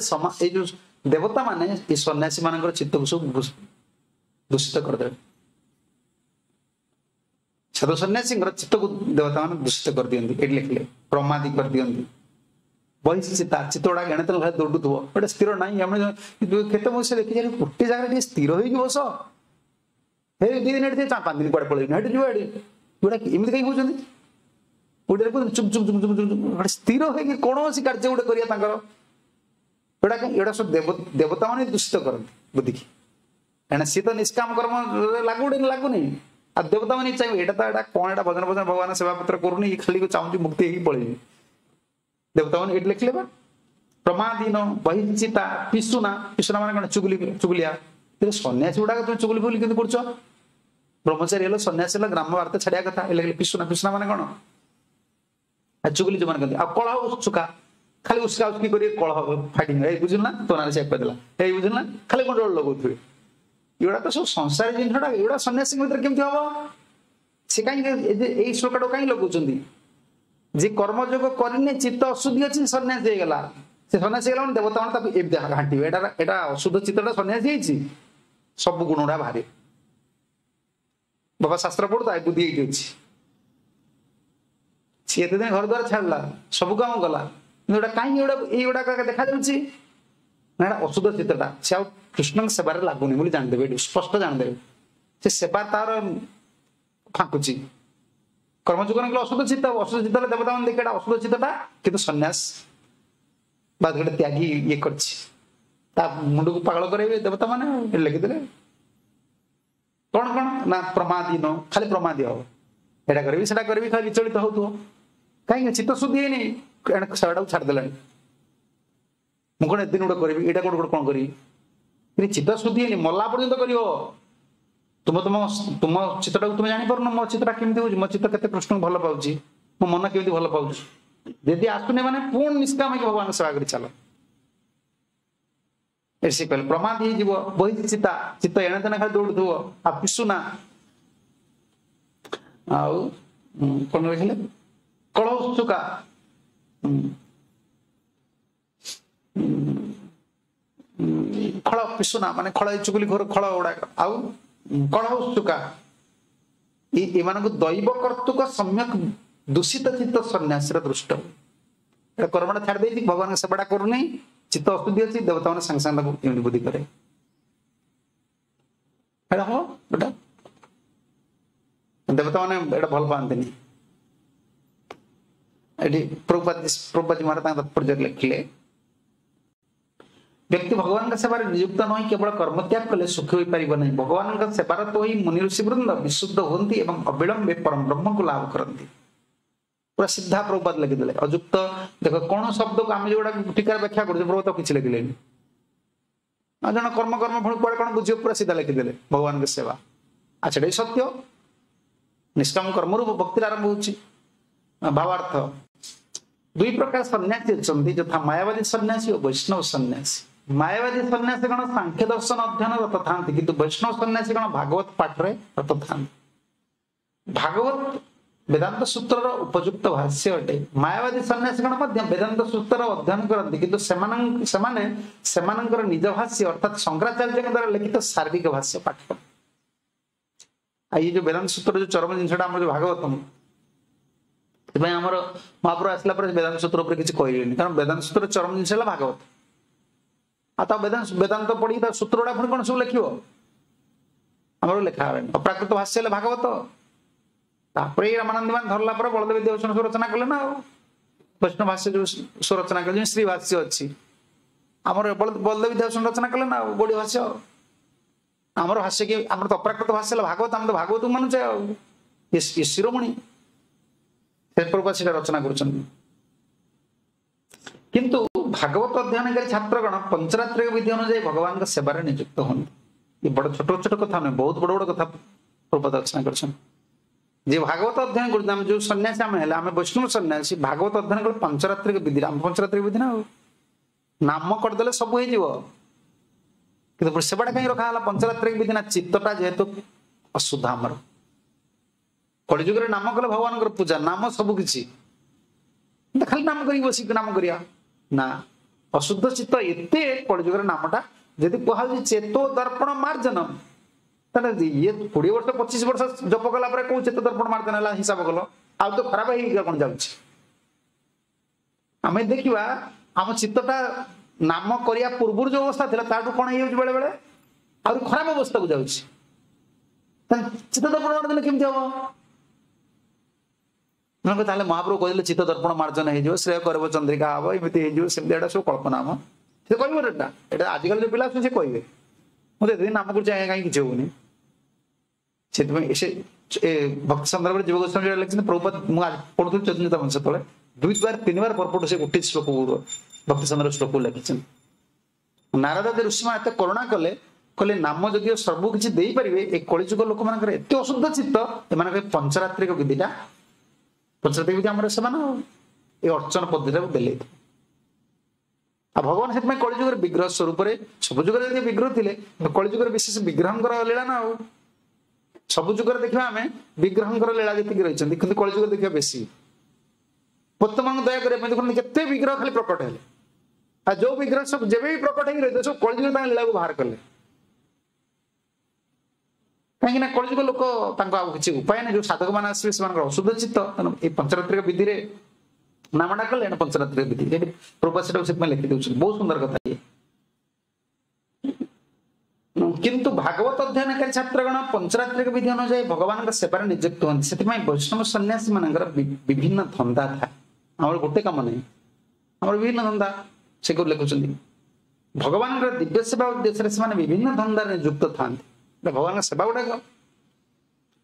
ଏଇ ଯୋଉ ଦେବତା ମାନେ ଏ ସନ୍ନ୍ୟାସୀ ମାନଙ୍କର ଚିତ୍ତକୁ ସବୁ ଦୂଷିତ କରିଦେବେ। ସାଧୁ ସନ୍ନ୍ୟାସୀଙ୍କର ଚିତ୍ତକୁ ଦେବତା ମାନେ ଦୂଷିତ କରିଦିଅନ୍ତି। ଏଠି ଲେଖିଲେ ପ୍ରମାଦି କରିଦିଅନ୍ତି, ବହିଷ୍ଠିତା, ଚିତ୍ତ ଗୁଡାକ ଏଣେ ତେଣେ ଖାଲି ଦୌଡୁଥିବ, ଗୋଟେ ସ୍ଥିର ନାହିଁ। ଆମେ କେତେ ମଣିଷ ଦେଖିଛି ଗୋଟେ ଜାଗାରେ ଟିକେ ସ୍ଥିର ହେଇକି ବସ, ହେ ଦି ଦିନ ଏଠି ପାଞ୍ଚ ଦିନ କୁଆଡେ ପଳେଇବି, ଏଠି ଯିବ ଏଠି ଗୁଡା ଏମିତି କାହିଁ ହଉଛନ୍ତି? ଗୋଟେ ଚୁପ୍ ଚୁପ୍ ଚୁପ୍ ଚୁପ୍ ଚୁପ୍ ଗୋଟେ ସ୍ଥିର ହେଇକି କୌଣସି କାର୍ଯ୍ୟ ଗୋଟେ କରିବା ତାଙ୍କର ଏଗୁଡ଼ା କାହିଁ? ଏଗୁଡ଼ା ସବୁ ଦେବତା ମାନେ ଦୂଷିତ କରନ୍ତି ବୁଦ୍ଧିକି। କାରଣ ସିଏ ତ ନିଷ୍କାମ କର୍ମ ଲାଗୁନି ଲାଗୁନି, ଆଉ ଦେବତା ମାନେ ଚାହିଁବେ ଏଇଟା ତ ଏଇଟା କଣ, ଏଇଟା ଭଜନ ଭଜନ ଭଗବାନ ସେବା ପତ୍ର କରୁନି, ଇଏ ଖାଲି ଚାହୁଁଛି ମୁକ୍ତି ହେଇକି ପଳେଇବି। ଦେବତା ମାନେ ଏଇଠି ଲେଖିଲେ ବା ପ୍ରମାଦୀନ ବହିଚିତା ପିଶୁନା, ପିଶୁନା ମାନେ କଣ? ଚୁଗୁଲି, ଚୁଗୁଲିଆ। ସନ୍ନ୍ୟାସୀ ଗୁଡାକ ତୁମେ ଚୁଗୁଲି ଫୁଗୁଲି କେମିତି କରୁଛ? ବ୍ରହ୍ମଚାରୀ ହେଲ, ସନ୍ନ୍ୟାସୀ ହେଲ, ଗ୍ରାମ ବାର୍ତ୍ତା ଛାଡିବା କଥା। ଏ ଲେଖିଲେ ପିଶୁନା, ପିଶୁନା ମାନେ କଣ? ଆଉ ଚୁଗୁଲି ଯୋଉମାନେ କହନ୍ତି। ଆଉ କଳହ ଉତ୍ସୁକା, ଖାଲି ଉସ୍କା ଉସ୍କି କରି କଳହ ଫାଇଟିଂ, ଏଇ ବୁଝିଲୁ ନା ତୋ ନାଁରେ ସେ କହିଦେଲା, ଏଇ ବୁଝିଲୁ ନା, ଖାଲି ଗଣ୍ଡଗୋଳ ଲଗାଉଥିବେ। ଏଗୁଡ଼ା ତ ସବୁ ସଂସାରୀ ଜିନିଷଟା, ଏଗୁଡ଼ା ସନ୍ନ୍ୟାସୀଙ୍କ ଭିତରେ କେମିତି ହବ? ସେ କାହିଁକି ଏଇ ଶ୍ଲୋକଟାକୁ କାହିଁକି ଲଗାଉଛନ୍ତି? ଯେ କର୍ମଯୋଗ କରିନି, ଚିତ୍ତ ଅଶୁଦ୍ଧି ଅଛି, ସନ୍ନ୍ୟାସୀ ହେଇଗଲା। ସେ ସନ୍ନ୍ୟାସୀ ହେଇଗଲା ମାନେ ଦେବତା ମାନେ ତାକୁ ଏମିତି ଘାଣ୍ଟିବେ, ଏଇଟା ଏଇଟା ଅଶୁଦ୍ଧ ଚିତ୍ତଟା ସନ୍ନ୍ୟାସୀ ହେଇଛି, ସବୁ ଗୁଣ ଗୁଡା ବାହାରିବ। ବାବା ଶାସ୍ତ୍ର ପଢୁତା ବୁଦ୍ଧି ଏଇଠି ଅଛି, ସିଏ ଏତେ ଦିନ ଘର ଦ୍ୱାର ଛାଡ଼ିଲା, ସବୁ କାମ କଲା, କିନ୍ତୁ ଏଇଟା କାହିଁକି ଏଗୁଡା ଏଇଗୁଡାକ ଦେଖାଯାଉଛି ନା ଏଇଟା ଅଶୁଦ୍ଧ ଚିତ୍ତଟା, ସେ ଆଉ କୃଷ୍ଣଙ୍କ ସେବାରେ ଲାଗୁନି ବୋଲି ଜାଣିଦେବେ, ଏଇଠି ସ୍ପଷ୍ଟ ଜାଣିଦେବେ। ସେ ସେବା ତାର ଫାଙ୍କୁଛି। କର୍ମଯୋଗ ନକଲେ ଅଶୁଦ୍ଧ ଚିତ୍ତ, ଅଶୁଦ୍ଧ ଚିତ୍ତ ହେଲେ ଦେବତା ମାନେ ଦେଖେ ଏଇଟା ଅଶୁଦ୍ଧ ଚିତ୍ତଟା, କିନ୍ତୁ ସନ୍ନ୍ୟାସ ବା ଗୋଟେ ତ୍ୟାଗୀ ଇଏ କରିଛି, ତା ମୁଣ୍ଡକୁ ପାଗଳ କରାଇବେ ଦେବତା ମାନେ। ଲେଖିଦେଲେ କଣ କଣ ନା ପ୍ରମାଦୀନ, ଖାଲି ପ୍ରମାଦୀ ହବ, ଏଇଟା କରିବି ସେଟା କରିବି, ଖାଲି ବିଚଳିତ ହଉଥିବ। କାହିଁକି ଚିତ୍ତ ଶୁଦ୍ଧି ହେଇନି, ସେଟାକୁ ଛାଡ଼ିଦେଲାଣି। ମୁଁ କଣ ଏତେ ଦିନ ଗୋଟେ କରିବି, ଏଇଟା ଗୋଟେ ଗୋଟେ କଣ କରିବି, କିନ୍ତୁ ଚିତ୍ତ ଶୁଦ୍ଧି ହେଇନି, ମଲା ପର୍ଯ୍ୟନ୍ତ କରିବ। ତୁମ ତୁମ ତୁମ ଚିତ୍ତଟାକୁ ତୁମେ ଜାଣିପାରୁନ, ମୋ ଚିତ୍ତଟା କେମିତି ହଉଛି, ମୋ ଚିତ୍ତ କେତେ କୃଷ୍ଣଙ୍କୁ ଭଲ ପାଉଛି, ମୋ ମନ କେମିତି ଭଲ ପାଉଛି। ଯଦି ଆସୁନି ମାନେ ପୁଣି ନିଷ୍କାମ ହେଇକି ଭଗବାନଙ୍କ ସେବା କରି ଚାଲ। ଏଠି ସେ କହିଲେ ପ୍ରମାଦ ହେଇଯିବ, ବହିଛି ଚିତା, ଚିତ୍ତ ଏଣେ ତେଣେ ଖାଲି ଦୌଡୁଥିବ, ଆଉ ପିସୁନା। ଆଉ କଣ ଲେଖିଲେ? କଳଉତ୍ସୁକା, ଖଳ ପିସୁନା ମାନେ ଖଳ ଚୁଗୁଲି ଘର ଖଳ ଗୁଡାକ, ଆଉ କଳହ ଉତ୍ସୁକା, ଏମାନଙ୍କୁ ଦୈବ କର୍ତ୍ତୃକ ସମ୍ୟକ ଦୂଷିତ ଚିତ୍ତ ସନ୍ନ୍ୟାସୀର ଦୃଷ୍ଟ। ଏଟା କର୍ମଟା ଛାଡି ଦେଇଛି, ଭଗବାନଙ୍କ ସେବାଟା କରୁନି, ଚିତ୍ତ ଅଶୁଦ୍ଧି ଅଛି, ଦେବତା ମାନେ ସାଙ୍ଗେ ସାଙ୍ଗେ ତାକୁ ଏମିତି ବୁଦ୍ଧି କରେ। ଏଟା ହବ, ଏଟା ଦେବତା ମାନେ ଏଟା ଭଲ ପାଆନ୍ତିନି। ଏଠି ପ୍ରଭୁପାଦ ପ୍ରଭୁପାଦ ମହାରାଜ ତାଙ୍କ ତାତ୍ପର୍ଯ୍ୟରେ ଲେଖିଲେ, ବ୍ୟକ୍ତି ଭଗବାନଙ୍କ ସେବାରେ ନିଯୁକ୍ତ ନ ହୋଇ କେବଳ କର୍ମତ୍ୟାଗ କଲେ ସୁଖୀ ହୋଇପାରିବ ନାହିଁ। ଭଗବାନଙ୍କ ସେବାରତ ହୋଇ ମୁନି ଋଷି ବୃନ୍ଦ ବିଶୁଦ୍ଧ ହୁଅନ୍ତି ଏବଂ ଅବିଳମ୍ବେ ପରମ ବ୍ରହ୍ମକୁ ଲାଭ କରନ୍ତି। ପୁରା ସିଧା ପ୍ରଭୁପାଦ ଲେଖିଦେଲେ। ଅଯୁକ୍ତ ଦେଖ କଣ ଶବ୍ଦକୁ ଆମେ ଯୋଉଟା ଟୀକାର ବ୍ୟାଖ୍ୟା କରୁଛେ, ପ୍ରଭୁପାଦ କିଛି ଲେଖିଲେନି। ଆଉ ଜଣ କର୍ମ କର୍ମ ଫଳ କୁଆଡେ କଣ ବୁଝିବ, ପୁରା ସିଧା ଲେଖିଦେଲେ ଭଗବାନଙ୍କ ସେବା। ଆଚ୍ଛା ଏଇଟା ସତ୍ୟ, ନିଷ୍କାମ କର୍ମରୁ ଭକ୍ତିର ଆରମ୍ଭ ହଉଛି। ଭାବାର୍ଥ ଦୁଇ ପ୍ରକାର ସନ୍ନ୍ୟାସୀ ଅଛନ୍ତି, ଯଥା ମାୟାବାଦୀ ସନ୍ନ୍ୟାସୀ ଓ ବୈଷ୍ଣବ ସନ୍ନ୍ୟାସୀ। ମାୟାବାଦୀ ସନ୍ନ୍ୟାସୀ କଣ ସାଂଖ୍ୟ ଦର୍ଶନ ଅଧ୍ୟୟନ ରତ ଥାନ୍ତି, କିନ୍ତୁ ବୈଷ୍ଣବ ସନ୍ନ୍ୟାସୀ କଣ ଭାଗବତ ପାଠରେ ରତ ଥାନ୍ତି। ଭାଗବତ ବେଦାନ୍ତ ସୂତ୍ରର ଉପଯୁକ୍ତ ଭାଷ୍ୟ ଅଟେ। ମାୟାବାଦୀ ସନ୍ନ୍ୟାସୀ ଗଣ ମଧ୍ୟ ବେଦାନ୍ତ ସୂତ୍ରର ଅଧ୍ୟୟନ କରନ୍ତି, କିନ୍ତୁ ସେମାନଙ୍କ ସେମାନେ ସେମାନଙ୍କର ନିଜ ଭାଷ୍ୟ ଅର୍ଥାତ୍ ଶଙ୍କରାଚାର୍ଯ୍ୟଙ୍କ ଦ୍ୱାରା ଲିଖିତ ସାର୍ବିକ ଭାଷ୍ୟ ପାଠ କରନ୍ତି। ଆଉ ଏଇ ଯୋଉ ବେଦାନ୍ତ ସୂତ୍ର ଯୋଉ ଚରମ ଜିନିଷଟା ଆମର ଯୋଉ ଭାଗବତମ, ସେଥିପାଇଁ ଆମର ମହାପ୍ରଭୁ ଆସିଲା ପରେ ବେଦାନ୍ତ ସୂତ୍ର ଉପରେ କିଛି କହିଲେନି, କାରଣ ବେଦାନ୍ତ ସୂତ୍ର ଚରମ ଜିନିଷ ହେଲା ଭାଗବତ। ଆଉ ତା ବେଦାନ୍ତ ବେଦାନ୍ତ ପଢିକି ତା ସୂତ୍ର ଗୁଡା ପୁଣି କଣ ସବୁ ଲେଖିବ, ଆମର ଲେଖା ହେଲାନି। ଅପ୍ରାକୃତ ଭାଷ୍ୟ ହେଲେ ଭାଗବତ। ତାପରେ ଏଇ ରାମାନନ୍ଦ ମାନେ ଧରିଲା ପରେ ବଳଦେବ ଦେବସନ ସବୁ ରଚନା କଲେ ନା, ଆଉ ବୈଷ୍ଣବ ଭାଷ୍ୟ ଯୋଉ ସବୁ ରଚନା କଲେ, ଯେମିତି ଶ୍ରୀ ଭାଷ୍ୟ ଅଛି ଆମର, ବଳଦେବ ଦେବସନ ରଚନା କଲେ ନା, ଆଉ ଗୌଡୀୟ ଭାଷ୍ୟ। ଆମର ଭାଷ୍ୟ କି ଆମର ତ ଅପ୍ରାକୃତ ଭାଷ୍ୟ ହେଲା ଭାଗବତ, ଆମେ ତ ଭାଗବତକୁ ମାନୁଛେ, ଆଉ ଇଏ ଶିରୋମଣି ସେ ପ୍ରଭୁପାଦ ସେଟା ରଚନା କରୁଛନ୍ତି। କିନ୍ତୁ ଭାଗବତ ଅଧ୍ୟୟନକାରୀ ଛାତ୍ରଗଣ ପଞ୍ଚରାତ୍ରିକ ବିଧି ଅନୁଯାୟୀ ଭଗବାନଙ୍କ ସେବାରେ ନିଯୁକ୍ତ ହୁଅନ୍ତି। ଏ ବଡ ଛୋଟ ଛୋଟ କଥା ନୁହେଁ, ବହୁତ ବଡ ବଡ କଥା ପ୍ରଭୁପାଦ ରଚନା କରିଛନ୍ତି। ଯେ ଭାଗବତ ଅଧ୍ୟୟନ କରୁଛନ୍ତି, ଆମେ ଯୋଉ ସନ୍ନ୍ୟାସୀ ଆମେ ହେଲେ, ଆମେ ବୈଷ୍ଣବ ସନ୍ନ୍ୟାସୀ, ଭାଗବତ ଅଧ୍ୟୟନ କଲେ ପଞ୍ଚରାତ୍ରିକ ବିଧି, ଆମ ପଞ୍ଚରାତ୍ରିକ ବିଧି ନା, ଆଉ ନାମ କରିଦେଲେ ସବୁ ହେଇଯିବ, କିନ୍ତୁ ସେବାଟା କାହିଁ ରଖା ହେଲା ପଞ୍ଚରାତ୍ରିକ ବିଧି ନା, ଚିତ୍ତଟା ଯେହେତୁ ଅଶୁଦ୍ଧ ଆମର। କଳିଯୁଗରେ ନାମ କଲେ ଭଗବାନଙ୍କର ପୂଜା, ନାମ ସବୁ କିଛି, ଖାଲି ନାମ କରିକି ବସିକି ନାମ କରିବା ନା, ଅଶୁଦ୍ଧ ଚିତ୍ତ ଏତେ କଳିଯୁଗରେ ନାମଟା ଯଦି କୁହାଯାଉଛି ଚେତୋ ଦର୍ପଣ ମାର୍ଜନ, ତାହେଲେ ଇଏ କୋଡିଏ ବର୍ଷ ପଚିଶ ବର୍ଷ ଜପ କଲା ପରେ କୋଉ ଚେତ ଦର୍ପଣ ମାର୍ଜନ ହେଲା ହିସାବ କଲ, ଆଉ ତ ଖରାପ ହେଇକି କଣ ଯାଉଛି। ଆମେ ଦେଖିବା ଆମ ଚିତ୍ତଟା ନାମ କରିବା ପୂର୍ବରୁ ଯୋଉ ଅବସ୍ଥା ଥିଲା ତାଠୁ କଣ ହେଇଯାଉଛି, ବେଳେ ବେଳେ ଆହୁରି ଖରାପ ଅବସ୍ଥାକୁ ଯାଉଛି। ଚିତ୍ତ ଦର୍ପଣ ମାର୍ଜନ କେମିତି ହବ? ତାହେଲେ ମହାପ୍ରଭୁ କହିଲେ ଚିତ୍ତ ଦର୍ପଣ ମାର୍ଜନ ହେଇଯିବ, ଶ୍ରେୟ କରିବ ଚନ୍ଦ୍ରିକା ହବ, ଏମିତି ହେଇଯିବ ସେମିତି, ଏଇଟା ସବୁ କଳ୍ପନା। ଆମ ସେ କହିବ ଏଟା ଏଟା ଆଜିକାଲି ଯୋଉ ପିଲା ଅଛନ୍ତି ସେ କହିବେ, ମୁଁ ତ ଏତେ ନାମ କରୁଛି ଆଜ୍ଞା କାହିଁ କିଛି ହଉନି। ସେଥିପାଇଁ ସେ ଭକ୍ତି ସନ୍ଦର୍ଭରେ ଜୀବ ଗୋସ୍ୱାମୀ ଯୋଉଟା ଲେଖିଛନ୍ତି, ପ୍ରଭୁପାଦ ମୁଁ ପଢୁଥିଲି ଚୈତନ୍ୟ ଚରିତାମୃତ ସେତେବେଳେ ଦୁଇ ବାର ତିନି ବାର ପରପଟ ସେ ଗୋଟିଏ ଶ୍ଲୋକ ଭକ୍ତି ସନ୍ଦର୍ଭ ଶ୍ଲୋକକୁ ଲେଖିଛନ୍ତି। ନାରଦ ଆଦି ଋଷିମାନେ ଏତେ କରୁଣା କଲେ, କହିଲେ ନାମ ଯଦିଓ ସବୁ କିଛି ଦେଇପାରିବେ, ଏ କଳିଯୁଗ ଲୋକମାନଙ୍କର ଏତେ ଅଶୁଦ୍ଧ ଚିତ୍ତ, ଏମାନଙ୍କର ପଞ୍ଚରାତ୍ରିକ ବିଧିଟା, ପଞ୍ଚରାତ୍ରିକ ବିଧି ଆମର ସେମାନେ ଏ ଅର୍ଚ୍ଚନ ପଦ୍ଧତିଟାକୁ ଦେଲେ। ଆଉ ଭଗବାନ ସେଥିପାଇଁ କଳିଯୁଗରେ ବିଗ୍ରହ ସ୍ୱରୂପରେ, ସବୁ ଯୁଗରେ ଯଦି ବିଗ୍ରହ ଥିଲେ, କଳିଯୁଗରେ ବିଶେଷ ବିଗ୍ରହଙ୍କର ଲୀଳା ନା, ଆଉ ସବୁ ଯୁଗରେ ଦେଖିବା ଆମେ ବିଗ୍ରହଙ୍କର ଲୀଳା ଯେତିକି ରହିଛନ୍ତି, କିନ୍ତୁ କଳିଯୁଗରେ ଦେଖିବା ବେଶୀ। ଭକ୍ତମାନଙ୍କୁ ଦୟା କରିବା ପାଇଁ ଦେଖନ୍ତୁ କେତେ ବିଗ୍ରହ ଖାଲି ପ୍ରକଟ ହେଲେ। ଆଉ ଯୋଉ ବିଗ୍ରହ ସବୁ ଯେବେ ବି ପ୍ରକଟ ହେଇକି ରହିଥିଲେ ସବୁ କଳିଯୁଗ ତାଙ୍କ ଲୀଳାକୁ ବାହାର କଲେ। କାହିଁକି ନା କଳିଯୁଗ ଲୋକ ତାଙ୍କ ଆଉ କିଛି ଉପାୟ ନାହିଁ। ଯୋଉ ସାଧକ ମାନେ ଆସିବେ ସେମାନଙ୍କର ଅଶୁଦ୍ଧ ଚିତ୍ତ, ତେଣୁ ଏଇ ପଞ୍ଚରାତ୍ରିକ ବିଧିରେ ନାମଟା କଲେ ଏଇଟା ପଞ୍ଚରାତ୍ରିକ ବିଧି। ଏଠି ପ୍ରଭୁପାଦ ସେଟାକୁ ସେଥିପାଇଁ ଲେଖି ଦଉଛନ୍ତି। ବହୁତ ସୁନ୍ଦର କଥା ଇଏ। କିନ୍ତୁ ଭାଗବତ ଅଧ୍ୟୟନକାରୀ ଛାତ୍ରଗଣ ପଞ୍ଚରାତ୍ରିକ ବିଧି ଅନୁଯାୟୀ ଭଗବାନଙ୍କ ସେବାରେ ନିଯୁକ୍ତ ହୁଅନ୍ତି। ସେଥିପାଇଁ ବୈଷ୍ଣବ ସନ୍ନ୍ୟାସୀ ମାନଙ୍କର ବିଭିନ୍ନ ଧନ୍ଦା ଥାଏ। ଆମର ଗୋଟେ କାମ ନାହିଁ, ଆମର ବିଭିନ୍ନ ଧନ୍ଦା। ସେ କୋଉ ଲେଖୁଛନ୍ତି, ଭଗବାନଙ୍କର ଦିବ୍ୟ ସେବା ଉଦ୍ଦେଶ୍ୟରେ ସେମାନେ ବିଭିନ୍ନ ଧନ୍ଦାରେ ନିଯୁକ୍ତ ଥାନ୍ତି। ଭଗବାନଙ୍କ ସେବା ଗୁଡାକ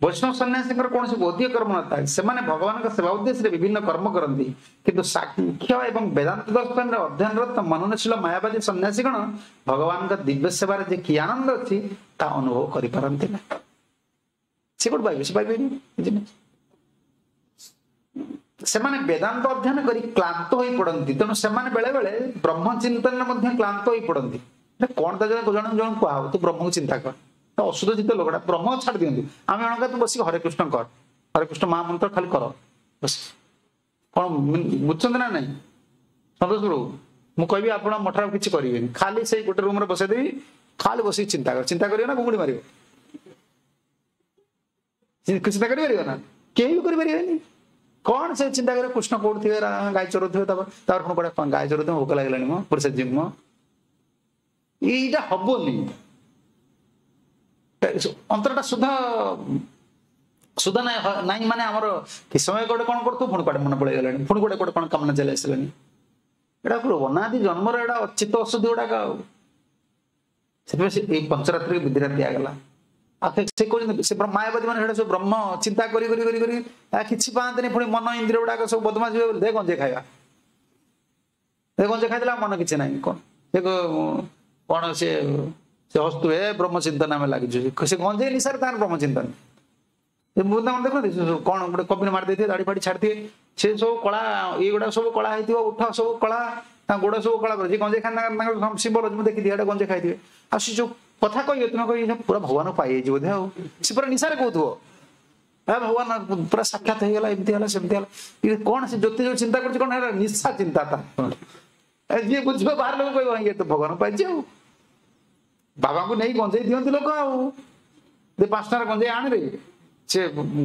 ବୈଷ୍ଣବ ସନ୍ନ୍ୟାସୀଙ୍କର କୌଣସି ବୌଦ୍ଧିକ କର୍ମ ନଥାଏ। ସେମାନେ ଭଗବାନଙ୍କ ସେବା ଉଦ୍ଦେଶ୍ୟରେ ବିଭିନ୍ନ କର୍ମ କରନ୍ତି। କିନ୍ତୁ ସାଂଖ୍ୟ ଏବଂ ବେଦାନ୍ତ ଦର୍ଶନରେ ଅଧ୍ୟୟନରତ ମନନଶୀଳ ମାୟାବାଦୀ ସନ୍ନ୍ୟାସୀଗଣ ଭଗବାନଙ୍କ ଦିବ୍ୟ ସେବାରେ ଯେ କି ଆନନ୍ଦ ଅଛି ତା ଅନୁଭବ କରିପାରନ୍ତି ନା। ସେ କୋଉଠୁ ପାଇବେ? ସେ ପାଇବେନି। ସେମାନେ ବେଦାନ୍ତ ଅଧ୍ୟୟନ କରି କ୍ଳାନ୍ତ ହୋଇ ପଡନ୍ତି। ତେଣୁ ସେମାନେ ବେଳେ ବେଳେ ବ୍ରହ୍ମ ଚିନ୍ତନରେ ମଧ୍ୟ କ୍ଳାନ୍ତ ହୋଇ ପଡନ୍ତି। କଣ ତା ଜଣେ ଜଣେ ଜଣକୁ କୁହାହବ, ତୁ ବ୍ରହ୍ମକୁ ଚିନ୍ତା କର। ଅଶୁଦ୍ଧ ଚିତ୍ତ ଲୋକଟା ବ୍ରହ୍ମ ଛାଡି ଦିଅନ୍ତି। ଆମେ ଜଣଙ୍କ ତୁ ବସିକି ହରେ କୃଷ୍ଣ କର, ହରେ କୃଷ୍ଣ ମହାମନ୍ତ୍ର ଖାଲି କର ବସ। କଣ ବୁଝୁଛନ୍ତି ନା ନାଇଁ ସନ୍ତୋଷ ପ୍ରଭୁ? ମୁଁ କହିବି ଆପଣ ମଠରେ ଆଉ କିଛି କରିବେନି, ଖାଲି ସେଇ ଗୋଟେ ରୁମରେ ବସେଇଦେବି, ଖାଲି ବସିକି ଚିନ୍ତା କର। ଚିନ୍ତା କରିବ ନା ଘୁଙ୍ଗୁଡି ମାରିବ? ଚିନ୍ତା କରିପାରିବ ନା? କେହି ବି କରିପାରିବେନି। କଣ ସେ ଚିନ୍ତା କରିବ? କୃଷ୍ଣ କୋଉଠି ଥିବେ, ଗାଈ ଚରଉଥିବେ, ତାପରେ ତାପରେ ପୁଣି କୁଆଡେ ଗାଈ ଚରଉଥିବେ, ଭୋକ ଲାଗିଲାଣି ମ ପୁଣି ସେ ଯିବ। ଏଇଟା ହବନି। ଅନ୍ତରଟା ସୁଧ ସୁଧ ନାଇଁ ନାଇଁ ମାନେ ଆମର କି ସମୟ ଗୋଟେ କଣ କରୁଥିବ, ପୁଣି କୁଆଡେ ମନେ ପଳେଇଗଲାଣି, ପୁଣି ଗୋଟେ ଗୋଟେ କଣ କାମନା ଚାଲି ଆସିଲାଣି। ଏଇଟା ପୁରା ଅନାଦି ଜନ୍ମର ଏଇଟା ଚିତ୍ତ ଅଶୁଦ୍ଧି ଗୁଡାକ। ଆଉ ସେଥିପାଇଁ ସେ ଏଇ ପଞ୍ଚରାତ୍ରିକ ବିଧିଟା ଦିଆଗଲା। ଆଉ ସେ କହୁଛନ୍ତି ସେ ମାୟାବାଦୀ ମାନେ ସେଇଟା ସବୁ ବ୍ରହ୍ମ ଚିନ୍ତା କରି କରି କରି କରି କିଛି ପାଆନ୍ତିନି। ପୁଣି ମନ ଇନ୍ଦ୍ରିୟ ଗୁଡାକ ସବୁ ବଦମାସ ହୁଏ ବୋଲି ଦେ ଗଞ୍ଜେଇ ଖାଇବା, ଦେ ଗଞ୍ଜେଇ ଖାଇଦେଲା ମନ କିଛି ନାହିଁ। କଣ ସେ କଣ ସେ ସେ ହସୁଥିବେ, ବ୍ରହ୍ମ ଚିନ୍ତନ ଆମେ ଲାଗିଛୁ। ସେ ଗଞ୍ଜେଇ ନିଶାରେ ତାଙ୍କର ବ୍ରହ୍ମ ଚିନ୍ତନ। ବୃନ୍ଦାବନ ଦେଖନ୍ତି କଣ ଗୋଟେ କବିନ ମାରି ଦେଇଥିବେ, ଦାଢି ଫାଡି ଛାଡିଥିବେ, ସେ ସବୁ କଳା ଏଇଗୁଡା ସବୁ କଳା ହେଇଥିବ, ଉଠ ସବୁ କଳା, ତାଙ୍କ ଗୋଡ ସବୁ କଳା କରୁଛି। ଗଞ୍ଜେଇ ଖାନ୍ତି ତାଙ୍କର ସିମ୍ବଲ ଅଛି, ମୁଁ ଦେଖିଦିଏ ଏଇଟା ଗଞ୍ଜେଇ ଖାଇଥିବେ। ଆଉ ସେ ଯୋଉ କଥା କହିବେ ତୁମେ କହିବେ ପୁରା ଭଗବାନ ପାଇଯାଇଛି ବୋଧେ। ଆଉ ସେ ପୁରା ନିଶାରେ କହୁଥିବ, ଭଗବାନ ପୁରା ସାକ୍ଷାତ ହେଇଗଲା, ଏମିତି ହେଲା ସେମିତି ହେଲା। କଣ ସେ ଜ୍ୟୋତି ଯୋଉ ଚିନ୍ତା କରୁଛି କଣ ହେଲା ନିଶା ଚିନ୍ତା ତା। ଯିଏ ବୁଝିବ ବାହାର ଲୋକ କହିବ ଇଏ ତ ଭଗବାନ ପାଇଛି। ଆଉ ବାବାଙ୍କୁ ନେଇ ଗଞ୍ଜେଇ ଦିଅନ୍ତି ଲୋକ। ଆଉ ପାଞ୍ଚ ଟଙ୍କାର ଗଞ୍ଜେଇ ଆଣିବେ, ସେ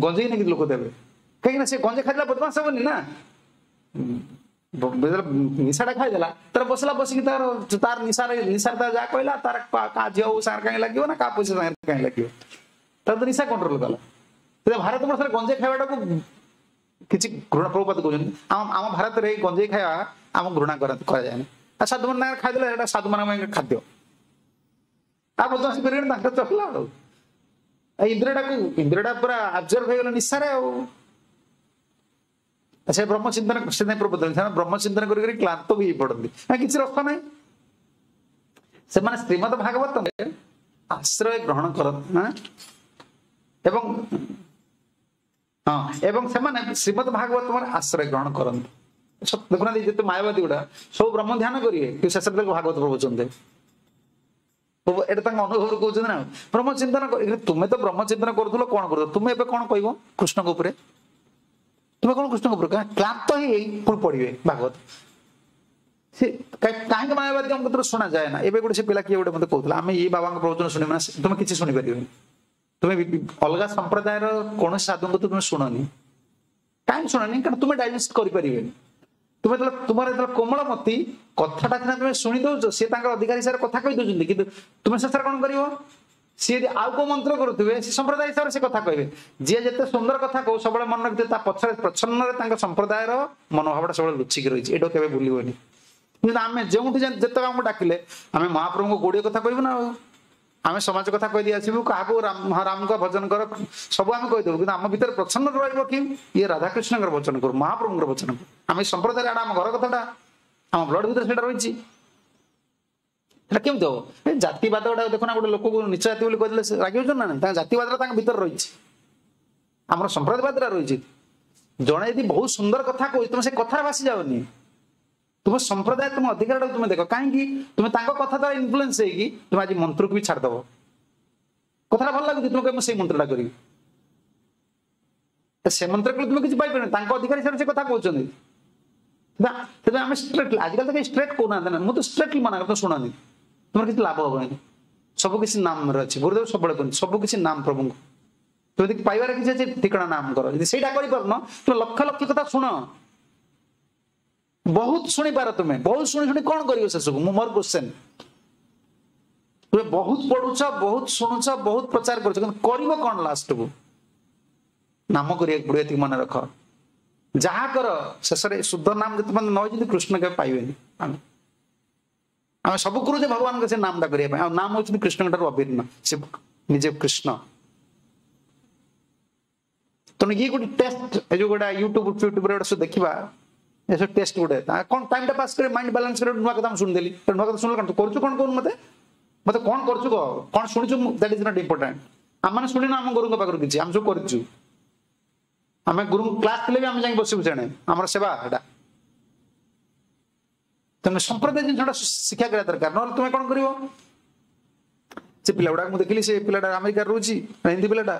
ଗଞ୍ଜେଇ ନେଇକି ଲୋକ ଦେବେ। କାହିଁକି ନା ସେ ଗଞ୍ଜେଇ ଖାଇଦେଲା ବଦମାସ ହବନି ନା, ନିଶାଟା ଖାଇଦେଲା ତାର ବସିଲା ବସିକି ତାର ତାର ନିଶାରେ ନିଶାରେ ତାର ଯାହା କହିଲା ତାର କାହା ଝିଅ ସାଙ୍ଗରେ କାହିଁ ଲାଗିବ ନା କାହା ପଇସା ସାଙ୍ଗରେ କାହିଁ ଲାଗିବ, ତାର ତ ନିଶା କଣ୍ଟ୍ରୋଲ କଲା। ଭାରତ ବର୍ଷରେ ଗଞ୍ଜେଇ ଖାଇବାଟାକୁ କିଛି ଘୃଣା, ପ୍ରଭୁପାଦ କହୁଛନ୍ତି ଆମ ଆମ ଭାରତରେ ଗଞ୍ଜେଇ ଖାଇବା ଆମ ଘୃଣା କରନ୍ତି କରାଯାଏନି। ଆଉ ସାଧୁମାନ ତାଙ୍କର ଖାଇଦେଲେ ସେଇଟା ସାଧୁମାନଙ୍କ ପାଇଁ ଖାଦ୍ୟ, ଆଉ ବଦମାସି କରିବେନି ତାଙ୍କର ଚଳିଲା। ଆଉ ଇନ୍ଦ୍ରଟାକୁ ଇନ୍ଦ୍ରଟା ପୁରା ଆବଜର୍ଭ ହେଇଗଲା ନିଶାରେ। ଆଉ ସେ ବ୍ରହ୍ମ ଚିନ୍ତନ ସେଥିପାଇଁ ପ୍ରଭୁ ସେମାନେ ବ୍ରହ୍ମ ଚିନ୍ତନ କରି କରି କ୍ଳାନ୍ତ ବି ହେଇ ପଡନ୍ତି, କିଛି ରସ ନାହିଁ। ସେମାନେ ଶ୍ରୀମଦ ଭାଗବତ ଆଶ୍ରୟ ଗ୍ରହଣ କରନ୍ତି ଏବଂ ହଁ ଏବଂ ସେମାନେ ଶ୍ରୀମଦ ଭାଗବତ ଆଶ୍ରୟ ଗ୍ରହଣ କରନ୍ତି। ଦେଖୁନାହାନ୍ତି ଯେତେ ମାୟାବାଦୀ ଗୁଡା ସବୁ ବ୍ରହ୍ମ ଧ୍ୟାନ କରିବେ, କିନ୍ତୁ ଶେଷରେ ତାକୁ ଭାଗବତ ପ୍ରବଚନ ଦେବେ। ଏଇଟା ତାଙ୍କ ଅନୁଭବରୁ କହୁଛନ୍ତି ନା। ବ୍ରହ୍ମ ଚିନ୍ତନ ତୁମେ ତ ବ୍ରହ୍ମ ଚିନ୍ତନ କରୁଥିଲ, କଣ କରୁଥିଲ ତୁମେ? ଏବେ କଣ କହିବ କୃଷ୍ଣଙ୍କ ଉପରେ? ତୁମେ କଣ କୃଷ୍ଣଙ୍କ ଉପରେ କ୍ଳାନ୍ତ ହେଇ ପୁଣି ପଢିବେ ଭାଗବତ? ସେ କାହିଁକି ମାୟାବାଦୀ ଆମ କତିରୁ ଶୁଣାଯାଏ ନା। ଏବେ ଗୋଟେ ସେ ପିଲା କିଏ ଗୋଟେ ମତେ କହୁଥିଲା ଆମେ ଏଇ ବାବାଙ୍କ ପ୍ରବଚନ ଶୁଣିବୁ ନା, ତୁମେ କିଛି ଶୁଣିପାରିବନି। ତୁମେ ଅଲଗା ସମ୍ପ୍ରଦାୟର କୌଣସି ସାଧୁଙ୍କ ତୁମେ ଶୁଣନି। କାହିଁକି ଶୁଣନି? କାରଣ ତୁମେ ଡାଇଜେଷ୍ଟ କରିପାରିବେନି। ତୁମେ ଯେତେବେଳେ ତୁମର ଯେତେବେଳେ କୋମଳମତି କଥାଟା ସିନା ତୁମେ ଶୁଣି ଦଉଛ, ସିଏ ତାଙ୍କର ଅଧିକାର ହିସାବରେ କଥା କହି ଦଉଛନ୍ତି, କିନ୍ତୁ ତୁମେ ଶେଷରେ କଣ କରିବ? ସିଏ ଯଦି ଆଉ କୋଉ ମନ୍ତ୍ର କରୁଥିବେ, ସେ ସମ୍ପ୍ରଦାୟ ହିସାବରେ ସେ କଥା କହିବେ। ଯିଏ ଯେତେ ସୁନ୍ଦର କଥା କହୁ ସବୁବେଳେ ମନେ ରଖିଥିବେ ତା ପଛରେ ପ୍ରଚ୍ଛନ୍ନରେ ତାଙ୍କ ସମ୍ପ୍ରଦାୟର ମନୋଭାବଟା ସବୁବେଳେ ଲୁଚିକି ରହିଛି। ଏଇଟା କେବେ ଭୁଲିବନି। କିନ୍ତୁ ଆମେ ଯେଉଁଠି ଯେତେବେଳେ ଆମକୁ ଡାକିଲେ ଆମେ ମହାପ୍ରଭୁଙ୍କ ଗୋଡିଏ କଥା କହିବୁ ନା, ଆଉ ଆମେ ସମାଜ କଥା କହିଦେଇ ଆସିବୁ, କାହାକୁ ରାମ ରାମଙ୍କ ଭଜନ କର ସବୁ ଆମେ କହିଦେବୁ, କିନ୍ତୁ ଆମ ଭିତରେ ପ୍ରଚ୍ଛନ୍ନ ରହିବ କି ଇଏ ରାଧାକୃଷ୍ଣଙ୍କର ଭଜନ କରୁ, ମହାପ୍ରଭୁଙ୍କର ଭଜନ କରୁ। ଆମେ ସମ୍ପ୍ରଦାୟରେ ଆମ ଘର କଥାଟା ଆମ ବ୍ଲଡ ଭିତରେ ସେଇଟା ରହିଛି। ସେଟା କେମିତି ହବ? ଜାତିବାଦ ଗୁଡାକ ଦେଖୁନା, ଗୋଟେ ଲୋକକୁ ନିଚ ଜାତି ବୋଲି କହିଦେଲେ ରାଗି ହଉଛନ୍ତି ନା ନାଇଁ? ତାଙ୍କ ଜାତିବାଦଟା ତାଙ୍କ ଭିତରେ ରହିଛି, ଆମର ସମ୍ପ୍ରଦାୟବାଦଟା ରହିଛି। ଜଣେ ଯଦି ବହୁତ ସୁନ୍ଦର କଥା କହୁଛି, ତୁମେ ସେ କଥାରେ ଭାସି ଯାଉନି, ତୁମ ସମ୍ପ୍ରଦାୟ ତୁମ ଅଧିକାରଟାକୁ ତୁମେ ଦେଖ। କାହିଁକି ତୁମେ ତାଙ୍କ କଥା ଦ୍ୱାରା ଇନଫ୍ଲୁଏନ୍ସ ହେଇକି ତୁମେ ଆଜି ମନ୍ତ୍ରକୁ ବି ଛାଡ଼ିଦବ। କଥାଟା ଭଲ ଲାଗୁଛି, ତୁମେ କହିବ ମୁଁ ସେଇ ମନ୍ତ୍ରଟା କରିବି। ତ ସେ ମନ୍ତ୍ର କଲେ ତୁମେ କିଛି ପାଇପାରିବନି। ତାଙ୍କ ଅଧିକାରୀ ହିସାବରେ ସେ କଥା କହୁଛନ୍ତି। ସେଥିପାଇଁ ଆମେ ଷ୍ଟ୍ରେଟଲି, ଆଜିକାଲି ତ କେହି ଷ୍ଟ୍ରେଟ୍ କହୁନାହାନ୍ତି ନା, ମୁଁ ତ ଷ୍ଟ୍ରେଟଲି ମନା କରେ, ଶୁଣନି, ତୁମର କିଛି ଲାଭ ହବନି। ସବୁ କିଛି ନାମରେ ଅଛି। ଗୁରୁଦେବ ସବୁବେଳେ କୁହନ୍ତି ସବୁ କିଛି ନାମ ପ୍ରଭୁଙ୍କୁ। ତୁମେ ଯଦି ପାଇବାର କିଛି ଅଛି ଠିକଣା ନାମ କର। ଯଦି ସେଇଟା କରିପାରୁନ, ତୁମେ ଲକ୍ଷ ଲକ୍ଷ କଥା ଶୁଣ, ବହୁତ ଶୁଣିପାର, ତୁମେ ବହୁତ ଶୁଣି ଶୁଣି କଣ କରିବ ସେସବୁ? ମୁଁ ମୋର କ୍ୱେଶ୍ଚେନ୍, ତୁମେ ବହୁତ ପଢୁଛ, ବହୁତ ଶୁଣୁଛ, ବହୁତ ପ୍ରଚାର କରୁଛ, କିନ୍ତୁ କରିବ କଣ ଲାଷ୍ଟକୁ? ନାମ କରିବାକୁ ପଡିବ, ଏତିକି ମନେ ରଖ। ଯାହା କର ଶେଷରେ ଶୁଦ୍ଧ ନାମ ଯେତେ ପର୍ଯ୍ୟନ୍ତ ନ ହେଇଛନ୍ତି କୃଷ୍ଣ କେବେ ପାଇବେନି। ଆମେ ଆମେ ସବୁ କରୁଛେ ଭଗବାନଙ୍କ ସେ ନାମଟା କରିବା ପାଇଁ। ଆଉ ନାମ ହଉଛନ୍ତି କୃଷ୍ଣଙ୍କ ଠାରୁ ଅଭିନ୍ନ, ସେ ନିଜେ କୃଷ୍ଣ। ତେଣୁ ଇଏ ଗୋଟେ ଟେଷ୍ଟ, ଏ ଯୋଉ ଗୋଟେ ୟୁଟ୍ୟୁବ ଫ୍ୟୁଟ୍ୟୁବରେ ଗୋଟେ ସବୁ ଦେଖିବା, ଏସବୁ ଟେଷ୍ଟ ଗୋଟେ କଣ ଟାଇମଟା ପାସ୍ କରି ମାଇଣ୍ଡ ବାଲାନ୍ସ କରି ନୂଆ କଥା ମୁଁ ଶୁଣିଦେଲି। ନୂଆ କଥା ଶୁଣିଲେ କଣ ତୁ କରୁଛୁ କଣ କହୁନୁ ମତେ, ମତେ କଣ କରୁଛୁ କହ, କଣ ଶୁଣିଛୁ, that is not important. ଆମମାନେ ଶୁଣିନୁ ଆମ ଗୁରୁଙ୍କ ପାଖରୁ କିଛି, ଆମେ ସବୁ କରିଛୁ। ଆମେ ଗୁରୁଙ୍କ କ୍ଲାସ ଥିଲେ ବି ଆମେ ଯାଇକି ବସିବୁ ସେଣେ, ଆମର ସେବା ଏଟା। ତମେ ସମ୍ପ୍ରଦାୟ ଜିନିଷଟା ଶିକ୍ଷା କରିବା ଦରକାର, ନହେଲେ ତୁମେ କଣ କରିବ? ସେ ପିଲା ଗୁଡାକ ମୁଁ ଦେଖିଲି, ସେ ପିଲାଟା ଆମେରିକାରେ ରହୁଛି, ହିନ୍ଦୀ ପିଲାଟା,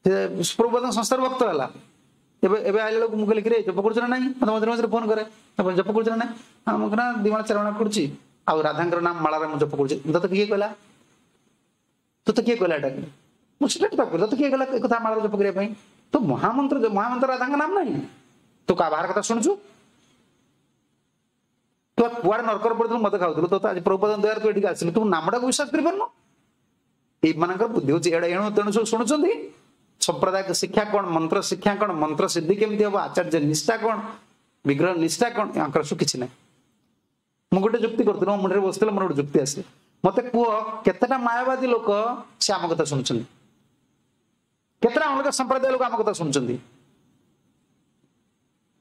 ସେ ପ୍ରଭୁପାଦଙ୍କ ସଂସ୍ଥାର ଭକ୍ତ ହେଲା। ଏବେ ଏବେ ଆଇଲା ବେଳକୁ ମୁଁ କହିଲି କିରେ ଜପ କରୁଛୁ ନା ନାହିଁ? ମତେ ମଝିରେ ମଝିରେ ଫୋନ କରେ, ଜପ କରୁଛୁ ନା ନାହିଁ? ହଁ ମୁଁ ନା ଦି ମାଳ ଚାରି ମାଳ କରୁଛି, ଆଉ ରାଧାଙ୍କର ନାମ ମାଳାରେ ମୁଁ ଜପ କରୁଛି। ତତେ କିଏ କହିଲା? ତତେ କିଏ କହିଲା ଏଟା? ମୁଁ ସେଟା ତାକୁ ତତେ କିଏ କହିଲା ଏ କଥା ମାଳାରେ ଜପ କରିବା ପାଇଁ? ତୁ ମହାମନ୍ତ୍ର, ମହାମନ୍ତ୍ର ରାଧାଙ୍କ ନାମ ନାହିଁ, ତୁ କାହା ବାହାର କଥା ଶୁଣୁଛୁ? ତୁ କୁଆଡେ ନରକରେ ପଡିଥିଲୁ, ମଦ ଖାଉଥିଲୁ, ତୋ ଆଜି ପ୍ରଭୁପାଦଙ୍କ ଦୟାରେ ତୁ ଏଠିକି ଆସିଲୁ, ତୁ ନାମଟାକୁ ବିଶ୍ୱାସ କରିପାରୁନୁ? ଏଇମାନଙ୍କର ବୁଦ୍ଧି ହଉଛି ଏଇଟା। ଏଣୁ ତେଣୁ ସବୁ ଶୁଣୁଛନ୍ତି। ସମ୍ପ୍ରଦାୟ ଶିକ୍ଷା କଣ, ମନ୍ତ୍ର ଶିକ୍ଷା କଣ, ମନ୍ତ୍ର ସିଦ୍ଧି କେମିତି ହବ, ଆଚାର୍ଯ୍ୟ ନିଷ୍ଠା କଣ, ବିଗ୍ରହ ନିଷ୍ଠା କଣ, ୟାଙ୍କର ସବୁ କିଛି ନାହିଁ। ମୁଁ ଗୋଟେ ଯୁକ୍ତି କରୁଥିଲି, ମୋ ମୁଣ୍ଡରେ ବସିଥିଲା, ମୋର ଗୋଟେ ଯୁକ୍ତି ଆସେ, ମତେ କୁହ କେତେଟା ମାୟାବାଦୀ ଲୋକ ସେ ଆମ କଥା ଶୁଣୁଛନ୍ତି, କେତେଟା ଅଲଗା ସମ୍ପ୍ରଦାୟ ଲୋକ ଆମ କଥା ଶୁଣୁଛନ୍ତି?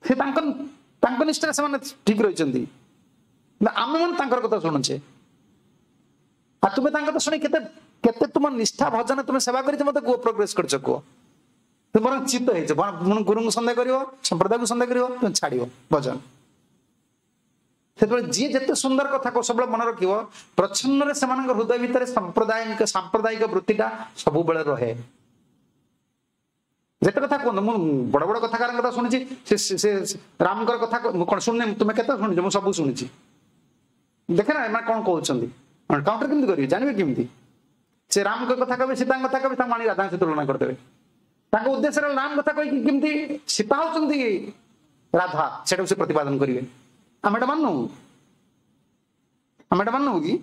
ସେ ତାଙ୍କ ତାଙ୍କ ନିଷ୍ଠାରେ ସେମାନେ ଠିକ ରହିଛନ୍ତି, ଆମେ ମାନେ ତାଙ୍କର କଥା ଶୁଣୁଛେ। ଆଉ ତୁମେ ତାଙ୍କ କଥା ଶୁଣି କେତେ କେତେ ତୁମ ନିଷ୍ଠା ଭଜନ ତୁମେ ସେବା କରିଛ ମତେ କୁହ, ପ୍ରୋଗ୍ରେସ କରିଛ କୁହ? ତୁମେ ବରଂ ଚିତ୍ତ ହେଇଛ, ଗୁରୁଙ୍କୁ ସନ୍ଦେହ କରିବ, ସମ୍ପ୍ରଦାୟକୁ ସନ୍ଦେହ କରିବ, ତୁମେ ଛାଡିବ ଭଜନ। ସେତେବେଳେ ଯିଏ ଯେତେ ସୁନ୍ଦର କଥା କହୁ, ସବୁବେଳେ ମନେ ରଖିବ, ପ୍ରଚ୍ଛନ୍ନରେ ସେମାନଙ୍କ ହୃଦୟ ଭିତରେ ସମ୍ପ୍ରଦାୟିକ ସାମ୍ପ୍ରଦାୟିକ ବୃତ୍ତିଟା ସବୁବେଳେ ରହେ। ଯେତେ କଥା କୁହନ୍ତୁ, ମୁଁ ବଡ ବଡ କଥାକାରଙ୍କ କଥା ଶୁଣିଛି, ସେ ସେ ରାମଙ୍କର କଥା ମୁଁ କଣ ଶୁଣିନି? ତୁମେ କେତେ ଶୁଣିଛ? ମୁଁ ସବୁ ଶୁଣିଛି। ଦେଖେ ନା ଏମାନେ କଣ କହୁଛନ୍ତି, କାଉଣ୍ଟର କେମିତି କରିବେ, ଜାଣିବେ କେମିତି? ସେ ରାମଙ୍କ କଥା କହିବେ, ସୀତାଙ୍କ କଥା କହିବେ, ତାଙ୍କୁ ଆଣି ରାଧାଙ୍କ ସହିତ ତୁଳନା କରିଦେବେ। ତାଙ୍କ ଉଦ୍ଦେଶ୍ୟରେ ରାମ କଥା କହିକି କେମିତି ସୀତା ହଉଛନ୍ତି ରାଧା, ସେଟାକୁ ସେ ପ୍ରତିପାଦନ କରିବେ। ଆମେ ଏଟା ମାନୁ, ଆମେ ଏଟା ମାନୁ କି?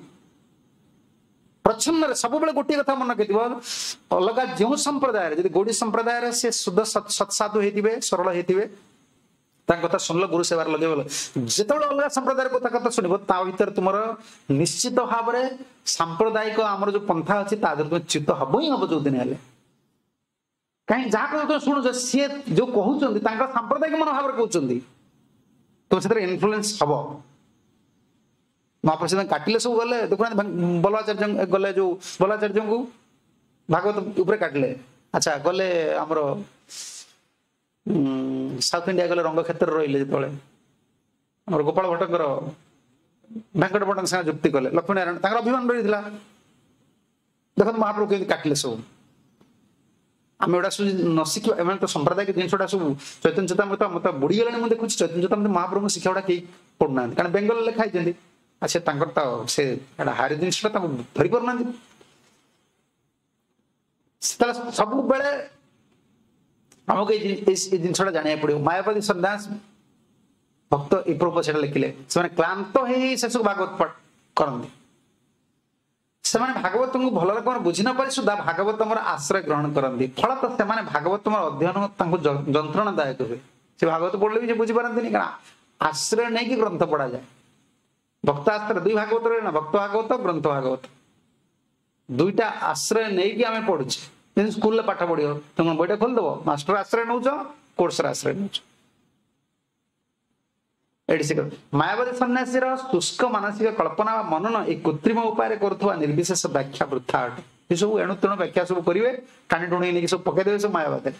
ପ୍ରଚ୍ଛନ୍ନରେ ସବୁବେଳେ ଗୋଟିଏ କଥା ମନେ ରଖିଥିବ, ଅଲଗା ଯେଉଁ ସମ୍ପ୍ରଦାୟରେ, ଯଦି ଗୌଡୀ ସମ୍ପ୍ରଦାୟରେ ସେ ଶୁଦ୍ଧ ସତ୍ସାଧୁ ହେଇଥିବେ, ସରଳ ହେଇଥିବେ, ତାଙ୍କ କଥା ଶୁଣିଲ, ଗୁରୁ ସେବାରେ ଲଗେଇବ। ଯେତେବେଳେ ଅଲଗା ସମ୍ପ୍ରଦାୟର କଥା କଥା ଶୁଣିବ, ତା ଭିତରେ ତୁମର ନିଶ୍ଚିତ ଭାବରେ ସାମ୍ପ୍ରଦାୟିକ ଆମର ଯୋଉ ପନ୍ଥା ଅଛି ତା ଦେହରେ ତୁମେ ଚ୍ୟୁତ ହବ ହିଁ ହବ ଯୋଉଦିନ ହେଲେ। କାହିଁକି ଯାହା କଥା ତୁମେ ଶୁଣୁଛ, ସିଏ ଯୋଉ କହୁଛନ୍ତି ତାଙ୍କର ସାମ୍ପ୍ରଦାୟିକ ମନୋଭାବରେ କହୁଛନ୍ତି, ତୁମେ ସେଥିରେ ଇନଫ୍ଲୁଏନ୍ସ ହବ। ମହାପ୍ରସାଦ କାଟିଲେ ସବୁ ଗଲେ, ଦେଖୁନାହାନ୍ତି ବଲ୍ଲଭାଚାର୍ଯ୍ୟ ଗଲେ, ଯୋଉ ବଲ୍ଲଭାଚାର୍ଯ୍ୟଙ୍କୁ ଭାଗବତ ଉପରେ କାଟିଲେ। ଆଚ୍ଛା ଗଲେ ଆମର ସାଉଥ ଇଣ୍ଡିଆ ଗଲେ, ରଙ୍ଗକ୍ଷେତ୍ରରେ ରହିଲେ ଯେତେବେଳେ ଆମର ଗୋପାଳ ଭଟ୍ଟଙ୍କର ଭେଙ୍କଟ ଭଟ୍ଟଙ୍କ ସାଙ୍ଗେ ଯୁକ୍ତି କଲେ, ଲକ୍ଷ୍ମୀ ନାରାୟଣ ତାଙ୍କର ଅଭିମାନ ରହିଥିଲା। ଦେଖନ୍ତୁ ମହାପ୍ରଭୁ କେମିତି କାଟିଲେ ସବୁ। ଆମେ ଏଗୁଡ଼ା ସବୁ ନ ଶିଖିବା, ଏମାନେ ତ ସମ୍ପ୍ରଦାୟିକ ଜିନିଷଟା ସବୁ ଚୈତନ୍ୟ ଚରିତାମୃତ ମତେ ବୁଡ଼ିଗଲାଣି। ମୁଁ ଦେଖୁଛି ଚୈତନ୍ୟ ଚରିତାମୃତ ମହାପ୍ରଭୁଙ୍କ ଶିକ୍ଷା ଗୁଡ଼ା କେହି ପଢୁନାହାନ୍ତି, କାରଣ ବେଙ୍ଗଲରେ ଲେଖା ହେଇଛନ୍ତି। ଆଉ ସେ ତାଙ୍କର ତ ସେ ଏଟା ହାରି ଜିନିଷଟା ତାଙ୍କୁ ଧରି ପାରୁନାହାନ୍ତି। ତାହେଲେ ସବୁବେଳେ ଆମକୁ ଏଇ ଏଇ ଜିନିଷଟା ଜାଣିବାକୁ ପଡିବ। ମାୟାବାଦୀ ସନ୍ନ୍ୟାସ ଭକ୍ତ ଏ ପ୍ରଭୁ ସେଟା ଲେଖିଲେ, ସେମାନେ କ୍ଳାନ୍ତ ହେଇ ଶେଷକୁ ଭାଗବତ ପାଠ କରନ୍ତି। ସେମାନେ ଭାଗବତଙ୍କୁ ଭଲ ରକମର ବୁଝି ନ ପାରି ସୁଦ୍ଧା ଭାଗବତଙ୍କର ଆଶ୍ରୟ ଗ୍ରହଣ କରନ୍ତି। ଫଳତଃ ସେମାନେ ଭାଗବତଙ୍କର ଅଧ୍ୟୟନ ତାଙ୍କୁ ଯନ୍ତ୍ରଣାଦାୟକ ହୁଏ। ସେ ଭାଗବତ ପଢିଲେ ବି ସେ ବୁଝିପାରନ୍ତିନି, କାରଣ ଆଶ୍ରୟ ନେଇକି ଗ୍ରନ୍ଥ ପଢାଯାଏ। ଭକ୍ତ ଆଶ୍ରୟ ଦୁଇ ଭାଗବତ ରହିଲା ନା, ଭକ୍ତ ଭାଗବତ, ଗ୍ରନ୍ଥ ଭାଗବତ, ଦୁଇଟା ଆଶ୍ରୟ ନେଇକି ଆମେ ପଢୁଛେ। ଯେମିତି ସ୍କୁଲରେ ପାଠ ପଢିବ, ତମେ ବହିଟା ଖୋଲିଦବ, ମାଷ୍ଟର ଆଶ୍ରୟ ନଉଛ, କୋର୍ସର ଆଶ୍ରୟ ନଉଛ। ଏଠି ସେ ମାୟାବାଦୀ ସନ୍ନ୍ୟାସୀର ଶୁଷ୍କ ମାନସିକ କଳ୍ପନା ବା ମନନ ଏଇ କୃତ୍ରିମ ଉପାୟରେ କରୁଥିବା ନିର୍ବିଶେଷ ବ୍ୟାଖ୍ୟା ବୃଥା ଅଟେ। ଏ ସବୁ ଏଣୁ ତେଣୁ ବ୍ୟାଖ୍ୟା ସବୁ କରିବେ, ଟାଣି ଟୁଣି ନେଇକି ସବୁ ପକେଇଦେବେ ସବୁ ମାୟାବାଦରେ।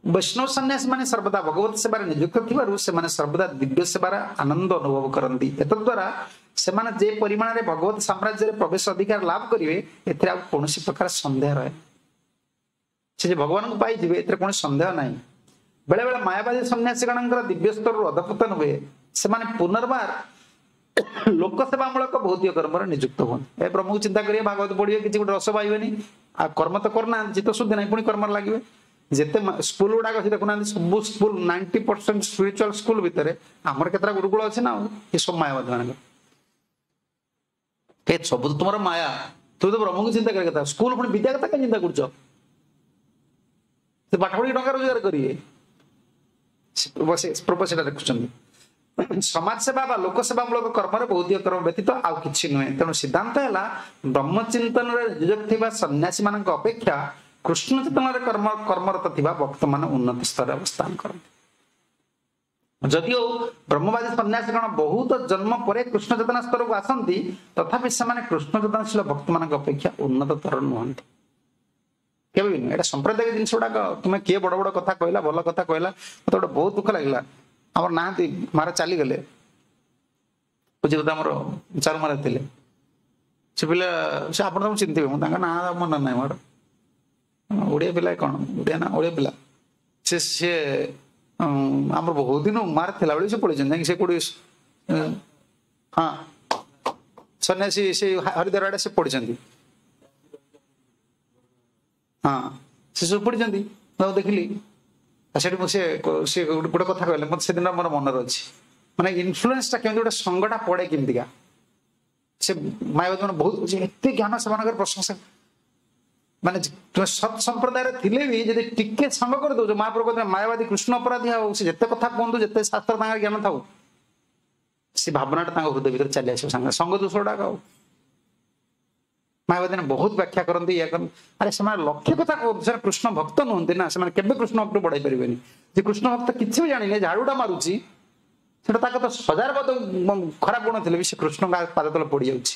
ବୈଷ୍ଣବ ସନ୍ନ୍ୟାସୀ ମାନେ ସର୍ବଦା ଭଗବତ ସେବାରେ ନିଯୁକ୍ତ ଥିବାରୁ ସେମାନେ ସର୍ବଦା ଦିବ୍ୟ ସେବାର ଆନନ୍ଦ ଅନୁଭବ କରନ୍ତି। ଏତଦ୍ୱାରା ସେମାନେ ଯେ ପରିମାଣରେ ଭଗବତ ସାମ୍ରାଜ୍ୟରେ ପ୍ରବେଶ ଅଧିକାର ଲାଭ କରିବେ, ଏଥିରେ ଆଉ କୌଣସି ପ୍ରକାର ସନ୍ଦେହ ରହେ। ସେ ଯେ ଭଗବାନଙ୍କୁ ପାଇଯିବେ ଏଥିରେ କୌଣସି ସନ୍ଦେହ ନାହିଁ। ବେଳେ ବେଳେ ମାୟାବାଦୀ ସନ୍ନ୍ୟାସୀଗଣଙ୍କର ଦିବ୍ୟ ସ୍ତରରୁ ଅଧପତନ ହୁଏ, ସେମାନେ ପୁନର୍ବାର ଲୋକସେବାମୂଳକ ଭୌତିକ କର୍ମରେ ନିଯୁକ୍ତ ହୁଅନ୍ତି। ଏ ବ୍ରହ୍ମକୁ ଚିନ୍ତା କରିବେ, ଭାଗବତ ପଢିବେ, କିଛି ଗୋଟେ ରସ ପାଇବେନି, ଆଉ କର୍ମ ତ କରୁନାହାନ୍ତି, ଚିତ୍ତ ଶୁଦ୍ଧି ନାହିଁ, ପୁଣି କର୍ମରେ ଲାଗିବେ। ଯେତେ ସ୍କୁଲ ଗୁଡାକ ଅଛି ଦେଖୁନାହାନ୍ତି, ସବୁ school ninety percent spiritual school ଭିତରେ ଆମର କେତେଟା ଗୁରୁକୁଳ ଅଛି ନା, ଆଉ ଏ ସବୁ ମାୟାବାଦୀ ମାନଙ୍କର। ଏ ସବୁ ତ ତୁମର ମାୟା, ତୁମେ ତ ବ୍ରହ୍ମକୁ ଚିନ୍ତା କରିବା କଥା, ସ୍କୁଲ ପୁଣି ବିଦ୍ୟା କଥା କାଇଁ ଚିନ୍ତା କରୁଛ? ସେ ପାଠ ପଢିକି ଟଙ୍କା ରୋଜଗାର କରିବେ। ପ୍ରଭୁ ସେଟା ଦେଖୁଛନ୍ତି। ସମାଜ ସେବା ବା ଲୋକସେବାମୂଳକ କର୍ମରେ ଭୌତିକ କର୍ମ ବ୍ୟତୀତ ଆଉ କିଛି ନୁହେଁ। ତେଣୁ ସିଦ୍ଧାନ୍ତ ହେଲା ବ୍ରହ୍ମଚିନ୍ତନରେ ନିଯୁକ୍ତ ଥିବା ସନ୍ନ୍ୟାସୀ ମାନଙ୍କ ଅପେକ୍ଷା କୃଷ୍ଣ ଚେତନାରେ କର୍ମ କର୍ମରତ ଥିବା ଭକ୍ତମାନେ ଉନ୍ନତ ସ୍ତରରେ ଅବସ୍ଥାନ କରନ୍ତି। ଯଦିଓ ବ୍ରହ୍ମବାଦୀ ସନ୍ନ୍ୟାସୀଗଣ ବହୁତ ଜନ୍ମ ପରେ କୃଷ୍ଣ ଚେତନା ସ୍ତରକୁ ଆସନ୍ତି, ତଥାପି ସେମାନେ କୃଷ୍ଣ ଚେତନାଶୀଳ ଭକ୍ତମାନଙ୍କ ଅପେକ୍ଷା ଉନ୍ନତତର ନୁହନ୍ତି, କେବେ ବି ନୁହେଁ। ଏଇଟା ସମ୍ପ୍ରଦାୟିକ ଜିନିଷ ଗୁଡାକ। ତୁମେ କିଏ ବଡ ବଡ କଥା କହିଲା, ଭଲ କଥା କହିଲା, ମତେ ଗୋଟେ ବହୁତ ଦୁଃଖ ଲାଗିଲା। ଆମର ନାହାନ୍ତି, ମାରା ଚାଲିଗଲେ, ବୁଝିଲେ ତ, ଆମର ଚାରୁ ମାରା ଥିଲେ ସେ ପିଲା, ସେ ଆପଣ ତାଙ୍କୁ ଚିହ୍ନିଥିବେ, ମୁଁ ତାଙ୍କ ନାଁ ମନେ ନାହିଁ ମୋର। ଓଡ଼ିଆ ପିଲା କଣ, ଓଡ଼ିଆ ନା ଓଡ଼ିଆ ପିଲା ସେ, ସିଏ ଆମର ବହୁତ ଦିନ ମାର ଥିଲାବେଳେ ସେ ପଳେଇଛନ୍ତି ଯାଇକି ସେ କୋଉଠି, ହଁ ସନ୍ନ୍ୟାସୀ ସେ ହରିଦ୍ୱାର ଆଡେ ସେ ପଢିଛନ୍ତି, ହଁ ସେ ସବୁ ପଢିଛନ୍ତି। ମୁଁ ଦେଖିଲି ସେଠି ମୁଁ ସେ ସେ ଗୋଟେ କଥା କହିଲେ, ମତେ ସେଦିନ ମୋର ମନରେ ଅଛି, ମାନେ ଇନଫ୍ଲୁଏନ୍ସଟା କେମିତି ଗୋଟେ ସଙ୍ଗଟା ପଡେ କେମିତିକା। ସେ ମାୟାବତୀ ମାନେ ବହୁତ ଏତେ ଜ୍ଞାନ, ସେମାନଙ୍କର ପ୍ରଶଂସା, ମାନେ ତୁମେ ସତ୍ ସମ୍ପ୍ରଦାୟରେ ଥିଲେ ବି ଯଦି ଟିକେ ସଙ୍ଗ କରିଦଉଛ, ମହାପ୍ରଭୁ କହୁଥିଲେ ମାୟାବାଦୀ କୃଷ୍ଣ ଅପରାଧୀ, ଆଉ ସେ ଯେତେ କଥା କୁହନ୍ତୁ, ଯେତେ ଶାସ୍ତ୍ର ତାଙ୍କର ଜ୍ଞାନ ଥାଉ, ସେ ଭାବନାଟା ତାଙ୍କ ହୃଦୟ ଭିତରେ ଚାଲି ଆସିବ ସାଙ୍ଗେ ସଙ୍ଗ ଦୋଷ ଗୁଡାକ। ଆଉ ମାୟାବାଦୀ ମାନେ ବହୁତ ବ୍ୟାଖ୍ୟା କରନ୍ତି, ଇୟା କରନ୍ତି, ଆରେ ସେମାନେ ଲକ୍ଷ୍ୟ କଥା କୁହନ୍ତି, ସେମାନେ କୃଷ୍ଣ ଭକ୍ତ ନୁହନ୍ତି ନା, ସେମାନେ କେବେ କୃଷ୍ଣ ଭକ୍ତ ବଢାଇ ପାରିବେନି। ଯେ କୃଷ୍ଣ ଭକ୍ତ କିଛି ବି ଜାଣିନି, ଝାଡୁଟା ମାରୁଛି, ସେଟା ତାଙ୍କ ତ ହଜାର ପଦ ଖରାପ ଗୁଣ ଥିଲେ ବି ସେ କୃଷ୍ଣଙ୍କ ପାଦ ତଳେ ପଡିଯାଉଛି।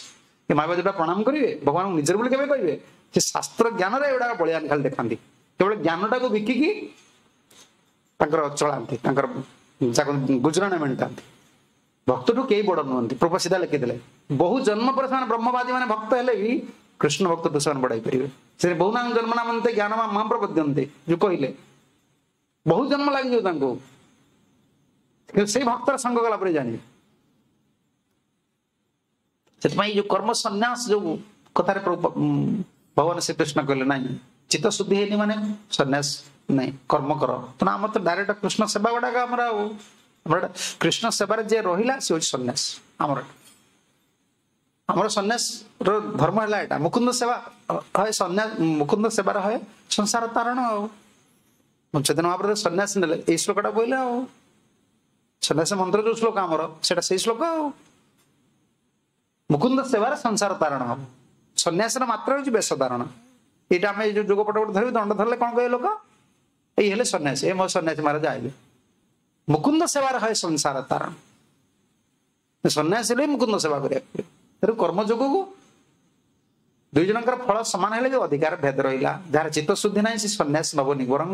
ଏ ମାୟାବାଦୀ ଟା ପ୍ରଣାମ କରିବେ ଭଗବାନଙ୍କୁ ନିଜର ବୋଲି କେବେ କହିବେ? ସେ ଶାସ୍ତ୍ର ଜ୍ଞାନରେ ଏଗୁଡାକ ବଳିଆନ ଖାଲି ଦେଖାନ୍ତି, କେବଳ ଜ୍ଞାନଟାକୁ ବିକିକି ତାଙ୍କର ଚଳାନ୍ତି, ତାଙ୍କର ଗୁଜୁରାଣ ମେଣ୍ଟାନ୍ତି। ଭକ୍ତଠୁ କେହି ବଡ ନୁହନ୍ତି, ପ୍ରଭୁ ସିଧା ଲେଖିଦେଲେ। ବହୁ ଜନ୍ମ ପରେ ସେମାନେ ବ୍ରହ୍ମବାଦୀ ମାନେ ଭକ୍ତ ହେଲେ ବି କୃଷ୍ଣ ଭକ୍ତଠୁ ସେମାନେ ବଢାଇ ପାରିବେ। ସେ ବହୁ ନାମ ଜନ୍ମ ନାମନ୍ତେ ଜ୍ଞାନ ମାମ ପ୍ରପଦ୍ୟନ୍ତେ ଯୋଉ କହିଲେ, ବହୁ ଜନ୍ମ ଲାଗିଯିବ ତାଙ୍କୁ, କିନ୍ତୁ ସେଇ ଭକ୍ତର ସଙ୍ଗ କଲା ପରେ ଜାଣିବେ। ସେଥିପାଇଁ ଯୋଉ କର୍ମ ସନ୍ନ୍ୟାସ ଯୋଉ କଥାରେ ଭଗବାନ ଶ୍ରୀକୃଷ୍ଣ କହିଲେ ନାଇଁ, ଚିତ୍ତ ଶୁଦ୍ଧି ହେଇନି ମାନେ ସନ୍ନ୍ୟାସ ନାଇଁ, କର୍ମ କର। ତେଣୁ ଆମର ତ ଡାଇରେକ୍ଟ କୃଷ୍ଣ ସେବା ଗୁଡାକ ଆମର, ଆଉ ଆମର କୃଷ୍ଣ ସେବାରେ ଯିଏ ରହିଲା ସେ ହଉଛି ସନ୍ନ୍ୟାସ। ଆମର ଆମର ସନ୍ନ୍ୟାସ ର ଧର୍ମ ହେଲା ଏଇଟା, ମୁକୁନ୍ଦ ସେବା ହଏ ସନ୍ନ୍ୟାସ, ମୁକୁନ୍ଦ ସେବାର ହଏ ସଂସାର ତାରଣ। ଆଉ ଚୈତନ୍ୟ ମହାପ୍ରଭୁ ସନ୍ନ୍ୟାସ ନେଲେ ଏଇ ଶ୍ଲୋକଟା କହିଲେ, ଆଉ ସନ୍ନ୍ୟାସ ମନ୍ତ୍ର ଯୋଉ ଶ୍ଲୋକ ଆମର ସେଟା ସେଇ ଶ୍ଲୋକ। ଆଉ ମୁକୁନ୍ଦ ସେବାରେ ସଂସାର ତାରଣ ହବ, ସନ୍ନ୍ୟାସର ମାତ୍ରା ହଉଛି ବେଶ ଧାରଣ। ଏଇଟା ଆମେ ଏଇ ଯୋଉ ଯୋଗ ପଟ ଗୋଟେ ଧରିବୁ, ଦଣ୍ଡ ଧରିଲେ କଣ କହିବେ ଲୋକ, ଏଇ ହେଲେ ସନ୍ନ୍ୟାସୀ, ଏ ମୋ ସନ୍ନ୍ୟାସୀ ମହାରାଜ ଆଇଲେ। ମୁକୁନ୍ଦ ସେବାର ହଏ ସଂସାର ତାରଣ, ସନ୍ନ୍ୟାସୀ ହେଲେ ମୁକୁନ୍ଦ ସେବା କରିବାକୁ ପଡିବ। ତେଣୁ କର୍ମଯୋଗକୁ ଦୁଇ ଜଣଙ୍କର ଫଳ ସମାନ ହେଲେ ବି ଅଧିକାର ଭେଦ ରହିଲା। ଯାହାର ଚିତ୍ତ ଶୁଦ୍ଧି ନାହିଁ ସେ ସନ୍ନ୍ୟାସ ନବନି, ବରଂ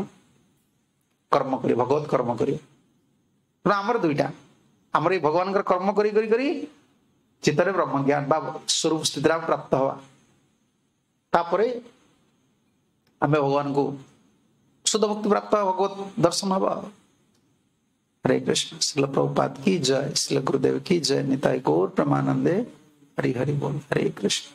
କର୍ମ କରିବ, ଭଗବତ କର୍ମ କରିବ। ତେଣୁ ଆମର ଦୁଇଟା, ଆମର ଏଇ ଭଗବାନଙ୍କର କର୍ମ କରି କରି କରି ଚିତ୍ତରେ ବ୍ରହ୍ମଜ୍ଞାନ ବା ସ୍ୱରୂପ ସ୍ଥିତିରେ ଆମେ ପ୍ରାପ୍ତ ହବା, ତାପରେ ଆମେ ଭଗବାନଙ୍କୁ ଶୁଦ୍ଧ ଭକ୍ତି ପ୍ରାପ୍ତ ଭଗବତ ଦର୍ଶନ ହବା। ହରେ କୃଷ୍ଣ। ଶ୍ରୀଲ ପ୍ରଭୁପାଦ କି ଜୟ, ଶ୍ରୀଲ ଗୁରୁଦେବ କି ଜୟ, ନିତାଇ ଗୌର ପ୍ରେମାନନ୍ଦେ, ହରି ହରି ବୋଲ। ହରେ କୃଷ୍ଣ।